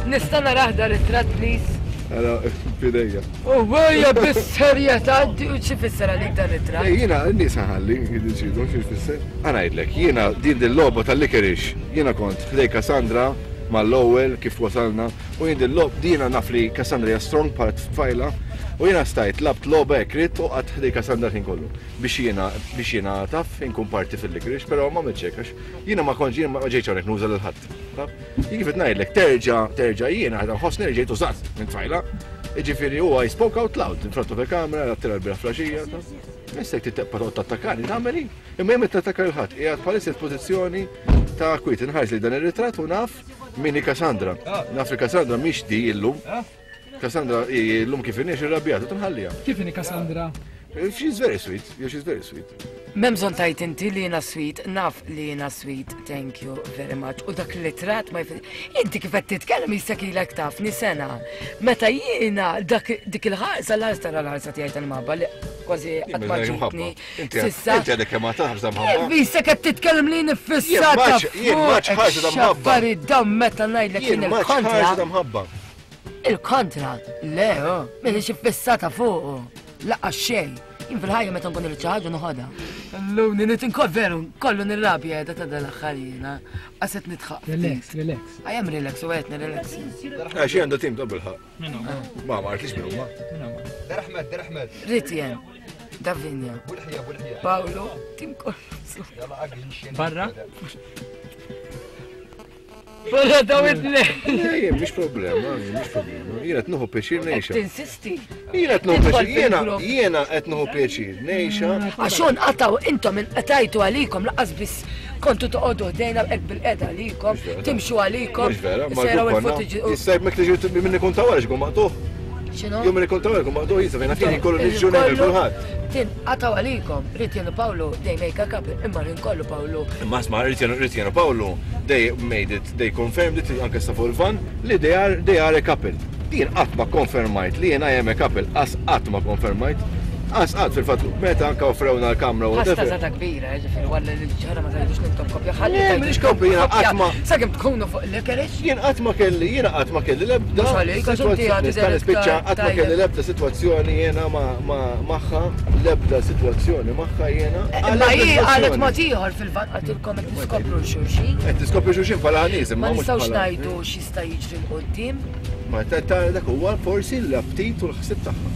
Nista' narah da ritratt please? Ara, fidejja. U wejja bis-serjetà u xi fisser għalik dan ritratt? Eh, Jiena n-nies ħalli jiddeċidu xi jfisser. Ħa ngħidlek, jiena din dil-logħba tal-licorice, jiena kont ħdej Cassandra mal-ewwel kif wasalna u jien dil-logħba dina naf li Cassandra hija strong bħala tfajla u jiena stajt labt logħba hekk ridt u qatt ħdej Cassandra ħin kollu biex jiena biex jiena taf inkun parti fil-licorice, però ma għamiltx hekk għax jiena ma kontx jiena ma ġejtx hawnhekk nuża lil ħadd. Taf? Jien kif qed ngħidlek terġa' terġa' jiena ħa nħossni li ġejt użat minn tfajla. Jiġifieri huwa I spoke out loud in front of the camera, għattila l-bieraħ filgħaxija, taf? Missek titteqpa toqgħod tattakani, tagħmel hi. Imma jien tattakka lil ħadd, qiegħed bħalissa f'pożizzjoni ta' kwiet inħares li dan ir-ritratt u naf min hi Cassandra. Naf li Cassandra mhix di illum. Cassandra illum kif inhi irrabjata tinħallija. Kif inhi Cassandra? She's very sweet, yeah, she's very sweet. M'hemm bżonn tajt inti li jiena sweet, naf li jiena sweet, thank you very much. U dak li trat ma jfid. Inti kif qed titkellem jisek ilek tafni sena. Meta jiena dak dik il-ħarsa l-ħarsa tara l-ħarsa tiegħi tal-mabba li kważi qatt ma ġitni. Sissa. Inti għadek kemm għad ħarsa mħabba. Kif jisek qed titkellem li nifissata Jien maċ- jien maċ ħarsa ta' mħabba. Xaffari dam meta ngħidlek Jien jien maċ il-kontra. ħarsa ta' mħabba. Il-kontra, le, oh, minix iffissata fuqu. Laqqa xejn. Jien fil-ħajja meta nkun irrid xi ħaġa noħodha. Illum nit inkol veru, kollu nirrabja qiegħda ta' dal-aħħar jiena. Qaset nitħaq. Relax, relax. I am relax u qed nirrelax. Għax għandu tim ta' bilħaq. Ma ma għartlix minn huma. Der Ahmed, Der Ahmed. Ritjen, Davinja, Paolo, tim kollu. Barra? Barra daw it-tnejn. Ejja, mhix problema, mhix problema. Jiena qed nieħu pjaċir ngħixha. Tinsisti. Jiena qed nieħu pjaċir, jiena jiena qed nieħu pjaċir ngħixha. Għax hawn qataw intom inqatajtu għalikom laqas biss kontu toqgħodu ħdejna hekk bil-qeda għalikom, timxu għalikom. Mhux vera, ma sejraw l-grupp konna. il-footage. Issa jekk tiġi minni kun ta' wara x'ikun maqtuħ. X'inhu? Jum li kont għalkom maqdu jisa fejn fini kollu niġu ngħidu kulħadd. Tin qataw għalikom, Ritian u Pawlu they make a couple, imma rin kollu Pawlu. Imma sma Ritian Ritian u Pawlu they made it, they confirmed it anke sa fuq il-van li they are they are a couple. Jien qatt ma konfermajt li jien I am a couple, qas qatt ma konfermajt. Qas qatt fil-fatt meta anke offrewna l-kamra u Ħasta zata kbira, ġifieri walla li ġara ma tgħidux intom kopja ħalli. Le, m'iniex kopja, jiena qatt ma- Sakemm tkunu fuq l-licorice. Jien qatt ma kelli, jiena qatt ma kelli l-ebda. Mhux għalik, għax inti għad Nista' nispiċċa qatt ma kelli l-ebda sitwazzjoni jiena ma- ma- magħha, l-ebda sitwazzjoni magħha jiena. Imma hi qalet mod ieħor fil-van qaltilkom qed niskopru l-xulxin. Qed tiskopri xulxin bħala nies, Ma imma mhux nistgħux bħala. ngħidu x'jista' jiġri 'l quddiem. Ma ta' ta' dak huwa forsi l-aptit u l-ħsieb tagħha.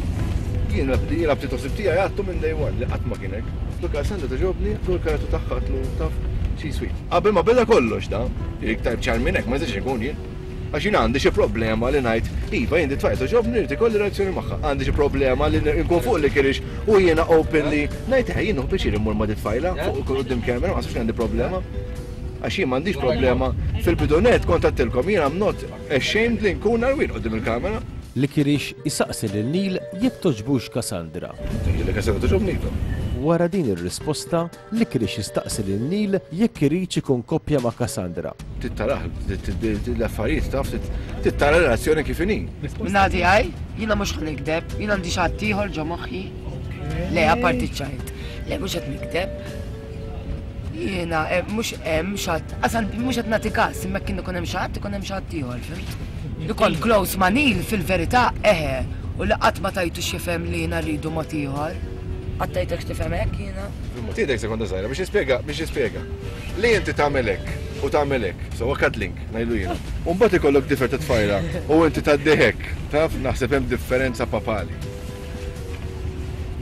Jien l-aptit u l-ħsieb tiegħi għadtu minn day one li qatt ma kien hekk. Luka Sandra togħġobni, tu l-karattru tagħha għatlu taf xi sweet. Qabel ma beda kollox da, iktar ċar minn hekk ma nistax ikun jien. Għax jien għandi xi problema li ngħid, iva jien di tfajla togħġobni rrid ikolli relazzjoni magħha. Għandi xi problema li nkun fuq li kirix u jiena openly ngħid eh jien nieħu pjaċir immur ma' di tfajla fuq quddiem kamera, ma naħsibx li għandi problema. Għax jien m'għandix problema fil-bidunet kont għedtilkom jien I'm not ashamed li nkun għarwien quddiem il-kamera. Licorice isaqsi lil Neil jekk toġbux Cassandra. Li Cassandra toġobni iva. Wara din ir-risposta, Licorice jistaqsi lil Neil jekk irid ikun koppja ma' Cassandra. Tittarah l-affarijiet taf, tittara relazzjoni kif inhi. Minnati għaj, jiena mhux ħa nikdeb, jiena għandi xi ħadd ieħor ġo moħħi. Le, apparti ċajt. Le, mhux qed nikdeb. Jiena eh, mhux hemm xi ħadd, asal mhux qed nagħti każ, imma kien ikun hemm xi ħadd, ikun hemm xi ħadd ieħor, fhimt? Li kont close ma' Neil fil-verità eħe, u li qatt ma tajtu x'jifhem li jiena rridu mod ieħor. Qatt tajtek x'tifhem hekk jiena? Tidek sekonda żgħira biex jispjega, biex jispjega. Li inti tagħmel hekk u tagħmel hekk, so cuddling ngħidu jiena. U mbagħad ikollok difer ta' tfajla u inti tgħaddi hekk, taf naħseb hemm differenza papali.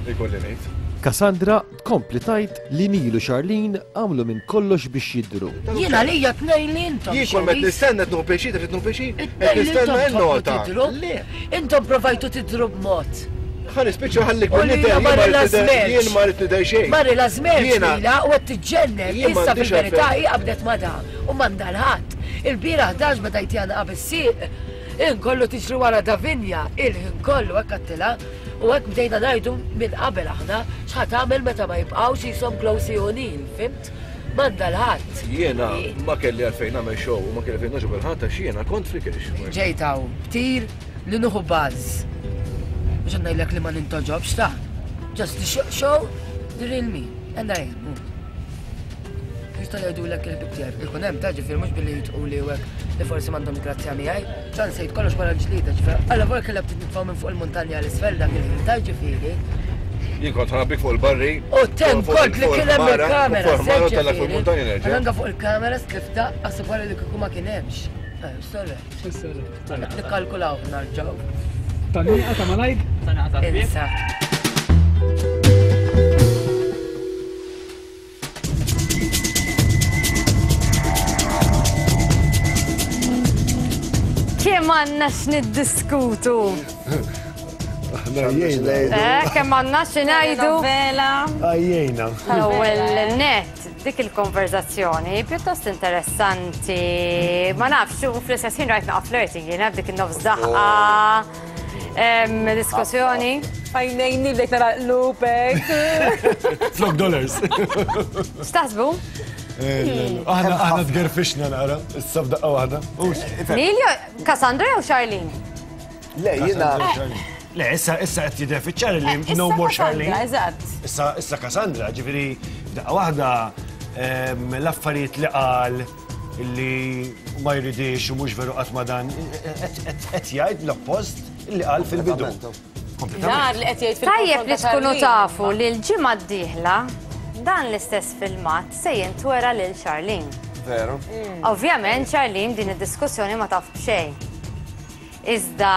Ikolli ngħid. Cassandra tkompli tgħid li Neil u Charlene għamlu minn kollox biex jidru. Jiena lija tnejn li intom. Jien kol met nistenna qed nieħu pjaċir, qed nieħu pjaċir, qed nistenna n-nota. Intom provajtu tidru b'mod. Ħa nispiċċa ħallik U li nidher, ma jien ma rrid nidher- rilażmerx. jien ma rrid nidher xejn. Ma rilażmerx Jiena- lila u qed tiġġennel. Jien Issa m'għandix fil-verità għalfejn. hi qabdet ma da u m'għandha l-ħadd. Il-bieraħ dax beda jtjana qabel sieq. Inkollu tiġri wara Davinja, il-ħin kollu hekk għattilha u hekk bdejna ngħidu minn qabel aħna x'ħa tagħmel meta ma jibqgħux jisom close u Neil, fhimt? M'għandha l-ħadd. Jiena ma kelli għalfejn nagħmel show u ma kelli għalfejn nogħġob il-ħadd għax jiena kont flikirix. Ġejt hawn btir li nieħu buzz. Mhux qed ngħidlek li ma nintoġobx ta'. Just to show the real me. And I am. Jistgħu jgħidulek il-ħbib tiegħek. Ikun hemm ta' ġifier mhux billi jitquli u hekk li forsi m'għandhom grazzja miegħi. Ċan sejt kollox wara l-ġlieda ġifier. Alla volja kellha bdiet nitfgħu minn fuq il-muntanja l isfel dak il-ħin ta' ġifieri. Jien kont ħanabbik fuq il-barri. U tem kont li kien hemm il-kamera. Fuq il-ħmara tella fuq il-muntanja nerġa'. Anka fuq il-kamera stlifta għasib wara li kieku ma kien hemmx. Eh, sorry. Nikkalkulaw narġgħu. Tanniqa ta' malajr? Insa. Kemm għandna x'niddiskutu? Aħna għajjejna. Eh, kemm għandna x'ngħidu? Għajjejna. L-ewwel net dik il-konverzazzjoni pjuttost interessanti. Ma nafx, u fl-istess ħin rajt naqa' flirting jiena b'dik in-nofs daħqa. Em, Diskussjoni. Għajnejni bdejt nara lupek. Flok dollars. X'taħsbu? Aħna aħna tgerfixna naqra, issa f'daqqa waħda. Neil jew Cassandra jew Charlene? Le, jiena. Le, issa issa qed jidher fiċ-ċar li no more Charlene. Eżatt. Issa issa Cassandra, ġifieri f'daqqa waħda em, l-affarijiet li qal li ma jridix u mhux veru qatt ma dan qed jgħid l-oppost li qal fil-bidu. Dar li qed jgħid fil Tajjeb li tkunu tafu li l-ġimgħa d-dieħla dan l-istess filmat se jintwera lil Charlene. Veru. Ovvjament Charlene din id-diskussjoni ma taf b'xejn. Iżda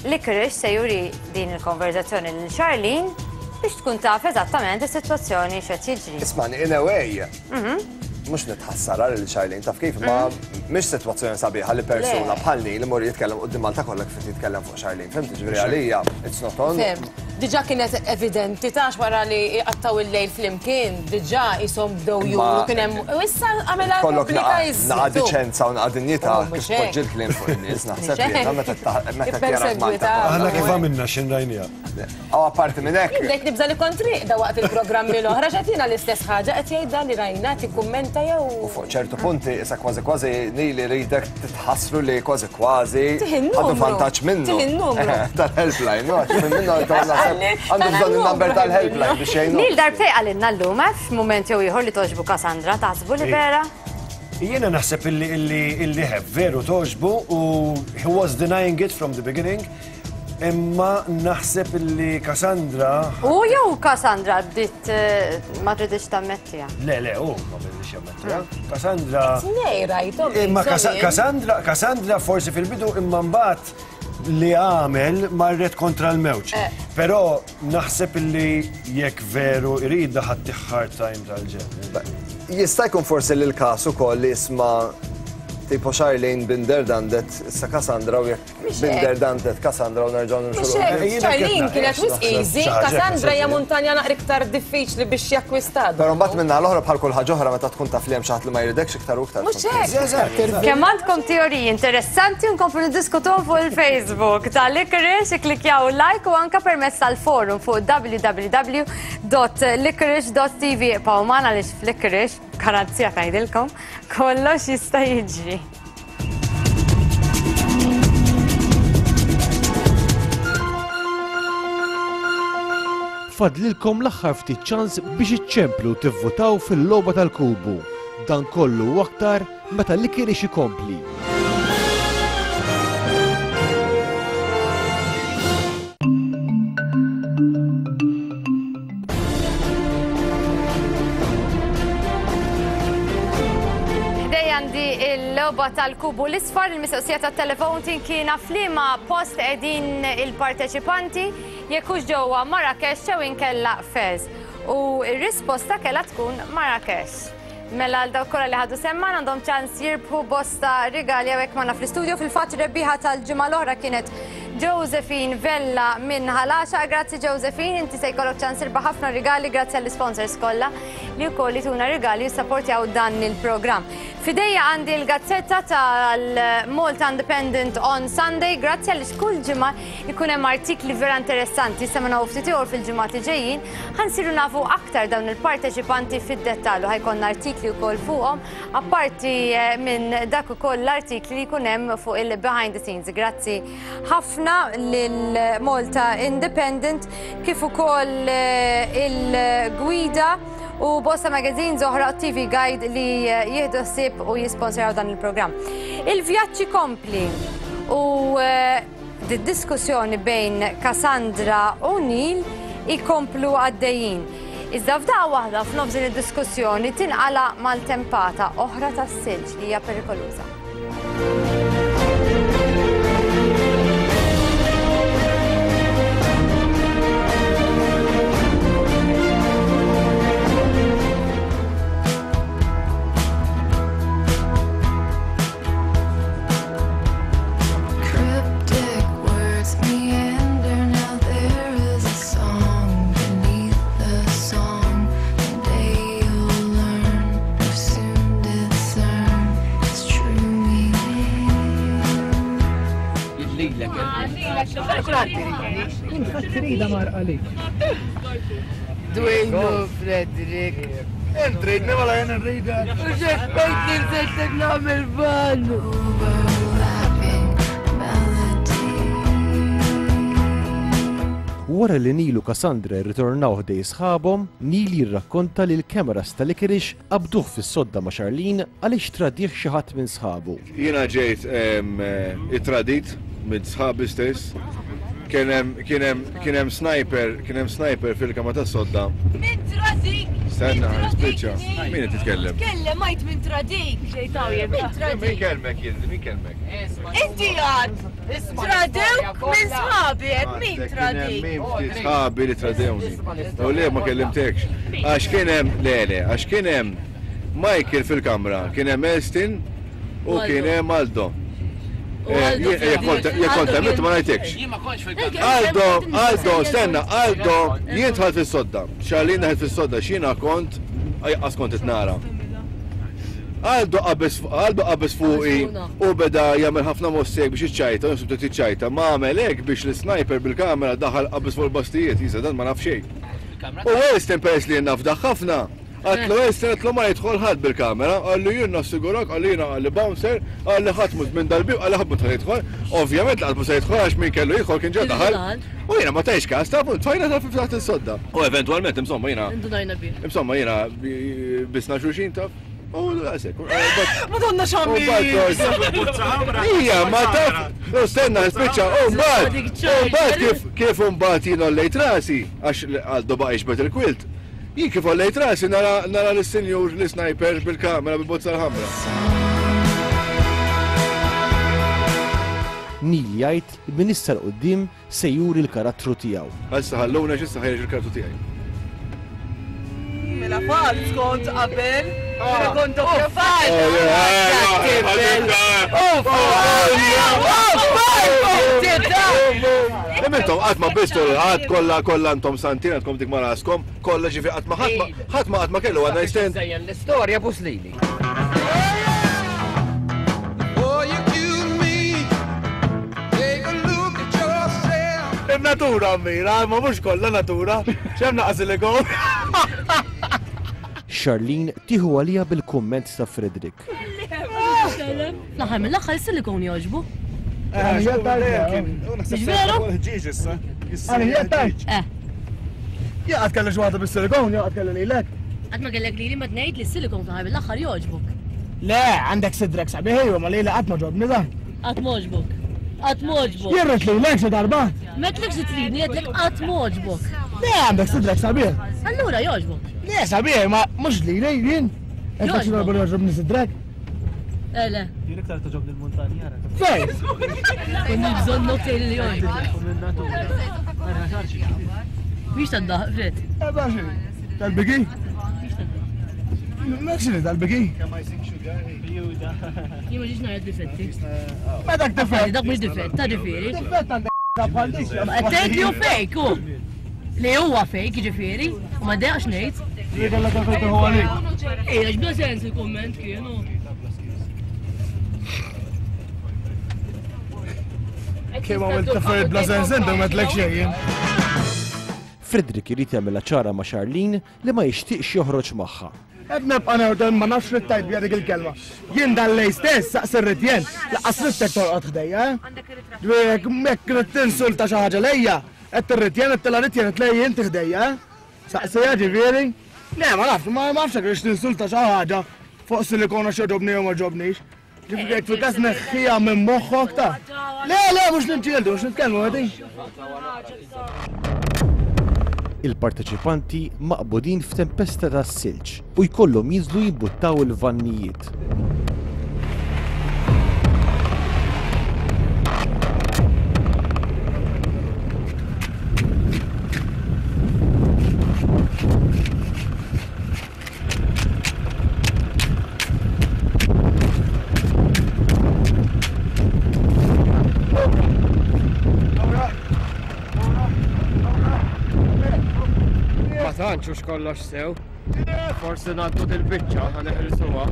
Licorice se juri din il-konverzazzjoni lil Charlene biex tkun taf eżattament is-sitwazzjoni x'qed jiġri. Ismani, in a way, Mhm. mhux nitħassara lil Charlene, taf kif, ma mhix sitwazzjoni sabiħa li persuna Le. bħalni li mur jitkellem quddiem Malta kollha kif jitkellem fuq Charlene. Fhimt, ġifieri għalija, it's not on. Fhimt. Diġà kienet evidenti tax wara li qattaw il-lejl flimkien, diġà qishom bdew juru kien hemm u issa għamilha pubblika iżżid. Naqa' diċenza u naqa' dinjità kif tpoġġi l-kliem fuq in-nies, naħseb jiena meta meta tjara Malta. Aħna kif għamilna x'in rajniha. Aw apparti minn hekk. Bdejt nibża' li kont rieqda waqt il-programmi l-oħra x'qed jiena l-istess ħaġa qed jgħidha li rajna tikkummenta jew. U fuq ċertu punti issa kważi kważi Nili rridek titħassru li kważi kważi għandu vantaġġ minnu. Tal-helpline, no, minnu għandu bżonn il-number tal-helpline biex jgħinu. Nil darbtej għalinna llum, f'mument jew ieħor li toġbu Cassandra, taħsbu li vera? Jiena naħseb illi illi veru toġbu u he was denying it from the beginning. Imma naħseb illi Cassandra. U jew Cassandra bdiet ma tridx tammettija. Le, le, u ma bditx jammettija. Cassandra. Tnej rajthom. Imma Cassandra, Cassandra forsi fil-bidu imma mbagħad li għamel marret kontra l-mewġ. Però naħseb illi jekk veru irida ħadd hard time tal-ġen. Jista' jkun forsi li l-każ ukoll li jisma' tipo Charlene Binder dandet issa Cassandra u jekk Binder dandet Cassandra u nerġgħu nimxu. Charlene kienet wisq easy, Cassandra hija muntanja naqra iktar diffiċli biex jakkwistad. Però mbagħad minna l-oħra bħal kull ħaġa oħra meta tkun taf li hemm xi ħadd li ma jridekx iktar u iktar. Mhux hekk. Kemm għandkom teoriji interessanti u nkomplu niddiskutuhom fuq il-Facebook tal-Licorice, ikklikjaw like u anke permezz tal-forum fuq w w w dot licorice dot t v. Ibqgħu magħna għaliex f'Licorice, garanzija tgħidilkom, kollox jista' jiġri. Fadlilkom l-aħħar ftit ċans biex iċċemplu tivvutaw fil-logħba tal-kubu. Dan kollu u aktar meta Licorice ikompli. Għandi il-logħba tal-kubu l-isfar, il-mistoqsija tat-telefon tinkina f'liema post qegħdin il-parteċipanti jekk hux ġewwa Marrakesh jew inkella Fez. U r-risposta kellha tkun Marrakesh. Mela għal dawk kollha li ħadu semman għandhom ċans jirbħu bosta rigali hawnhekk magħna fl-istudio. Fil-fatt rebbieħa tal-ġimgħa l-oħra kienet Josephine Vella minn Ħal-Għaxaq. Grazzi Josephine, inti se jkollok ċans tirbaħ ħafna rigali grazzi għall-sponsors kollha li wkoll jtuna rigali jissapportjaw dan il-programm. Fidejja għandi l-gazzetta tal-Malta Independent on Sunday, grazzi għaliex kull ġimgħa jkun hemm artikli vera interessanti, issa ma nafu ftit ieħor fil-ġimgħat li ġejjin, ħansiru nafu aktar dawn il-parteċipanti fid-dettall u ħajkonna artikli wkoll fuqhom, apparti minn dak ukoll l-artikli li jkun hemm fuq il-behind the scenes. Grazzi ħafna lil Malta Independent kif ukoll il-gwida u bosta magazines oħra T V Guide li jieħdu ħsieb u jisponsoraw dan il-programm. Il-vjaġġi kompli u d-diskussjoni bejn Cassandra u Neil ikomplu għaddejjin. Iżda f'daqqa waħda f'nofs din id-diskussjoni tinqala maltempata oħra tas-silġ li hija perikoluża. Dwejnu, Frederick. Intridni wala jien nridek. U xekkajt li nżejtek nagħmel vann. Wara li Neil u Cassandra rritornaw ħdej sħabhom, Neil jirrakkonta li l-kameras tal-Licorice qabduh fis-sodda ma' Charlene għaliex tradih xi ħadd minn sħabu. Jiena ġejt ittradit minn sħabi stess. Kien hemm sniper, kien hemm sniper fil-kamra tas-sodda. Min tradik? Stenna, nispiċċa. Min qed titkellem? Tkellem għajt min tradik. Min tradik? Min kellmek jien, min kellmek? Inti għad. Tradewk minn sħabi, qed min tradik? Min ftit sħabi li tradewni. U le ma kellimtekx. Għax kien hemm, le le, għax kien hemm Michael fil-kamra, kien hemm Elston u kien hemm Aldo. Jekk kont hemm ma ngħidlekx. Aldo, Aldo, stenna, Aldo, jien dħalt fis-sodda. Charlene daħlet fis-sodda, x'jiena kont għas kont itnara. Aldo qabeż Aldo qabeż fuqi u beda jagħmel ħafna mossek biex iċċajta, u bdiet iċċajta. Ma għamel hekk biex l-sniper bil-kamera daħal qabeż fuq il-bastijiet, jisa dan ma naf xejn. U Weston peress li jien nafdaħ ħafna, għatlu Weston għatlu ma jidħol ħadd bil-kamera, qallu jien nassigurak, qalli jiena qalli bouncer, qalli ħadd mhux minn dal-bib, qalli ħadd mhux jidħol. Ovvjament laqas mhux se jidħol għax min kellu jidħol kien ġa daħal. U jiena ma tajx każ, ta' tfajna ta' taħt is-sodda. U eventwalment insomma jiena Indunajna bih. Insomma jiena bisna xulxin taf. U daqshekk. Madonna xammi! Ija, ma taf, no stenna, spiċċa, u mbagħad, u mbagħad kif kif mbagħad jien ollejt rasi, għax Aldo baqa' jixbet il-kwilt. Jien kif ollejt rasi nara nara lis-sinjur l-sniper bil-kamera bil-bozza l-ħamra. Neil jgħid li minn issa 'l quddiem se juri l-karattru tiegħu. Issa ħalluna x'issa ħejjeġ il-karattru tiegħi. Mela falz kont qabel, mela kont doppja falz. Intom qatt ma bistu qatt kollha kollha intom santin għandkom dik ma raskom, kollha ġifi qatt ma ħadd ma ħadd ma qatt ma kellu għandna stand. Żejjen l-istorja buslili. Il-natura mira, ma mhux kollha natura, x'hemm naqas silikon. Charlene tieħu għalija bil-kumment ta' Frederick. L-aħħar mill-aħħar is-silikon jogħġbu. Mhux veru? Eh. Jien qatt kelli xi waħda bis-silikon, jew qatt kelli lilek. Qatt ma kellek lili ma tgħid li s-silikon fl-aħħar mill-aħħar jogħġbuk. Le, għandek sidrek sabiħ ejwa, ma lili qatt ma ġobni dan. Qatt m'għoġbok. Qatt m'għoġbok. Jien rrid lilek xi darba. M'għedtlekx li tridni, għedtlek qatt m'għoġbok. Le, għandek sidrek sabiħ. Allura jogħġbok. Le, sabiħ, ma mhux lili jien. Għedtlek xi darba li jogħġobni sidrek. Eh, le. Jien iktar toġobni l-muntanja. Fejn? Konni bżonn nokej li jogħġbok. Mhix tad-daħq, Fred. Eh, baxi. Tal-biki? M'hekx li tal-biki? Jien ma ġiex nara difetti. Ma dak difett. Dak mhux difett, ta' ġifieri. Difett għandek bħal dik. Ma qed tgħid li hu fake hu. Li huwa fake, jiġifieri, u ma dejaqx ngħid. Li kellek għalfejn tieħu għalik. Ejja, x'bla sens il-kumment kienu. Kemm għamilt affarijiet bla sens inti ma tlek xejn jien. Frederick irid jagħmilha ċara ma' Charlene li ma jixtieqx joħroġ magħha. Qed nibqa' newden ma nafx li tajt bija dik il-kelma. Jien dan lej stess saqs irrid jien, laqas ridtek torqod ħdejja, eh? Ġifieri jekk trid tinsulta xi ħaġa lejja, qed tirrid jien, qed tilha rid jien, qed lej inti ħdejja, eh? Saqsija ġifieri? Le, ma nafx, ma nafx jekk rridx tinsulta xi ħaġa fuq silikona x'jogħġobni jew ma jogħġobnix. Ġifieri jekk fil-każ neħħiha minn moħħok ta'. Le, le, mhux niġġieldu, mhux nitkellmu għadi. Il-parteċipanti maqbudin f'tempesta ta' silġ u jkollhom jinżlu jimbuttaw il-vannijiet. Ma tantx hux kollox sew. Forsi ngħaddu dil-biċċa ħa neħilsuha.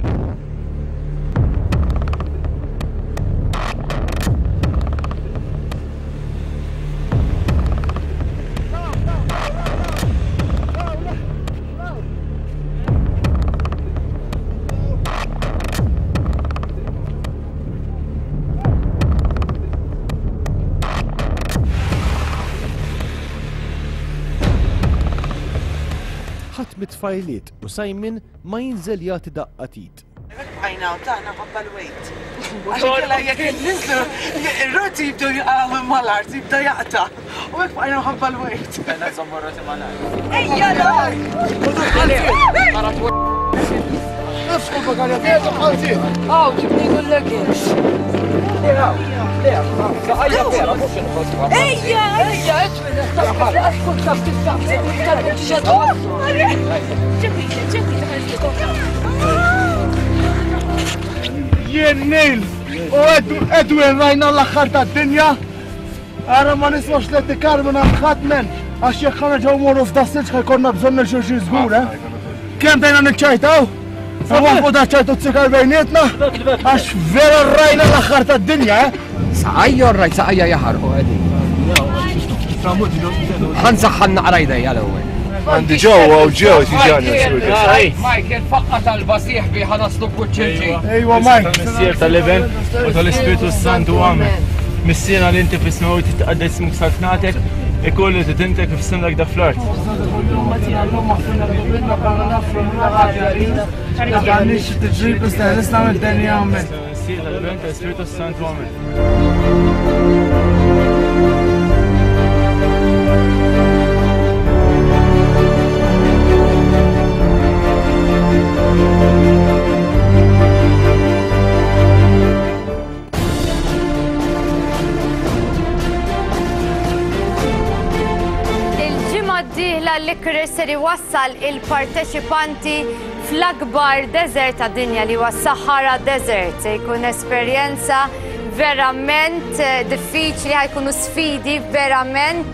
Ħadd mit-tfajliet u Simon ma jinżel jagħti daqqa tit. Bqajna u taħna ħabba l-wejt. Għax inkella jekk ninżlu, ir-roti jibdew jaqgħu minn mal-art, jibda jaqta'. U hekk bqajna ħabba l-wejt. Għandna nżommu r-roti mal-art. Ejja l-art! Nafx kull bagalja tiegħek bħal tiegħek. Aw, ġibni l-leggings. Ejja, ejja, Ġemila, ġemila, Jien Neil u Edwin rajna l-aħħar tad-dinja. Ara ma nismax li tikar minn ħadd men għax jekk ħa nerġgħu mmorru f'das-silġ ħa jkollna bżonn lil xulxin żgur, eh? Kemm bdejna niċċajtaw? Waqfu da ċajtu t-sikar bejnietna? Għax vera rajna l-aħħar tad-dinja, eh? Saqajja rajt saqajja jaħarqu qegħdin. Ħa nsaħħan naqra jdejja l-ewwel. Għandi ġewwa u ġew tiġani. Michael, faqqa tal-basieħ bi ħa naslu b'kuċċinġi. Ejwa Mike. Missier tal-Iben u tal-Ispirtu Santu Amen. Missierna li inti fis-smewwiet titqaddes ismuk saltnatek, ikun li titintek kif simlek da fl-art. Missier tal-Iben tal-Ispirtu Santu Amen. Il-ġimgħa d-dieħla Licorice ser iwassal il-parteċipanti fl-akbar desert tad-dinja li huwa Sahara Desert. Se jkun esperjenza verament diffiċli, ħa jkunu sfidi verament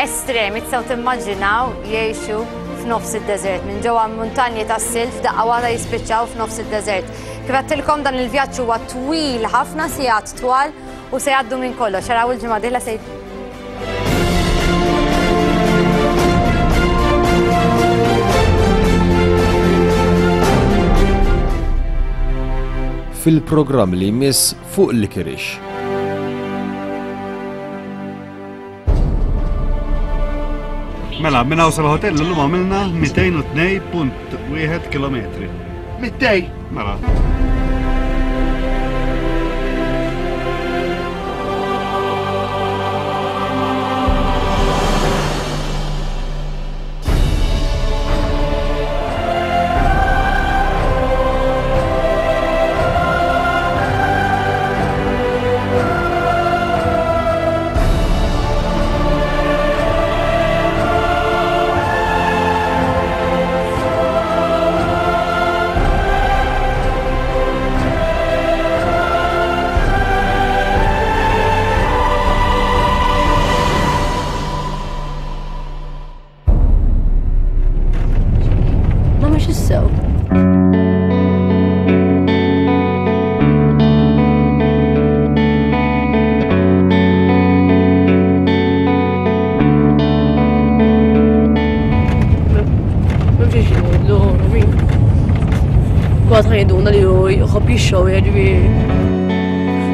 estremi. Tistgħu timmaġinaw jgħixu f'nofs id-desert, minn ġewwa muntanji tas-silġ daqqa waħda jispiċċaw f'nofs id-desert. Kif għedtilkom dan il-vjaġġ huwa twil ħafna, sigħat twal u se jgħaddu minn kollox. Araw il-ġimgħa d-dieħla se Fil-programm li jmiss fuq Licorice. Mela, minn hawn sal-hotel illum għamilna mitejn u tnejn punt wieħed kilometri. Mitej? Mela.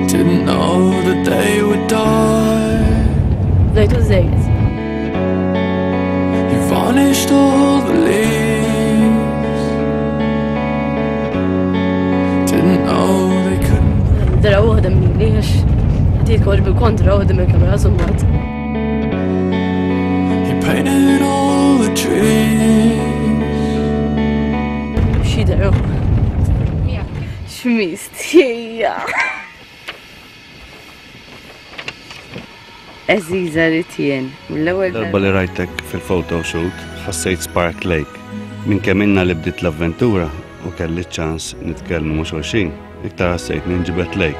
Didn't know that they would die. Bdejtu żejt. You varnished all the leaves. Didn't know they couldn't. Dara waħda minni għax qed jitkoġ bil-kontra waħda mill-kamera summat. You painted all the trees. Xi dara. X'mistija. Eżiża li tien, mill-ewwel darba li rajtek fil-photoshoot, ħassejt spark lake. Minn kemm ilna li bdiet l-avventura u kelli ċans nitkellmu ma' xulxin, iktar ħassejt ninġibed lejk.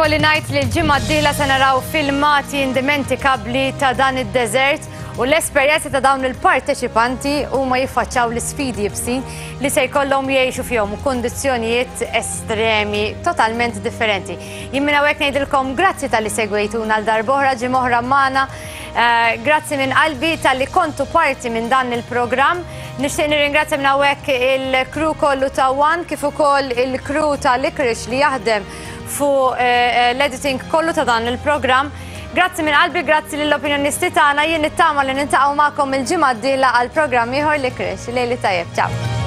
Ikolli ngħid li l-ġimgħa d-dieħla se naraw filmati indimentikabbli ta' dan id-deżert u l-esperjenza ta' dawn il-parteċipanti huma jiffaċċaw l-isfidi ibsin li se jkollhom jgħixu fihom u kundizzjonijiet estremi totalment differenti. Jien minn hawnhekk ngħidilkom grazzi talli segwejtuna għal darb'oħra ġimgħa oħra magħna. Eh, Grazzi minn qalbi talli kontu parti minn dan il-programm. Nixtieq nirringrazzja minn hawnhekk il-crew kollu ta' One kif ukoll il-crew ta' Licorice li jaħdem fuq eh, l-editing kollu ta' dan il-programm. Grazzi minn qalbi, grazzi lill-opinjonisti tagħna, jien nittama li niltaqgħu magħkom il-ġimgħa d-dieħla għal programm ieħor Licorice. Lejl it-tajjeb, ciao.